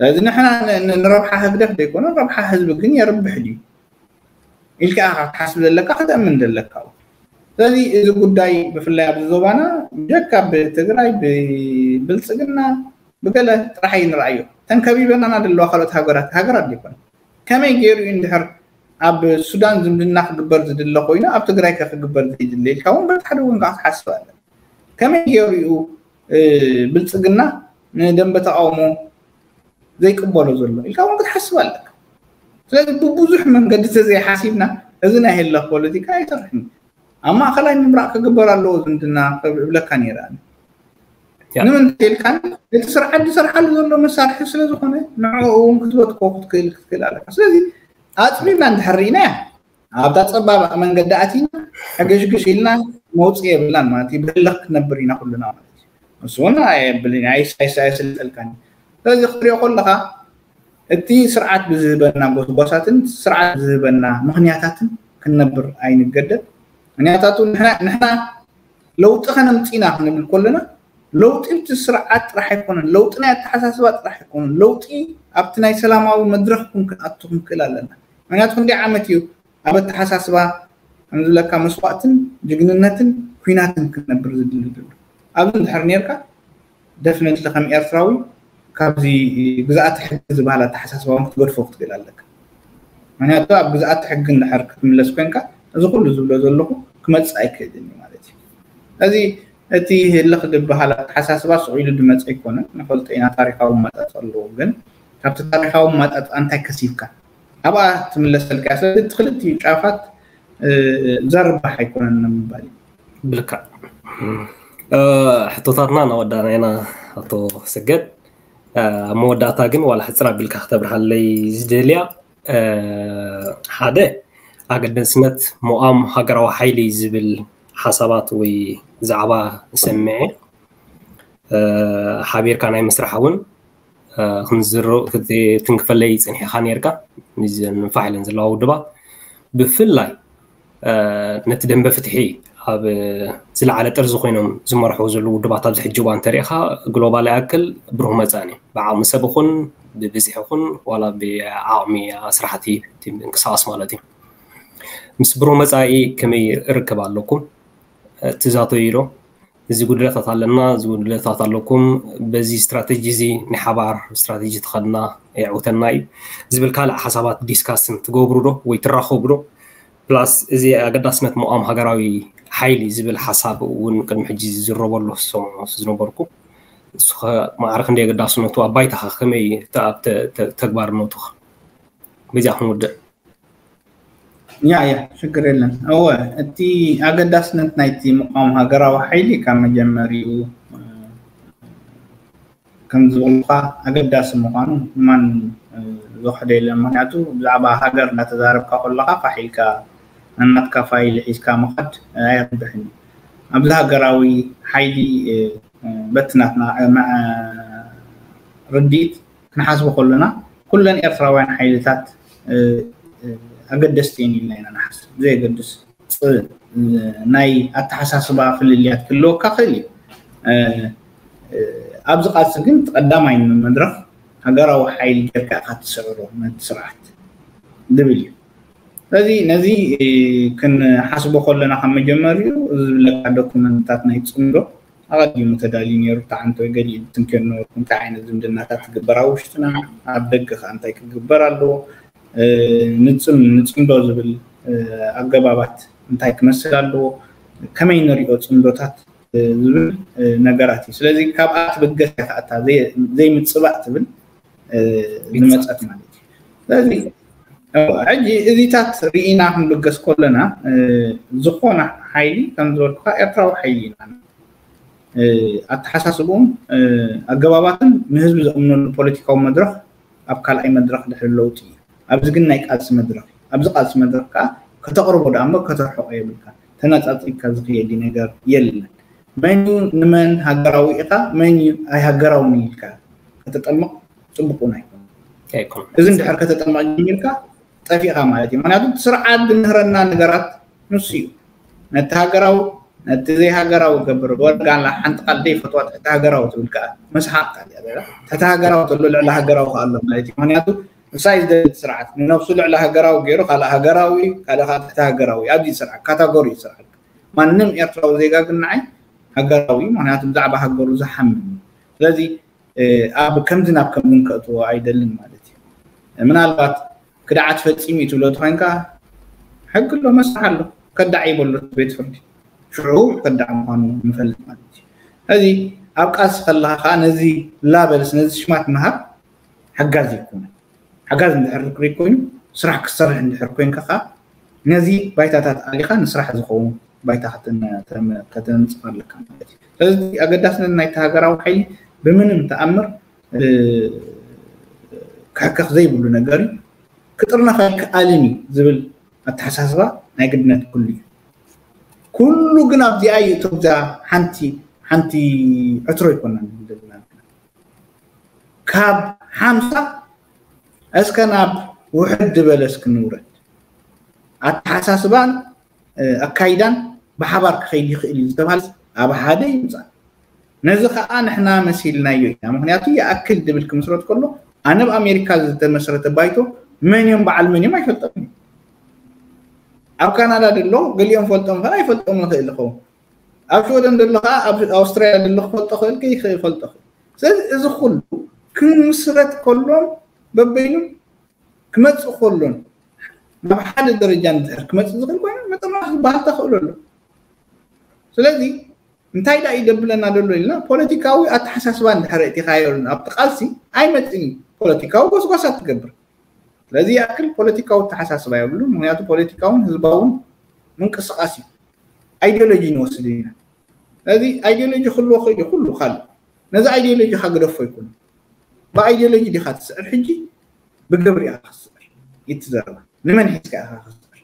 ስለዚ ንሕና ንረብሓ ህግደፍ ዘይኮነ ረብሓ ህዝቢ ግን የርብሕ ድዩ ኢልካ ኢኻ ክትሓስብ ዘለካ ክተእምን ዘለካ። ስለዚ እዚ ጉዳይ ብፍላይ ኣብዚ ዞባና ብጀካ ብትግራይ ብብልፅግና ብገለ ጥራሕ ኣይንርኣዮ። ተን ከቢበናና ዘለዋ ካልኦት ሃገራት ሃገራት ዘይኮነ ከመይ ገይሩ እዩ እንድሕር ኣብ ሱዳን ዝምድና ክግበር ዝድለ ኮይኑ ኣብ ትግራይ ከ ክግበር ዘይድለ ኢልካ እውን በቲ ሓደ ወገን ከዓ ክትሓስብ ኣለካ። ከመይ ገይሩ እዩ ብልፅግና ንደንበ ተቃውሞ ዘይቅበሎ ዘሎ ኢልካ እውን ክትሓስብ ኣለካ። ስለዚ ብብዙሕ መንገዲ ተዘይሓሲብና እዚ ናይ ህለኽ ፖለቲካ ኣይሰርሕን። ኣብ ማእኸላይ ምምራቕ ክግበር ኣለዎ ዝምድና እብለካ ነይረ። ንምንታይ ኢልካ እቲ ስርዓት ዝሰርሓሉ ዘሎ መሳርሒ ስለዝኾነ ንዕኡ እውን ክትበትኮ ክትክእል ክትክእል ኣለካ። ስለዚ ኣፅቢብና እንድሕር ርኢናያ ኣብታ ፀባብ መንገዲ ኣቲና ሕግሽግሽ ኢልና መውፅኢ የብልናን ማለት እዩ። ብህልኽ ክትነብር ኢና ኩልና ማለት እዩ። ንሱ እውን ኣየብልን ኣይስልጠልካን። ስለዚ ክትሪኦ ከለካ እቲ ስርዓት ብዝህበና ጎስጓሳትን ስርዓት ብዝህበና ምክንያታትን ክንነብር ኣይንገደድ። ምክንያታቱ ንሕና ለውጢ ከነምፅእ ኢና ክንብል ከለና ለውጢ እቲ ስርዓት ጥራሕ ኣይኮነን፣ ለውጢ ናይ ኣተሓሳስባ ጥራሕ ኣይኮነን፣ ለውጢ ኣብቲ ናይ ሰላማዊ መድረክ እውን ክንኣቱ ክንክእል ኣለና። ምክንያቱ ክንደይ ዓመት እዩ ኣብ ኣተሓሳስባ ከምዝብለካ መስዋእትን ጅግንነትን ኩናትን ክንነብር ዝድሊ ዘሎ ኣብዚ እንድሕር ነርካ ደፍነትሊ ከም ኤርትራዊ ካብዚ ግዝኣተ ሕጊ ዝበሃል ኣተሓሳስባ እውን ክትገድፎ ክትክእል ኣለካ። ምክንያቱ ኣብ ግዝኣተ ሕጊ እንድሕር ክትምለስ ኮንካ እዚ ኩሉ ዝብሎ ዘለኹ ክመፅእ ኣይክእልን እዩ ማለት እዩ። እዚ እቲ ህልኽ ዝበሃል ኣተሓሳስባ ስቕ ኢሉ ዝመፀ ኣይኮነን። ንፈልጦ ኢና ታሪካዊ ኣመፃፅኣ ኣለዎ፣ ግን ካብቲ ታሪካዊ ኣመፃፅኣ እንታይ ከሲብካ ኣብኣ ትምለሰልካ። ስለዚ እቲ ክልቲኡ ጫፋት ዘርባሕ ኣይኮነን ንምባል እዩ። ብልካ ሕቶታትና እናወዳእና ኢና ኣቶ ሰገድ። ኣብ መወዳእታ ግን ዋላ ሕፅር ኣቢልካ ክተብርሃለይ ዝደልያ ሓደ ኣገደስነት ሞኣም ሃገራዊ ሓይሊ ዝብል ሓሳባት ወይ ዛዕባ ንሰምዐ ሓቢርካ ናይ ምስራሕ እውን ክንዝር ትንክፈለይ ፅንሒኻ ነርካ። ንፋሕ ኢለን ዘለዋ ውድባት ብፍላይ ነቲ ደንበ ፍትሒ ኣብ ዝለዓለ ጥርዚ ኮይኖም ዝመርሕዎ ዘለዉ ውድባት ኣብዚ ሕጂ እዋን እንተሪኢኻ ግሎባል ይኣክል ብሩህ መፃእን እዩ። ብዓቕሚ ሰብ ይኹን ብብዝሒ ይኹን ዋላ ብዓቕሚ ኣስራሕቲ ምንቅስቃስ ማለት እዩ። ምስ ብሩህ መፃኢ ከመይ ርክብ ኣለኩም? ትዛተዩ ዶ? እዚ ጉድለታት ኣለና፣ እዚ ጉድለታት ኣለኩም፣ በዚ ስትራተጂ እዚ ናይ ሓባር ስትራተጂ ተኸድና የዕውተና እዩ ዝብል ካልእ ሓሳባት ዲስካስን ትገብሩ ዶ ወይ ትራኸቡ ዶ? ፕላስ እዚ ኣገዳስነት ምቋም ሃገራዊ ሓይሊ ዝብል ሓሳብ እውን ቅድሚ ሕጂ ዝዝረበሉ ዝሰምዖ ዝነበርኩ። ንሱ ኸ ማዕረ ክንደይ ኣገዳስነቱ ኣብ ባይታኻ ከመይ ተ- ኣብ ተ- ተ- ተግባርነቱ ኸ? በዚኣ ክንውድእ። ያ ያ ሽግር የለን። እወ እቲ ኣገዳስነት ናይቲ ምቋም ሃገራዊ ሓይሊ ካብ መጀመሪኡ ከም ዝበልካ ኣገዳሲ ምዃኑ ማን ዝወሕደ የለን። ምክንያቱ ብዛዕባ ሃገር እናተዛረብካ ከለካ ፋሕ ኢልካ ናናትካ ፋይል ሒዝካ ምኻድ ኣየርብሕን እዩ። ኣብዚ ሃገራዊ ሓይሊ በቲ ናትና ርድኢት ክንሓስቦ ከለና ኩለን ኤርትራውያን ሓይልታት ኣገደስቲ እየን ኢልና ኢና ንሓስብ። ብዘየገድስ ናይ ኣተሓሳስባ ፍልልያት ክህልወካ ክእል እዩ። ኣብዚ ቃልሲ ግን ቀዳማይ መድረኽ ሃገራዊ ሓይሊ ጌርካ ኢኻ ትስዕሮ ነቲ ስርዓት ዝብል እዩ። ስለዚ ነዚ ክንሓስቦ ከለና ካብ መጀመሪኡ ዝብለካ ዶኩመንትታት ናይ ፅምዶ ኣቐዲሙ ተዳልዩ ነይሩ። ተዓንቶ ገሊኡ ዝትንክዮ ነበርኩ። እንታይ ዓይነት ዝምድናታት ትግበር ኣብ ውሽጥና ኣብ ደገ ከ እንታይ ክግበር ኣለዎ? ንፅም ንፅምዶ ዝብል ኣገባባት እንታይ ክመስል ኣለዎ? ከመይ ንሪኦ ፅምዶታት ዝብል ነገራት እዩ። ስለዚ ካብኣ ትብገስ እያ ከኣታ ዘይምፅባእ ትብል ዝመፀት ማለት እዩ። ስለዚ ሕጂ እዚታት ርኢና ክንብገስ ከለና ዝኾነ ሓይሊ ከም ዝበልኩካ ኤርትራዊ ሓይሊ ኢና። ኣተሓሳስብኡን ኣገባባትን ንህዝቢ ዘእምነሉ ፖለቲካዊ መድረኽ ኣብ ካልኣይ መድረኽ ድሕሪ ለውጢ እዩ። ኣብዚ ግን ናይ ቃልሲ መድረኽ እዩ። ኣብዚ ቃልሲ መድረኽ ከዓ ከተቕርቦ ደኣ እምበር ከተርሕቆ የብልካ። ተነፃፂብካ ዝኽየድ ነገር የለን። መን እዩ ንመን ሃገራዊ ኢኻ መን እዩ ኣይሃገራውን ኢልካ ከተጠምቕ ፅቡቅ እውን ኣይኮነ። እዚ እንድሕር ከተጠምቕ ጀሚርካ ጠፊእካ ማለት እዩ። ምክንያቱ ስርዓት ዝምህረና ነገራት ንሱ እዩ። ነቲ ሃገራዊ ነቲ ዘይሃገራዊ ገብር ወርጋላ ሓንቲ ቃል ዘይፈትዋ ትሕቲ ሃገራዊ ትብል ከዓ መስሓቅ ቃል እያ። ትሕቲ ሃገራዊ ተሎ ልዕሊ ሃገራዊ ከዓ ኣሎ ማለት እዩ። ምክንያቱ ንሳይ ዝደሊ ስርዓት ንነብሱ ልዕሊ ሃገራዊ ገይሩ ካልእ ሃገራዊ ካልእ ከዓ ትሕቲ ሃገራዊ ኣብዚ ስርዓት ካታጎሪ ስርዓት ማንም ኤርትራዊ ዜጋ ግን ንዓይ ሃገራዊ ምክንያቱ ብዛዕባ ሃገሩ ዝሓምን እዩ። ስለዚ ኣብ ከምዚ ናብ ከምዚ ከእትዎ ኣይደልን ማለት እዩ። ምናልባት ክድዓት ፈፂሙ እዩ ትብሎ ተኮይንካ ሕጊ ኣሎ መስርሕ ኣሎ ከዳዕ ይበሎ ቤት ፍርዲ ሽዑ ከዳዕ ምኳኑ ንፈልጥ ማለት እዩ። ስለዚ ኣብ ቃልሲ ከለካ ከዓ ነዚ ላበልስ ነዚ ሽማት ምሃብ ሓጋዚ ይኮነ። ሓጋዚ እንድሕር ርክሪክ ኮይኑ ስራሕ ክትሰርሕ እንድሕር ኮይንካ ከዓ ነዚ ባይታታት ኣሊካ ንስራሕ ዝኸውን ባይታ ከተንፅፍ ኣለካ ማለት እዩ። ስለዚ ኣገዳስነት ናይቲ ሃገራዊ ሓይሊ ብምንም ተኣምር ክሕከኽ ዘይብሉ ነገር እዩ። ክጥርነፍ ኣይከኣልን እዩ ዝብል ኣተሓሳስባ ናይ ግድነት ኩሉ እዩ። ኩሉ ግን ኣብዚኣ እዩ እቶም እዛ ሓንቲ ሓንቲ ዕትሮ ይኮና ዘለና ካብ ሓምሳ እስከ ናብ ውሕድ ዝበለ እስኪ ንውረድ። ኣተሓሳስባን ኣካይዳን ብሓባር ክኸይድ ይኽእል እዩ ዝተባሃለ ኣብ ሓደ ይምፃእ። ነዚ ከዓ ንሕና መሲልናዮ ኢና። ምክንያቱ ይኣክል ድብል ክምስረት ከሎ ኣነ ኣብ ኣሜሪካ ዝተመስረተ ባይቶ መን እዮም በዓል መን እዮም ኣይፈልጦም እዩ። ኣብ ካናዳ ደሎ ገሊኦም ፈልጦም ኸ ኣይፈልጦም ንኽእል ይኸውን። ኣብ ሽወደን ደሎ ከዓ ኣብ ኣውስትራልያ ደሎ ክፈልጦ ክእል ከይፈልጦ ክእል። ስለዚ እዚ ኩሉ ክምስረት ከሎን በበይኑ ክመፅእ ከሎን ናብ ሓደ ደረጃ እንድሕር ክመፅእ ዝኽእል ኮይኑ ምጥርናፍ ዝበሃል ተኽእሎ ኣሎ። ስለዚ እንታይ ዳ ይደብለና ደሎ ኢልና ፖለቲካዊ ኣተሓሳስባ እንድሕር እቲኻዮ ኣብቲ ቃልሲ ኣይመፅን እዩ። ፖለቲካዊ ጎስጓሳት ትገብር። ስለዚ ይኣክል ፖለቲካዊ ኣተሓሳስባ የብሉ። ምክንያቱ ፖለቲካውን ህዝባውን ምንቅስቃስ እዩ። ኣይዲዮሎጂ ንወስድ ኢና። ስለዚ ኣይዲዮሎጂ ክህልዎ ክእል እዩ ኩሉ ካልእ ነዚ ኣይዲዮሎጂ ካ ግደፎ ይኩን ብኣይዲዮሎጂ ዲካ ትስዕር ሕጂ ብግብሪ ኢካ ክትስዕር ይትዘረባ ንመን ሒዝካ ኢካ ክትስዕር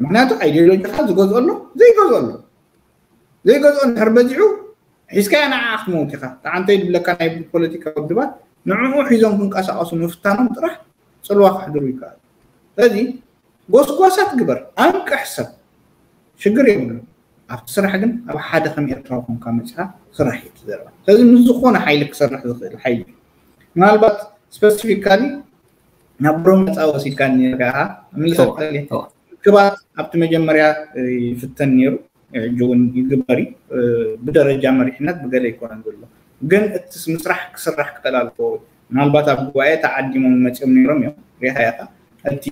ምክንያቱ ኣይዲዮሎጂ ካ ዝገዝኦ ኣሎ ዘይገዝኦ ኣሎ ዘይገዝኦ እንድሕር በዚሑ ሒዝካያ ንዓ ክትመውት ኢካ ተዓንተይ ድብለካ ናይ ፖለቲካ ውድባት ንዕኡ ሒዞም ክንቀሳቀሱ ምፍታኖም ጥራሕ ፅልዋ ከሕድሩ ይከኣል ስለዚ ጎስጓሳት ግበር ኣንቅሕ ሰብ ሽግር የብሉ ኣብቲ ስራሕ ግን ኣብ ሓደ ከም ኤርትራዊ ኮንካ መፅኻ ስራሕ እዩ ትዘርባ ስለዚ ምስ ዝኾነ ሓይሊ ክሰርሕ ዝኽእል ሓይሊ ምናልባት ስፐሲፊካሊ ናብ ኦሮምያ ፃ ወሲድካ ኔርካ ምልሰት ክባት ኣብቲ መጀመርያ ይፍተን ነይሩ ሕጂ እውን ይግበር እዩ። ብደረጃ መሪሕነት ብገለ ኣይኮነን ዘሎ፣ ግን እቲ ምስራሕ ክስራሕ ክተላልፎ፣ ምናልባት ኣብ ጉባኤ ተዓዲሞም መፂኦም ነይሮም እዮም። ሪኢኻ ኢኻ። እቲ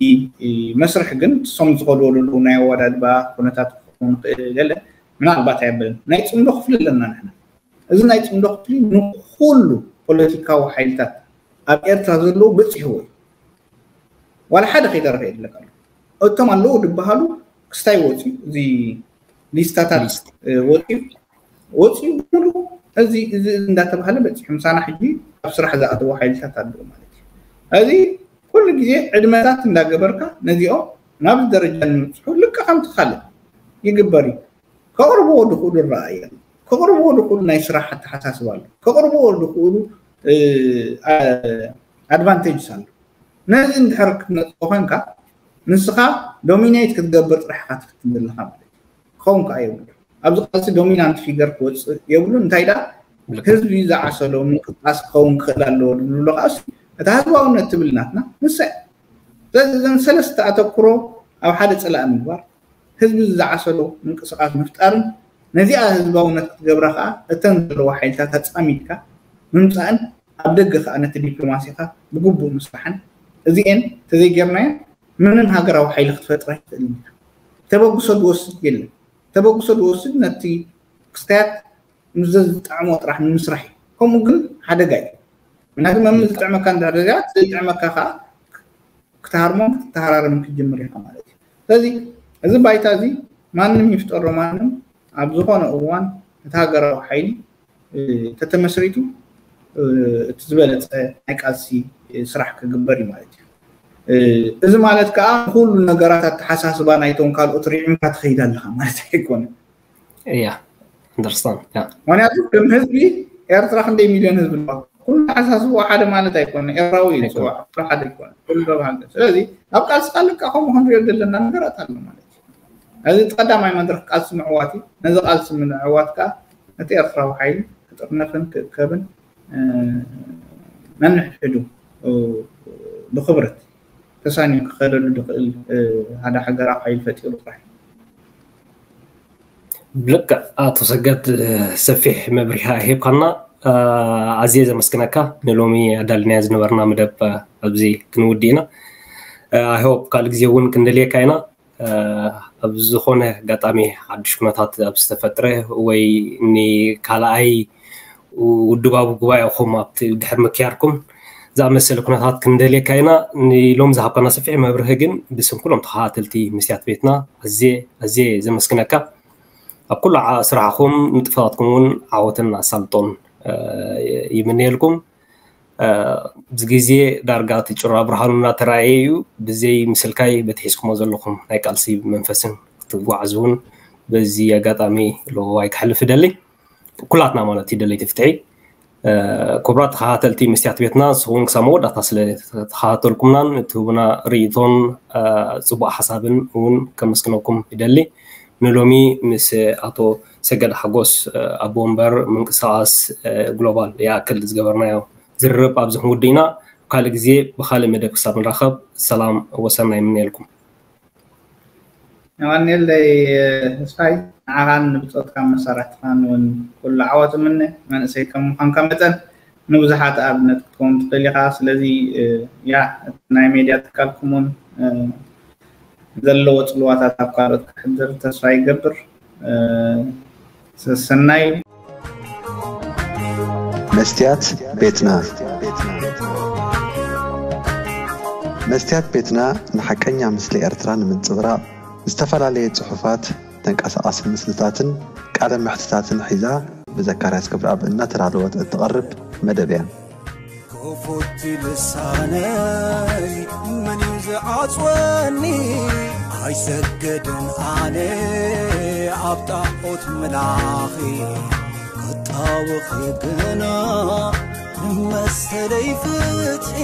መስርሕ ግን እሶም ዝኸድዎ ዘለዉ ናይ ኣወዳድባ ኩነታት ክኸውን ይኽእል፣ ገለ ምናልባት ኣይበልን። ናይ ፅምዶ ክፍሊ ኣለና ንሕና። እዚ ናይ ፅምዶ ክፍሊ ንኩሉ ፖለቲካዊ ሓይልታት ኣብ ኤርትራ ዘለዉ በፂሕዎ እዩ። ዋላ ሓደ ከይተረፈ የድለካ ኣሎ። እቶም ኣለዉ ዝበሃሉ ክስታይ ወፅዩ፣ እዚ ሊስታታት ወፅዩ ወፅዩ ብሙሉ እዚ እዚ እንዳተባሃለ በፂሑ ምሳና ሕጂ ኣብ ስራሕ ዝኣተዉ ሓይልታት ኣለዉ ማለት እዩ። እዚ ኩሉ ግዜ ዕድመታት እንዳገበርካ ነዚኦም ናብዚ ደረጃ ንምፅሑ ልክዕ ከምቲ ካልእ ይግበር እዩ። ከቕርብዎ ዝኽእሉ ረኣየ ኣሎ። ከቕርብዎ ዝኽእሉ ናይ ስራሕ ኣተሓሳስባ ኣሎ። ከቕርብዎ ዝኽእሉ ኣድቫንቴጅስ ኣሎ። ነዚ እንድሕር ክትነፅኦ ኮንካ ንስኻ ዶሚኔት ክትገብር ጥራሕ ኢኻ ትፍትን ዘለኻ ማለት እዩ። ክኸውን ከዓ የብሉ። ኣብዚ ቃልሲ ዶሚናንት ፊገር ክወፅእ የብሉ። እንታይ ዳ ህዝቢ ዝዓሰሎ ምንቅስቃስ ክኸውን ክኽእል ኣለዎ ዝብሉ ከኣ እቲ ህዝባውነት ትብል ናትና ንሳ እያ። ስለዚ እዘን ሰለስተ ኣተኩሮ ኣብ ሓደ ፅላእ ምግባር፣ ህዝቢ ዝዓሰሎ ምንቅስቃስ ምፍጣርን ነዚኣ ህዝባውነት ክትገብራ ከዓ እተን ዘለዋ ሓይልታት ኣፃሚድካ ምምፃእን ኣብ ደገ ከዓ ነቲ ዲፕሎማሲኻ ብግቡእ ምስራሕን፣ እዚኤን ተዘይጌርናዮ ምንም ሃገራዊ ሓይሊ ክትፈጥር ኣይትኽእልን ኢኻ። ተበግሶ ዝወስድ የለን። ተበግሶ ዝወስድ ነቲ ክስታያት ምስ ዘዝጠዕሞ ጥራሕ ንምስራሕ እዩ። ከምኡ ግን ሓደጋ እዩ። ምክንያቱ መም ዝጥዕመካ እንድሕር ደኣ ዘይጥዕመካ ከዓ ክትሃርሞን ክትተሃራረምን ክትጅምር ኢኻ ማለት እዩ። ስለዚ እዚ ባይታ እዚ ማንም ይፍጠሮ ማንም ኣብ ዝኾነ እዋን እቲ ሃገራዊ ሓይሊ ተተመስሪቱ እቲ ዝበለፀ ናይ ቃልሲ ስራሕ ክግበር እዩ ማለት እዩ። እዚ ማለት ከዓ ኩሉ ነገራት ኣተሓሳስባ ናይቶም ካልኦት ርዒምካ ትኸይድ ኣለኻ ማለት ኣይኮነን። እያ understand። ምክንያቱ ከም ህዝቢ ኤርትራ ክንደይ ሚልዮን ህዝቢ ኣለዋ? ኩሉ ተሓሳስቦ ሓደ ማለት ኣይኮነ። ኤርትራዊ እዩ ዝፅዋዕ፣ ሓደ ኣይኮነ። ኩሉ ተባሃለ። ስለዚ ኣብ ቃልሲ ካልካ ከምኡ ክንሪኦ ዘለና ነገራት ኣሎ ማለት እዩ። እዚ ቀዳማይ መድረክ ቃልሲ ምዕዋት እዩ። ነዚ ቃልሲ ምዕዋት ከዓ እቲ ኤርትራዊ ሓይሊ ክጥርነፍን ክእከብን ነንሕድሕዱ ብክብረት ተሳኒዩ ክኸደሉ ዝኽእል ሓደ ሃገራዊ ሓይሊ ፈጢሩ ጥራሕ። ብልክዕ ኣቶ ሰገድ ሰፊሕ መብሪሃ ሂብካና፣ ኣዝየ ዘመስግነካ። ንሎሚ ኣዳልናዮ ዝነበርና መደብ ኣብዚ ክንውዲ ኢና። I hope ካልእ ግዜ እውን ክንደልየካ ኢና። ኣብ ዝኾነ ኣጋጣሚ ሓዱሽ ኩነታት ኣብ ዝተፈጥረ ወይ ንካልኣይ ውድባዊ ጉባኤኹም ኣብቲ ድሕሪ ምክያድኩም ዝኣመሰለ ኩነታት ክንደልየካ ኢና። ንሎም ዝሃብካና ሰፊሕ መብርሂ ግን ብስም ኩሎም ተኸታተልቲ መስትያት ቤትና ኣዝየ ኣዝየ ዘመስግነካ። ኣብ ኩሉ ስራሕኹም ንጥፈታትኩም እውን ዓወትን ኣሳልጦን ይምነየልኩም። እዚ ግዜ ዳርጋ እቲ ጭራ ብርሃኑ እናተራእየ እዩ። ብዘይ ምስልካይ በቲ ሒዝኩሞ ዘለኹም ናይ ቃልሲ መንፈስን ክትጓዓዙ እውን በዚ ኣጋጣሚ ለዋይ ክሕልፍ እደሊ። ኩላትና ማለት እዩ ደለይቲ ፍትሒ። ክቡራት ተኸታተልቲ መስትያት ቤትና ንስኹም ክሳብ መወዳእታ ስለ ተኸታተልኩምናን እትህቡና ርእይቶን ፅቡቕ ሓሳብን እውን ከመስግነኩም ይደሊ። ንሎሚ ምስ ኣቶ ሰገድ ሓጎስ ኣቦ ወንበር ምንቅስቃስ ግሎባል ይኣክል ዝገበርናዮ ዝርርብ ኣብዚ ክንውድእ ኢና። ካልእ ግዜ ብካልእ መደብ ክሳብ ንራኸብ ሰላም ወሰናይ ይምነየልኩም። ኣማኑኤለይ ተስፋይ፣ ንዓኻን ንብጾትካ መሳርሕትኻን እውን ኩሉ ዓወት እምነ። መንእሰይ ከም ምዃንካ መጠን ንብዙሓት ኣብነት ክትከውን ትኽእል ኢኻ። ስለዚ ያ ናይ ሜድያ ትካልኩም እውን ዘለዎ ፅልዋታት ኣብ ካልኦት ከሕድር ተስፋ ይገብር። ሰሰናዩ። መስትያት ቤትና መስትያት ቤትና ንሓቀኛ ምስሊ ኤርትራ ንምንጽብራቕ ዝተፈላለየ ጽሑፋት፣ ተንቀሳቓሲ ምስልታትን ቃለ መሕትታትን ሒዛ ብዘካርያስ ገብረኣብ እናተዳለወት እትቐርብ መደብ እያ። ክፉት ልሳነይ መን እዩ ዝዓጽወኒ? ኣይሰግድን ኣነ ኣብ ጣዖት ምላኺ ክጣወኺ ግና ንመሰለይ ፍትሒ